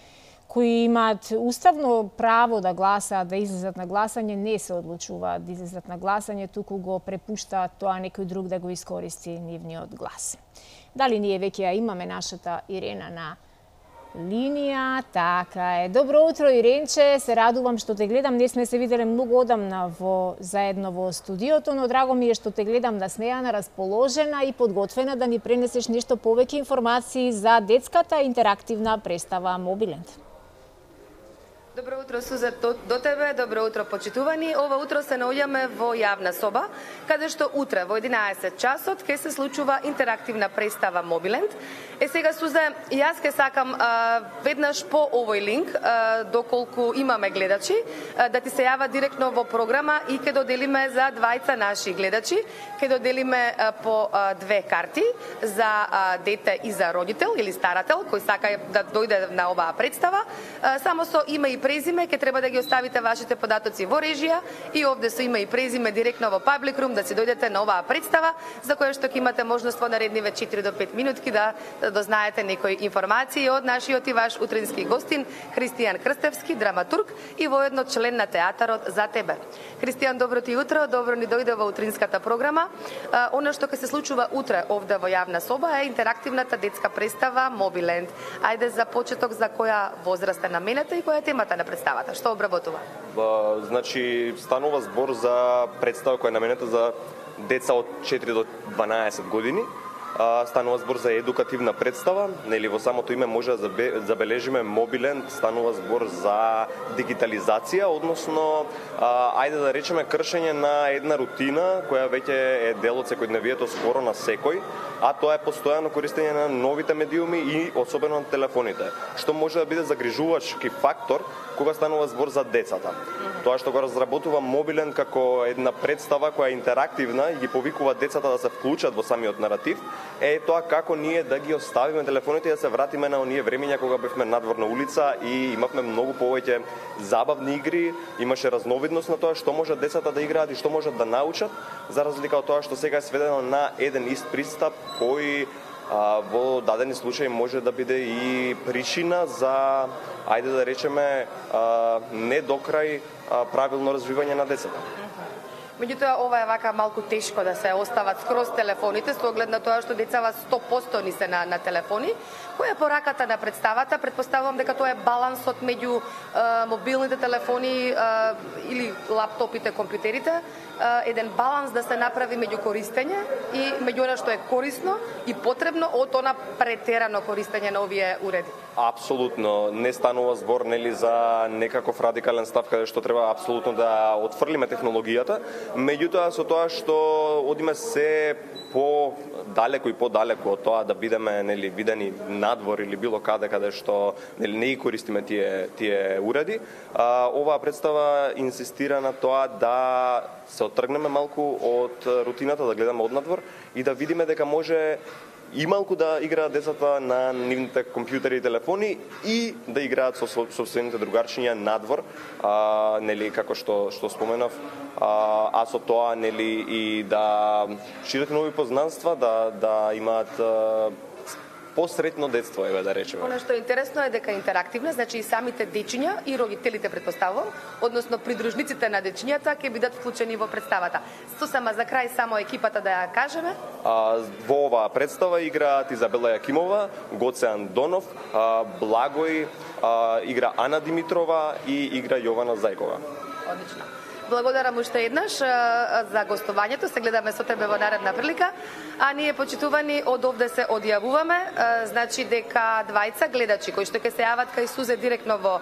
кои имаат уставно право да гласаат, да излезат на гласање, не се одлучуваат да излезат на гласање, туку го препуштаат тоа некој друг да го искористи нивниот глас. Дали ние веќе ја имаме нашата Ирена на линија? Така е. Добро утро, Иренче. Се радувам што те гледам. Не сме се виделе многу одамна во заедно во студиото, но драго ми е што те гледам да смејана, расположена и подготвена да ни пренесеш нешто повеќе информации за детската интерактивна представа Мобиленд. Добро утро, Суза, до, до тебе, добро утро, почитувани. Ова утро се наоѓаме во јавна соба, каде што утре во единаесет часот ќе се случува интерактивна представа Мобиленд. Е сега, Суза, јас ке сакам а, веднаш по овој линк, а, доколку имаме гледачи, а, да ти се јава директно во програма и ќе доделиме за двајца наши гледачи, ќе доделиме а, по а, две карти за а, дете и за родител или старател кој сака да дојде на оваа представа, а, само со име и презиме, ќе треба да ги оставите вашите податоци во режија и овде со име и презиме директно во Public Room да си дојдете на оваа представа, за која што ќе имате можност во наредниве четири до пет минутки да дознаете некои информации од нашиот и ваш утрински гостин Христијан Крстевски, драматург и воедно член на театарот За тебе. Христијан, добро ти утро, добро ни дојде во утринската програма. Она што ќе се случува утре овде во јавна соба е интерактивната детска представа Мобиленд. Ајде за почеток, за која возраст е наменета и која е темата на представата? Што обработува? Ба, значи, станува збор за представа која е наменета за деца од четири до дванаесет години. А, станува збор за едукативна представа, нели во самото име може да забележиме Мобиленд, станува збор за дигитализација, односно, а, ајде да речеме кршење на една рутина која веќе е дел од секојдневието скоро на секој, а тоа е постојано користење на новите медиуми и особено на телефоните, што може да биде загрижувачки фактор кога станува збор за децата. Тоа што го разработува Мобиленд како една представа која е интерактивна и ги повикува децата да се вклучат во самиот наратив, е тоа како ние да ги оставиме телефоните и да се вратиме на оние времења кога бевме надвор на улица и имавме многу повеќе забавни игри, имаше разновидност на тоа што може децата да играат и што можат да научат, за разлика од тоа што сега е сведено на еден ист пристап кој а, во дадени случаи може да биде и причина за, ајде да речеме, а, не до крај а, правилно развивање на децата. Меѓутоа, ова е вака малку тешко да се остават скроз телефоните, со оглед на тоа што децава сто проценти ни се на, на телефони. Која е пораката на представата? Предпоставувам дека тоа е балансот меѓу е, мобилните телефони е, или лаптопите, компјутерите, е, еден баланс да се направи меѓу користење и меѓу она што е корисно и потребно од она претерано користење на овие уреди. Апсолутно, не станува збор нели за некаков радикален став каде што треба апсолутно да отфрлиме технологијата, меѓутоа со тоа што одиме се по далеко и подалеку од тоа да бидеме нели видени надвор или било каде каде што нели не ги користиме тие тие уреди, а, оваа представа инсистира на тоа да се оттргнеме малку од рутината, да гледаме однадвор и да видиме дека може и малку да играат децата на нивните компјутери и телефони и да играат со собствените другарчиња надвор, а, нели како што што споменав, а, а со тоа нели и да шират нови познанства, да да имаат а, посретно детство, еве да речеме. Она што е интересно е дека интерактивна, значи и самите дечиња и родителите предпоставувам, односно придружниците на дечињата ќе бидат вклучени во представата. Сосема за крај само екипата да ја кажеме. А, во оваа представа играат Изабела Јакимова, Гоце Андонов, а, Благој, а, игра Ана Димитрова и игра Јована Зајкова. Одлично. Благодарам уште еднаш за гостувањето. Се гледаме со тебе во наредна прилика. А ние, почитувани, од овде се одјавуваме. Значи дека двајца гледачи кои што ќе се јават кај Сузе директно во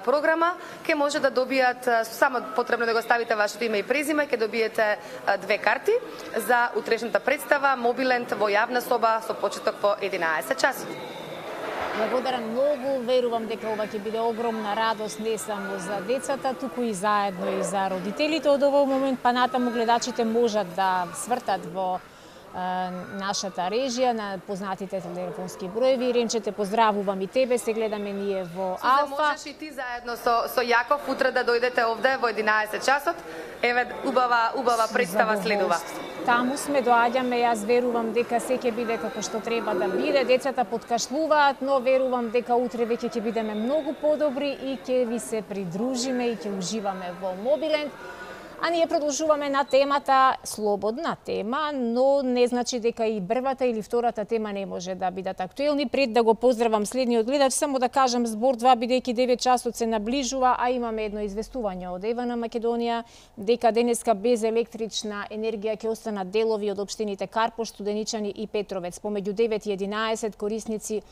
програма, ќе може да добијат, само потребно да го ставите вашето име и презиме, ќе добиете две карти за утрешната представа Мобиленд во јавна соба со почеток во единаесет часот. Благодарам многу, верувам дека ова ќе биде огромна радост не само за децата, туку и заедно и за родителите. Од овој момент па натаму гледачите можат да свртат во е, нашата режија на познатите телефонски броеви. Ренче, те поздравувам и тебе, се гледаме ние во Алфа. Суза, можеш и ти заедно со, со Јаков утре да дојдете овде во единаесет часот. Еве, убава, убава представа следува. таму сме, доаѓаме, јас верувам дека се ќе биде како што треба да биде. Децата подкашлуваат, но верувам дека утре веќе ќе бидеме многу подобри и ќе ви се придружиме и ќе уживаме во Мобиленд. А ние продолжуваме на темата, слободна тема, но не значи дека и првата или втората тема не може да бидат актуелни. Пред да го поздравам следниот гледач, само да кажам збор два, бидејќи девет часот се наближува, а имаме едно известување од Ева на Македонија, дека денеска без електрична енергија ќе останат делови од општините Карпош, Студеничани и Петровец. Помеѓу девет и единаесет корисници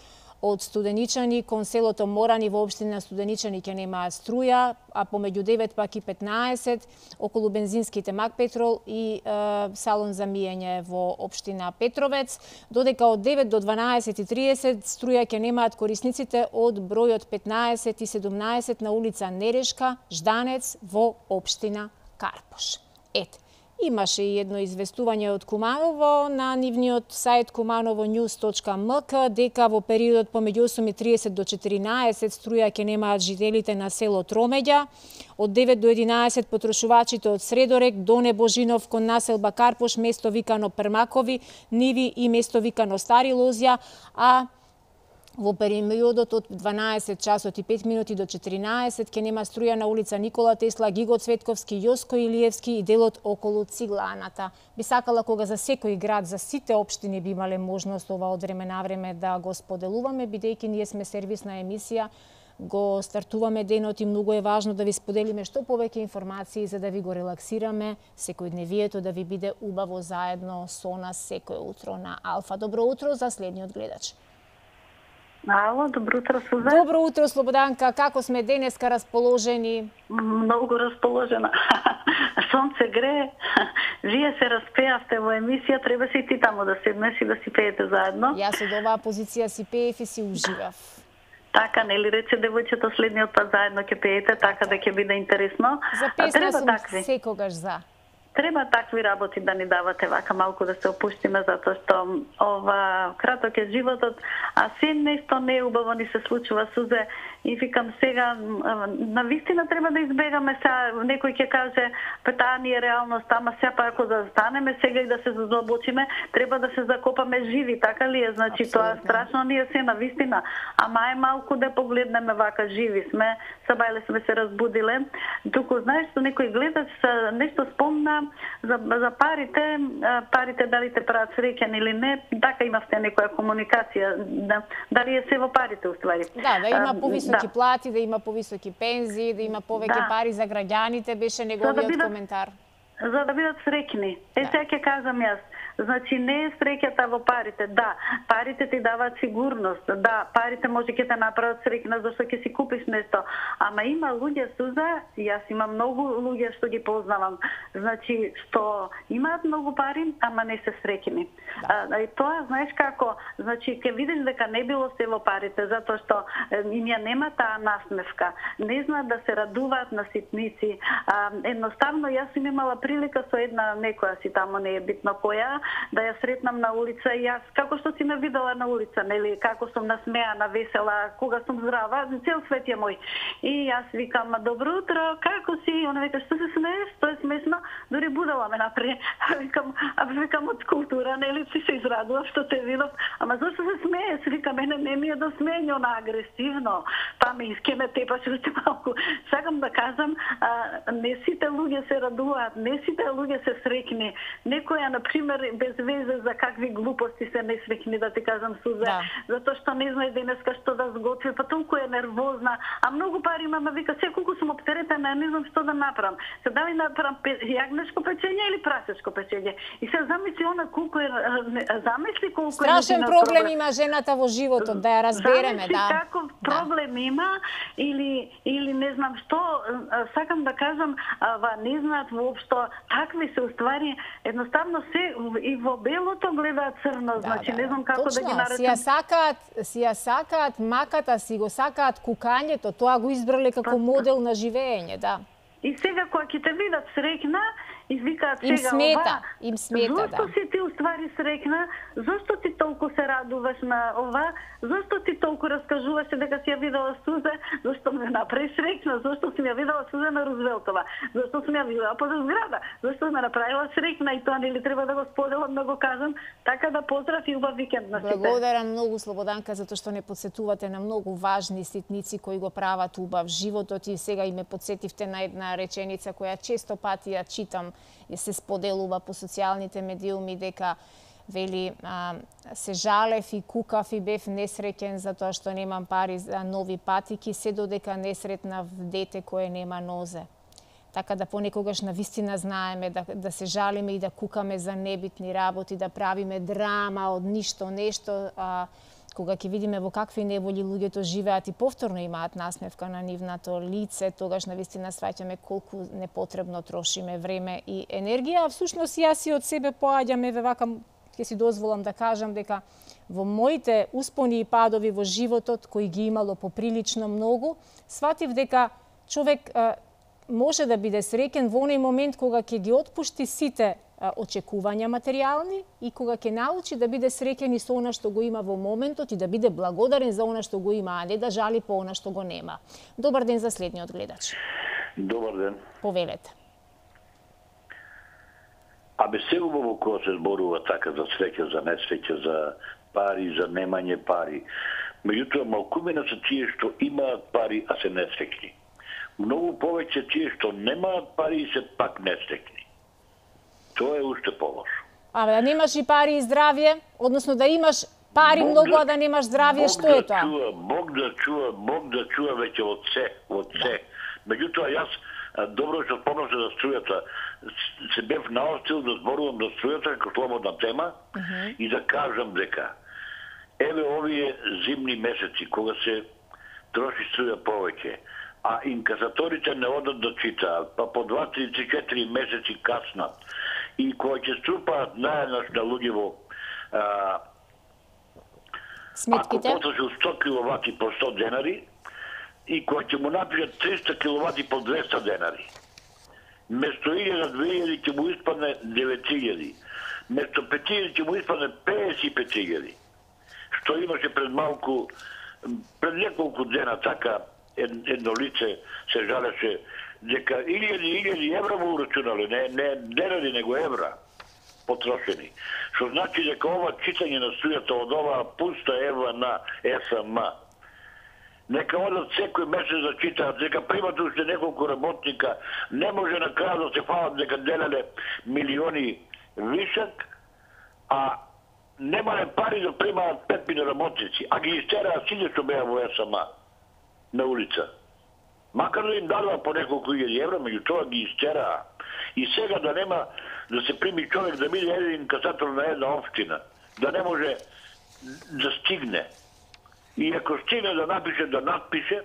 од Студеничани кон селото Морани во општина Студеничани ќе немаат струја, а помеѓу девет пак и петнаесет околу бензинските Мак Петрол и е, салон за миење во општина Петровец, додека од девет до дванаесет и триесет струја ќе немаат корисниците од бројот петнаесет и седумнаесет на улица Нерешка, Жданец во општина Карпош. Ете. Имаше и едно известување од Куманово на нивниот сајт куманово нјуз точка ем ка дека во периодот помеѓу осум и триесет до четиринаесет струја ќе немаат жителите на село Тромеѓа. Од девет до единаесет потрошувачите од Средорек до Небожинов кон населба Карпош, место викано Прмакови, Ниви и место викано Стари Лозја, а во периодот од дванаесет часот и пет минути до четиринаесет ќе нема струја на улица Никола Тесла, Гиго Цветковски, Јоско Илиевски и делот околу Цигланата. Би сакала кога за секој град, за сите општини би имале можност ова од време на време да го споделуваме, бидејќи ние сме сервисна емисија, го стартуваме денот и многу е важно да ви споделиме што повеќе информации за да ви го релаксираме секојдневието, да ви биде убаво заедно со нас секој утро на Алфа. Добро утро за следниот гледач. Ало, добро утро, Суза. Добро утро, Слободанка. Како сме денеска расположени? Многу расположена. Сонце грее. Вие се распеавте во емисија, треба се и ти таму да седнеш и да си пеете заедно. Јас од оваа позиција си пеев и си уживав. Така, нели рече девојчето следниот пат заедно ќе пеете, така да ќе биде интересно. За песна сум такви. Секогаш за. Треба такви работи да ни давате, вака малку да се опуштиме, затоа што ова краток е животот, а се нешто не е убаво ни се случува, Сузе, и викам сега, на вистина треба да избегаме сега, некој ќе каже, па таа ни е реалност, ама сега па ако да станеме сега и да се задлабочиме, треба да се закопаме живи, така ли е? Значи тоа страшно ни е се на вистина, ама е малку да погледнеме вака живи сме, сабајле сме се разбудиле, туку знаеш што некој гледач нешто спомна за, за парите, парите дали те прават среќен или не, така имавте некоја комуникација, да, дали е се во парите уствари. Да, да има повисоки да. плати, да има повисоки пензии, да има повеќе да. пари за граѓаните, беше неговиот да бидат, коментар. За да бидат среќни. Е, да. сега ќе кажам јас. Значи не е среќата во парите. Да, парите ти даваат сигурност. Да, парите може ќе те направат среќна зашто ќе си купиш нешто. Ама има луѓе, Суза, јас имам многу луѓе што ги познавам. Значи што имаат многу пари, ама не се среќни. Да. А, и тоа знаеш како, значи ќе видиш дека не било се во парите, затоа што им ја нема таа насмевка. Не знаат да се радуваат на ситници. А, едноставно јас сум имала прилика со една некоја си таму, не е битно која, да ја сретнам на улица и јас, како што си ме видела на улица, нели, како сум насмеана, весела, кога сум здрава, цел свет е мој. И јас викам, добро утро, како си? Она вика, што се смееш? Што е смешно? Дори будала ме напред. Викам, а викам од култура, нели, си се израдував што те видов. Ама зашто се смееш? Викам, мене не ми е да смење, она агресивно. Па ме иски ме тепаш уште малку. Сакам да кажам, а, не сите луѓе се радуваат, не сите луѓе се среќни. Некоја, на пример, без везе за какви глупости се несреќни, да ти кажам, Суза, да. Затоа што не знае денеска што да сготви, па толку е нервозна, а многу пари имам, вика, се колку сум оптеретена, не знам што да направам. Се дали направам јагнешко печење или прасешко печење? И се замисли она колку е, замисли колку страшен е проблем има жената во животот, да ја разбереме, замисли да. Каков проблем да. има или или не знам што, сакам да кажам, ва не знаат воопшто, такви се уствари, едноставно се и во белото гледаат црно, да, значи да, не знам како точно, да ги наречам. Си ја сакаат, си ја сакаат маката, си го сакаат кукањето, тоа го избрале како па, модел на живење, да. И сега кога ќе те видат среќна и викаат сега им смета, ова. им смета, Зошто да. си ти уствари срекна? Зошто ти толку се радуваш на ова? Зошто ти толку раскажуваш дека си ја видела сузе? Зошто ме направи срекна? Зошто си ја видела сузе на Рузвелтова? Зошто сум ја видела по зграда? Зошто ме направила срекна и тоа нели треба да го споделам, да го кажам? Така да поздрав и убав викенд на сите. Благодарам многу, Слободанка, затоа што не подсетувате на многу важни ситници кои го прават убав животот, и сега и ме подсетивте на една реченица која често пати ја читам и се споделува по социјалните медиуми, дека вели а, се жалев и кукав и бев несреќен затоа што немам пари за нови патики, се додека не сретнав дете кое нема нозе. Така да понекогаш навистина знаеме да, да се жалиме и да кукаме за небитни работи, да правиме драма од ништо нешто, а, кога ќе видиме во какви неволи луѓето живеат и повторно имаат насмевка на нивното лице, тогаш навистина сваќаме колку непотребно трошиме време и енергија. А всушност јас и од себе поаѓам, еве вака ќе си дозволам да кажам дека во моите успони и падови во животот, кои ги имало поприлично многу, сватив дека човек а, може да биде среќен во оној момент кога ќе ги отпушти сите очекувања материјални и кога ќе научи да биде среќен и со она што го има во моментот и да биде благодарен за она што го има, а не да жали по она што го нема. Добар ден за следниот гледач. Добар ден. Повелете. Абе се убаво кога се зборува така за среќа, за несреќа, за пари, за немање пари. Меѓутоа, малкумина се тие што имаат пари, а се несреќни. Многу повеќе тие што немаат пари и се пак несреќни. Тоа е уште полошо. Абе, да немаш и пари и здравје, односно да имаш пари Бог многу, да, а да немаш здравје, што да е тоа? Чува, Бог да чува, Бог да чува веќе од се, од се. Да. Меѓутоа, јас добро што спомнавте за струјата, се бев наостил да зборувам за струјата како слободна тема uh -huh. и да кажам дека еве овие зимни месеци, кога се троши струја повеќе, а инкасаторите не одат да читаат, па по два, три, четири месеци каснат, и кога ќе струпаат наеднаш на луѓе во а, сметките, ако потрошил сто киловати по сто денари, и кога ќе му напишат триста киловати по двеста денари, место илјада две илјади ќе му испадне девет илјади, место пет илјади ќе му испадне педесет и пет илјади, што имаше пред малку, пред неколку дена така, едно лице се жалеше дека илјади илјади евра му урачунали, не, не денари, него евра потрошени. Што значи дека ова читање на струјата од ова пуста ева на ес ем а, нека одат секој месец да читаат, дека примат уште неколку работника, не може на крај да се фалат дека делеле милиони вишак, а немале пари да примаат пет милиони работници, а ги истераат сите што беа во ес ем а на улица. Макар да им дадува по неколку илјади евра, меѓутоа ги истераа. И сега да нема да се прими човек да биде еден касатор на една општина, да не може да стигне. И ако стигне да напише, да надпише,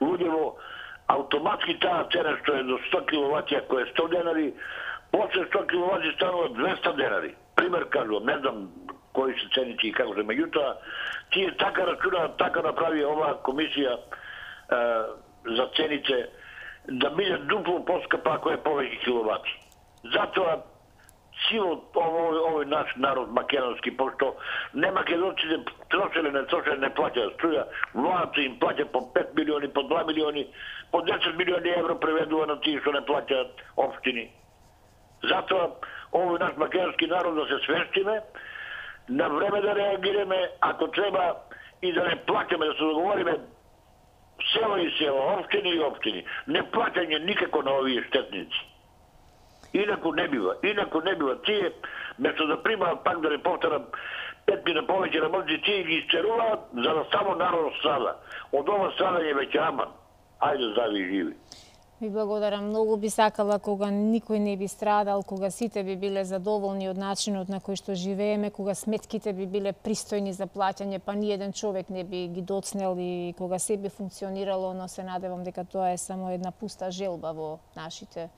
луѓево автоматски таа цена што е до сто киловати, ако е сто денари, после сто киловати станува двеста денари. Пример кажувам, не знам кои се цените и како се, меѓутоа, тие така рачунаат, така направи оваа комисија е, за цените, да биде дупло поскапа ако е повеќе киловати. Затоа силот овој, овој наш народ македонски, пошто не македонците трошеле, не трошеле, не плаќаат струја, владата им плаќа по пет милиони, по два милиони, по десет милиони евро преведува на тие што не плаќаат општини. Затоа овој наш македонски народ да се свестиме, на време да реагираме, ако треба и да не плаќаме, да се договориме село и село, општини и општини. Не плаќање никако на овие штетници. Инаку не бива, инаку не бива. Тие, место да примаат, пак да не повторам, пет мина повеќе работници, тие ги истеруваат, за да само народ страда. Од ова страдање веќе аман. Ајде здрави и живи. Ви благодарам. Многу би сакала кога никој не би страдал, кога сите би биле задоволни од начинот на кој што живееме, кога сметките би биле пристојни за плаќање, па ни еден човек не би ги доцнел и кога се би функционирало, но се надевам дека тоа е само една пуста желба во нашите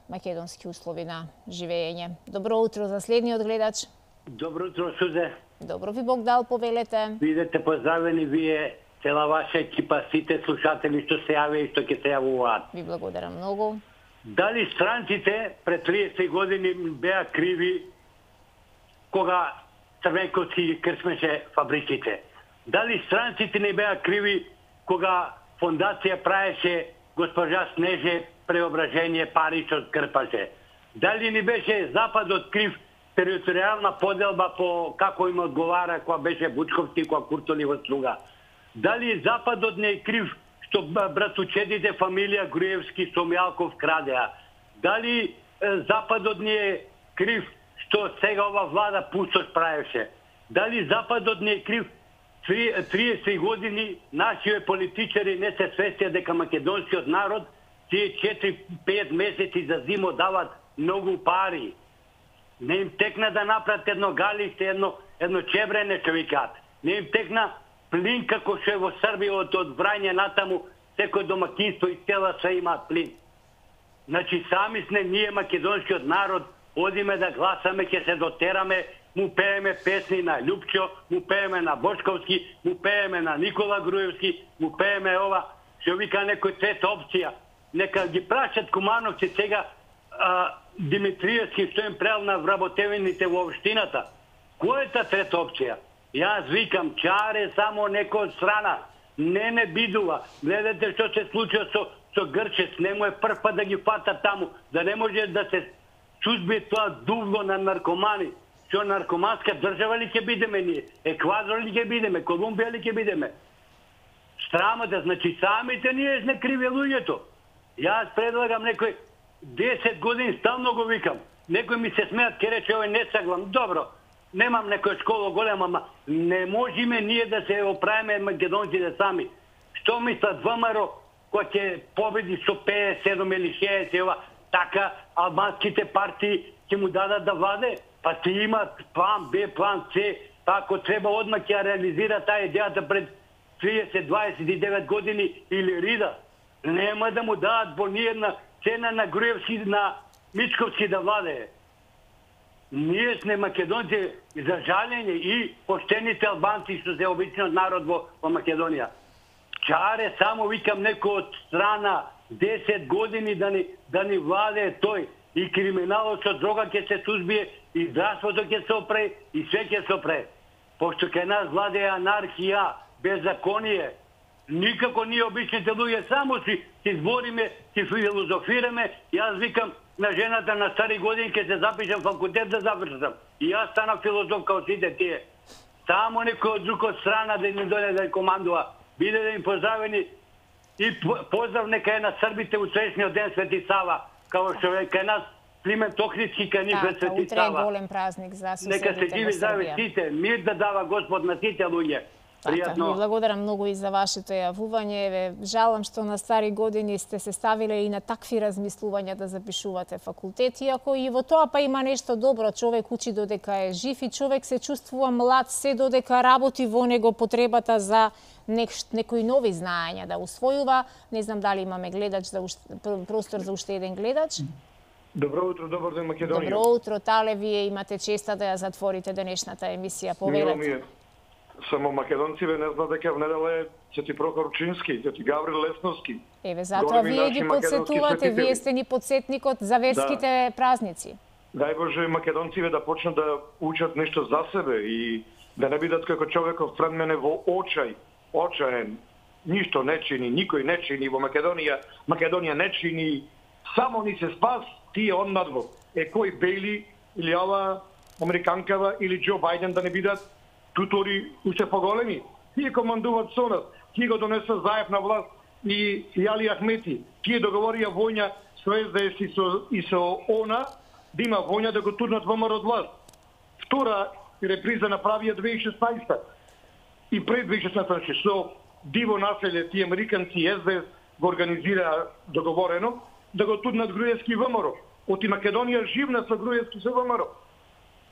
македонски услови на живење. Добро утро за следниот гледач. Добро утро, Сузе. Добро ви Бог дал, повелете. Бидете поздравени вие, цела ваша екипа, сите слушатели што се јаве и што ќе се јавуваат. Ви благодарам многу. Дали странците пред триесет години беа криви кога Црвенковски ги кршмеше фабриките? Дали странците не беа криви кога фондација правеше госпожа Снеже преображение паричот крпаше? Дали не беше Западот крив територијална поделба по како им одговара кога беше Бучковски, кога Куртоли во Струга? Дали Западот не е крив што братучедите фамилија Груевски со Мјалков крадеа? Дали Западот не е крив што сега ова влада пустош правеше? Дали Западот не е крив триесет години нашите политичари не се свестија дека македонскиот народ тие четири-пет месеци за зимо дават многу пари? Не им текна да направат едно галиште, едно, едно чебрене, што викаат. Не им текна плин како што е во Србија од, од Врање натаму, секој домакинство и цела се имаат плин. Значи сами сме ние македонскиот народ, одиме да гласаме, ќе се дотераме, му пееме песни на Љупчо, му пееме на Бошковски, му пееме на Никола Груевски, му пееме ова, што вика некој трета опција. Нека ги прашат кумановци сега а, Димитриевски што им прел на вработевините во општината. Која е та трета опција? Јас викам, чаре само некој од страна. Не не бидува. Гледате што се случува со, со Грчец. Не му е прв пат да ги фата таму. Да не може да се сузбие тоа дувло на наркомани. Што наркоманска држава ли ќе бидеме ние? Еквадор ли ќе бидеме? Колумбија ли ќе бидеме? Страмата, значи самите ние сме криви луѓето. Јас предлагам некој десет години стално го викам. Некој ми се смеат, ке рече овој не саглам. Добро, немам некоја школа голема, ама не можеме ние да се оправиме македонците сами. Што мислат ВМРО кој ќе победи со петдесет седум или шеесет ова, така албанските партии ќе му дадат да владе? Па ти имат план Б, план С, па ако треба одма ќе реализира таа идејата пред триесет дваесет и девет години или рида. Нема да му дадат по ниједна цена на Груевски, на Мичковски да владее. Ние сме македонци, за жалење, и поштените албанци што се обичниот народ во, во Македонија. Чаре само викам некој од страна десет години да ни, да ни владее тој. И криминалот со дрога ќе се сузбие, и здравството ќе се опре, и све ќе се опре. Пошто кај нас владее анархија, беззаконие. Никако ние обичните луѓе само си си збориме, си филозофираме. Јас викам на жената на стари години ќе се запишам факултет да завршам. И јас станав филозоф као сите тие. Само некој од друга страна да ни дојде да командува. Биде да им поздравени и поздрав нека е на србите у среќниот ден Свети Сава, као што е кај нас Климент Охридски, кај нив е Свети Сава. Утре е голем празник за соседите нека се живи здрави сите, мир да дава Господ на сите луѓе. Пријатно. Ви благодарам многу и за вашето јавување. Еве, жалам што на стари години сте се ставиле и на такви размислувања да запишувате факултет, иако и во тоа па има нешто добро. Човек учи додека е жив и човек се чувствува млад се додека работи во него потребата за некои нови знаења да усвојува. Не знам дали имаме гледач за уште, простор за уште еден гледач. Добро утро, добар ден Македонија. Добро утро, Тале, вие имате честа да ја затворите денешната емисија. Повелете. Само македонциве не знаат дека внедела е Свети Прохор Чински, Свети Гаврил Лесновски. Еве, затоа вие ги подсетувате, вие сте ни подсетникот за верските да. празници. Дај Боже македонциве да почнат да учат нешто за себе и да не бидат како човеков пред мене во очај, очаен, ништо не чини, никој не чини во Македонија, Македонија не чини, само ни се спас тие однадвор. Е кој Бейли или ова американкава или Џо Бајден да не бидат тутори уште поголеми. Тие командуваат со нас, тие го донесат заев на власт и Јали Ахмети. Тие договорија војна со Ес Де Ес и со, и со ОНА да има војна да го турнат ВМРО од власт. Втора реприза направија две илјади и шеснаесета и пред две илјади и шеснаесета со диво населје тие американци и Ес Де Ес го организира договорено да го турнат Груевски ВМРО. Оти Македонија живна со Груевски со ВМРО.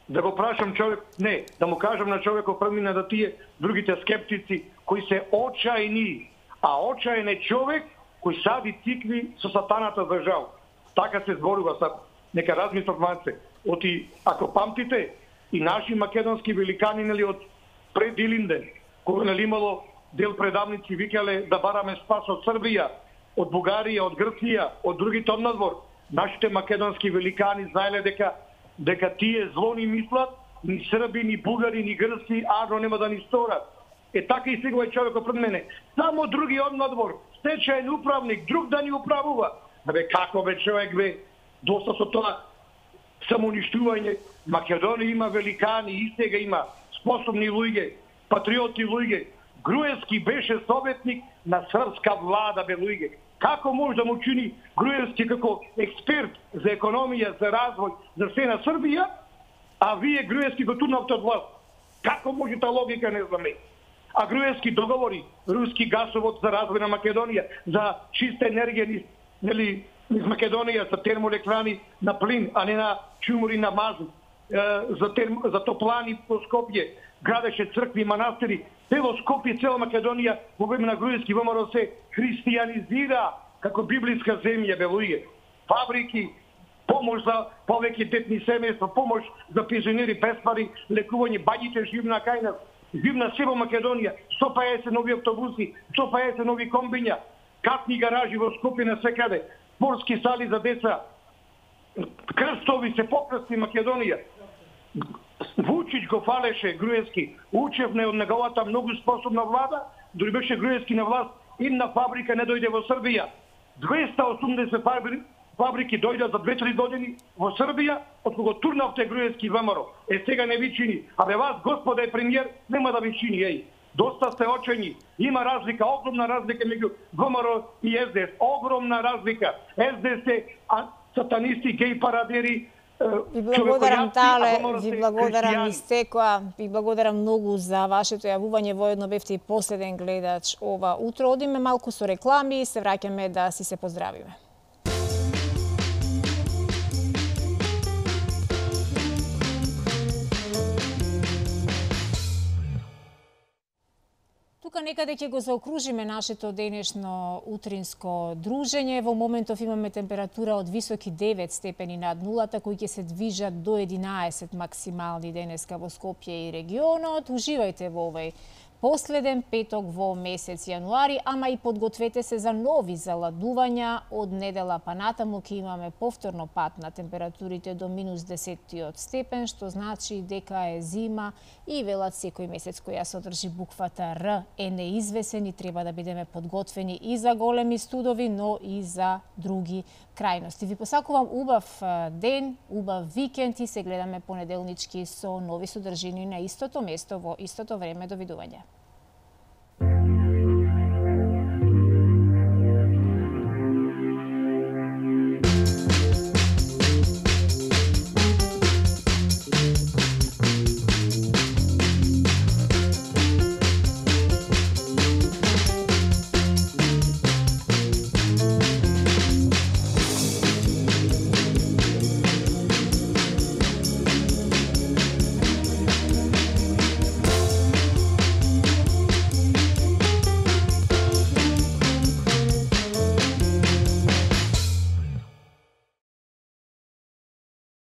Да го прашам човек, не, да му кажам на човеков премина да тие другите скептици кои се очајни, а очајен е човек кој сади цикви со сатаната за жал. Така се зборува сад. Нека размислат малце. Оти, ако памтите, и наши македонски великани нели од пред Илинден, кога нели имало дел предавници викале да бараме спас од Србија, од Бугарија, од Грција, од другите однадвор, Нашите македонски великани знаеле дека дека тие зло ни мислат, ни срби, ни бугари, ни грци, арно нема да ни сторат. Е така и сега е човекот пред мене. Само другиот надвор, стечаен управник, друг да ни управува. Абе како бе човек бе, доста со тоа самоуништување. Македонија има великани, и сега има способни луѓе, патриоти луѓе. Груевски беше советник на српска влада бе луѓе. Како може да му чини Груевски како експерт за економија, за развој, за се на Србија, а вие Груевски го турнавте од власт? Како може та логика, не знаме. А Груевски договори руски гасовод за развој на Македонија, за чиста енергија, нели, из Македонија, за термоелектрани на плин, а не на чумури на мазут, за, терм... за топлани по Скопје, градеше цркви, манастири. Цело Скопје, цела Македонија во време на Груевски ВМРО се христијанизира како библиска земја, бе луѓе. Фабрики, помош за повеќе детни семејства, помош за пензионери без пари, лекување, бањите живна кај нас, живна се во Македонија, сто пеесет нови автобуси, сто пеесет нови комбиња, катни гаражи во Скопје насекаде, спортски сали за деца, крстови се покрсти Македонија. Вучич го фалеше Груевски, учевне од неговата многу способна влада, дори беше Груевски на власт, една фабрика не дојде во Србија. двеста и осумдесет фабрики дојдат за две-три години во Србија, од кога турнавте Груевски ВМРО. Е, сега не ви чини. Абе вас, господе премиер, нема да ви чини, еј. Доста сте очени. Има разлика, огромна разлика меѓу ВМРО и С Д С. Огромна разлика. С Д С е сатанисти, геј парадери. Ви благодарам, Тале, ви благодарам, Истекоа, ви благодарам многу за вашето јавување. Воедно бевте и последен гледач ова утро. Одиме малку со реклами и се враќаме да си се поздравиме. Тука некаде ќе го заокружиме нашето денешно утринско дружење. Во моментов имаме температура од високи девет степени над нулата, кои ќе се движат до единаесет максимални денеска во Скопје и регионот. Уживајте во овој последен петок во месец јануари, ама и подгответе се за нови заладувања. Од недела па натаму ќе имаме повторно пат на температурите до минус десет степен, што значи дека е зима и велат секој месец која содржи буквата Р е неизвесен и треба да бидеме подготвени и за големи студови, но и за други крајности. Ви посакувам убав ден, убав викенд и се гледаме понеделнички со нови содржини на истото место во истото време. Довидување.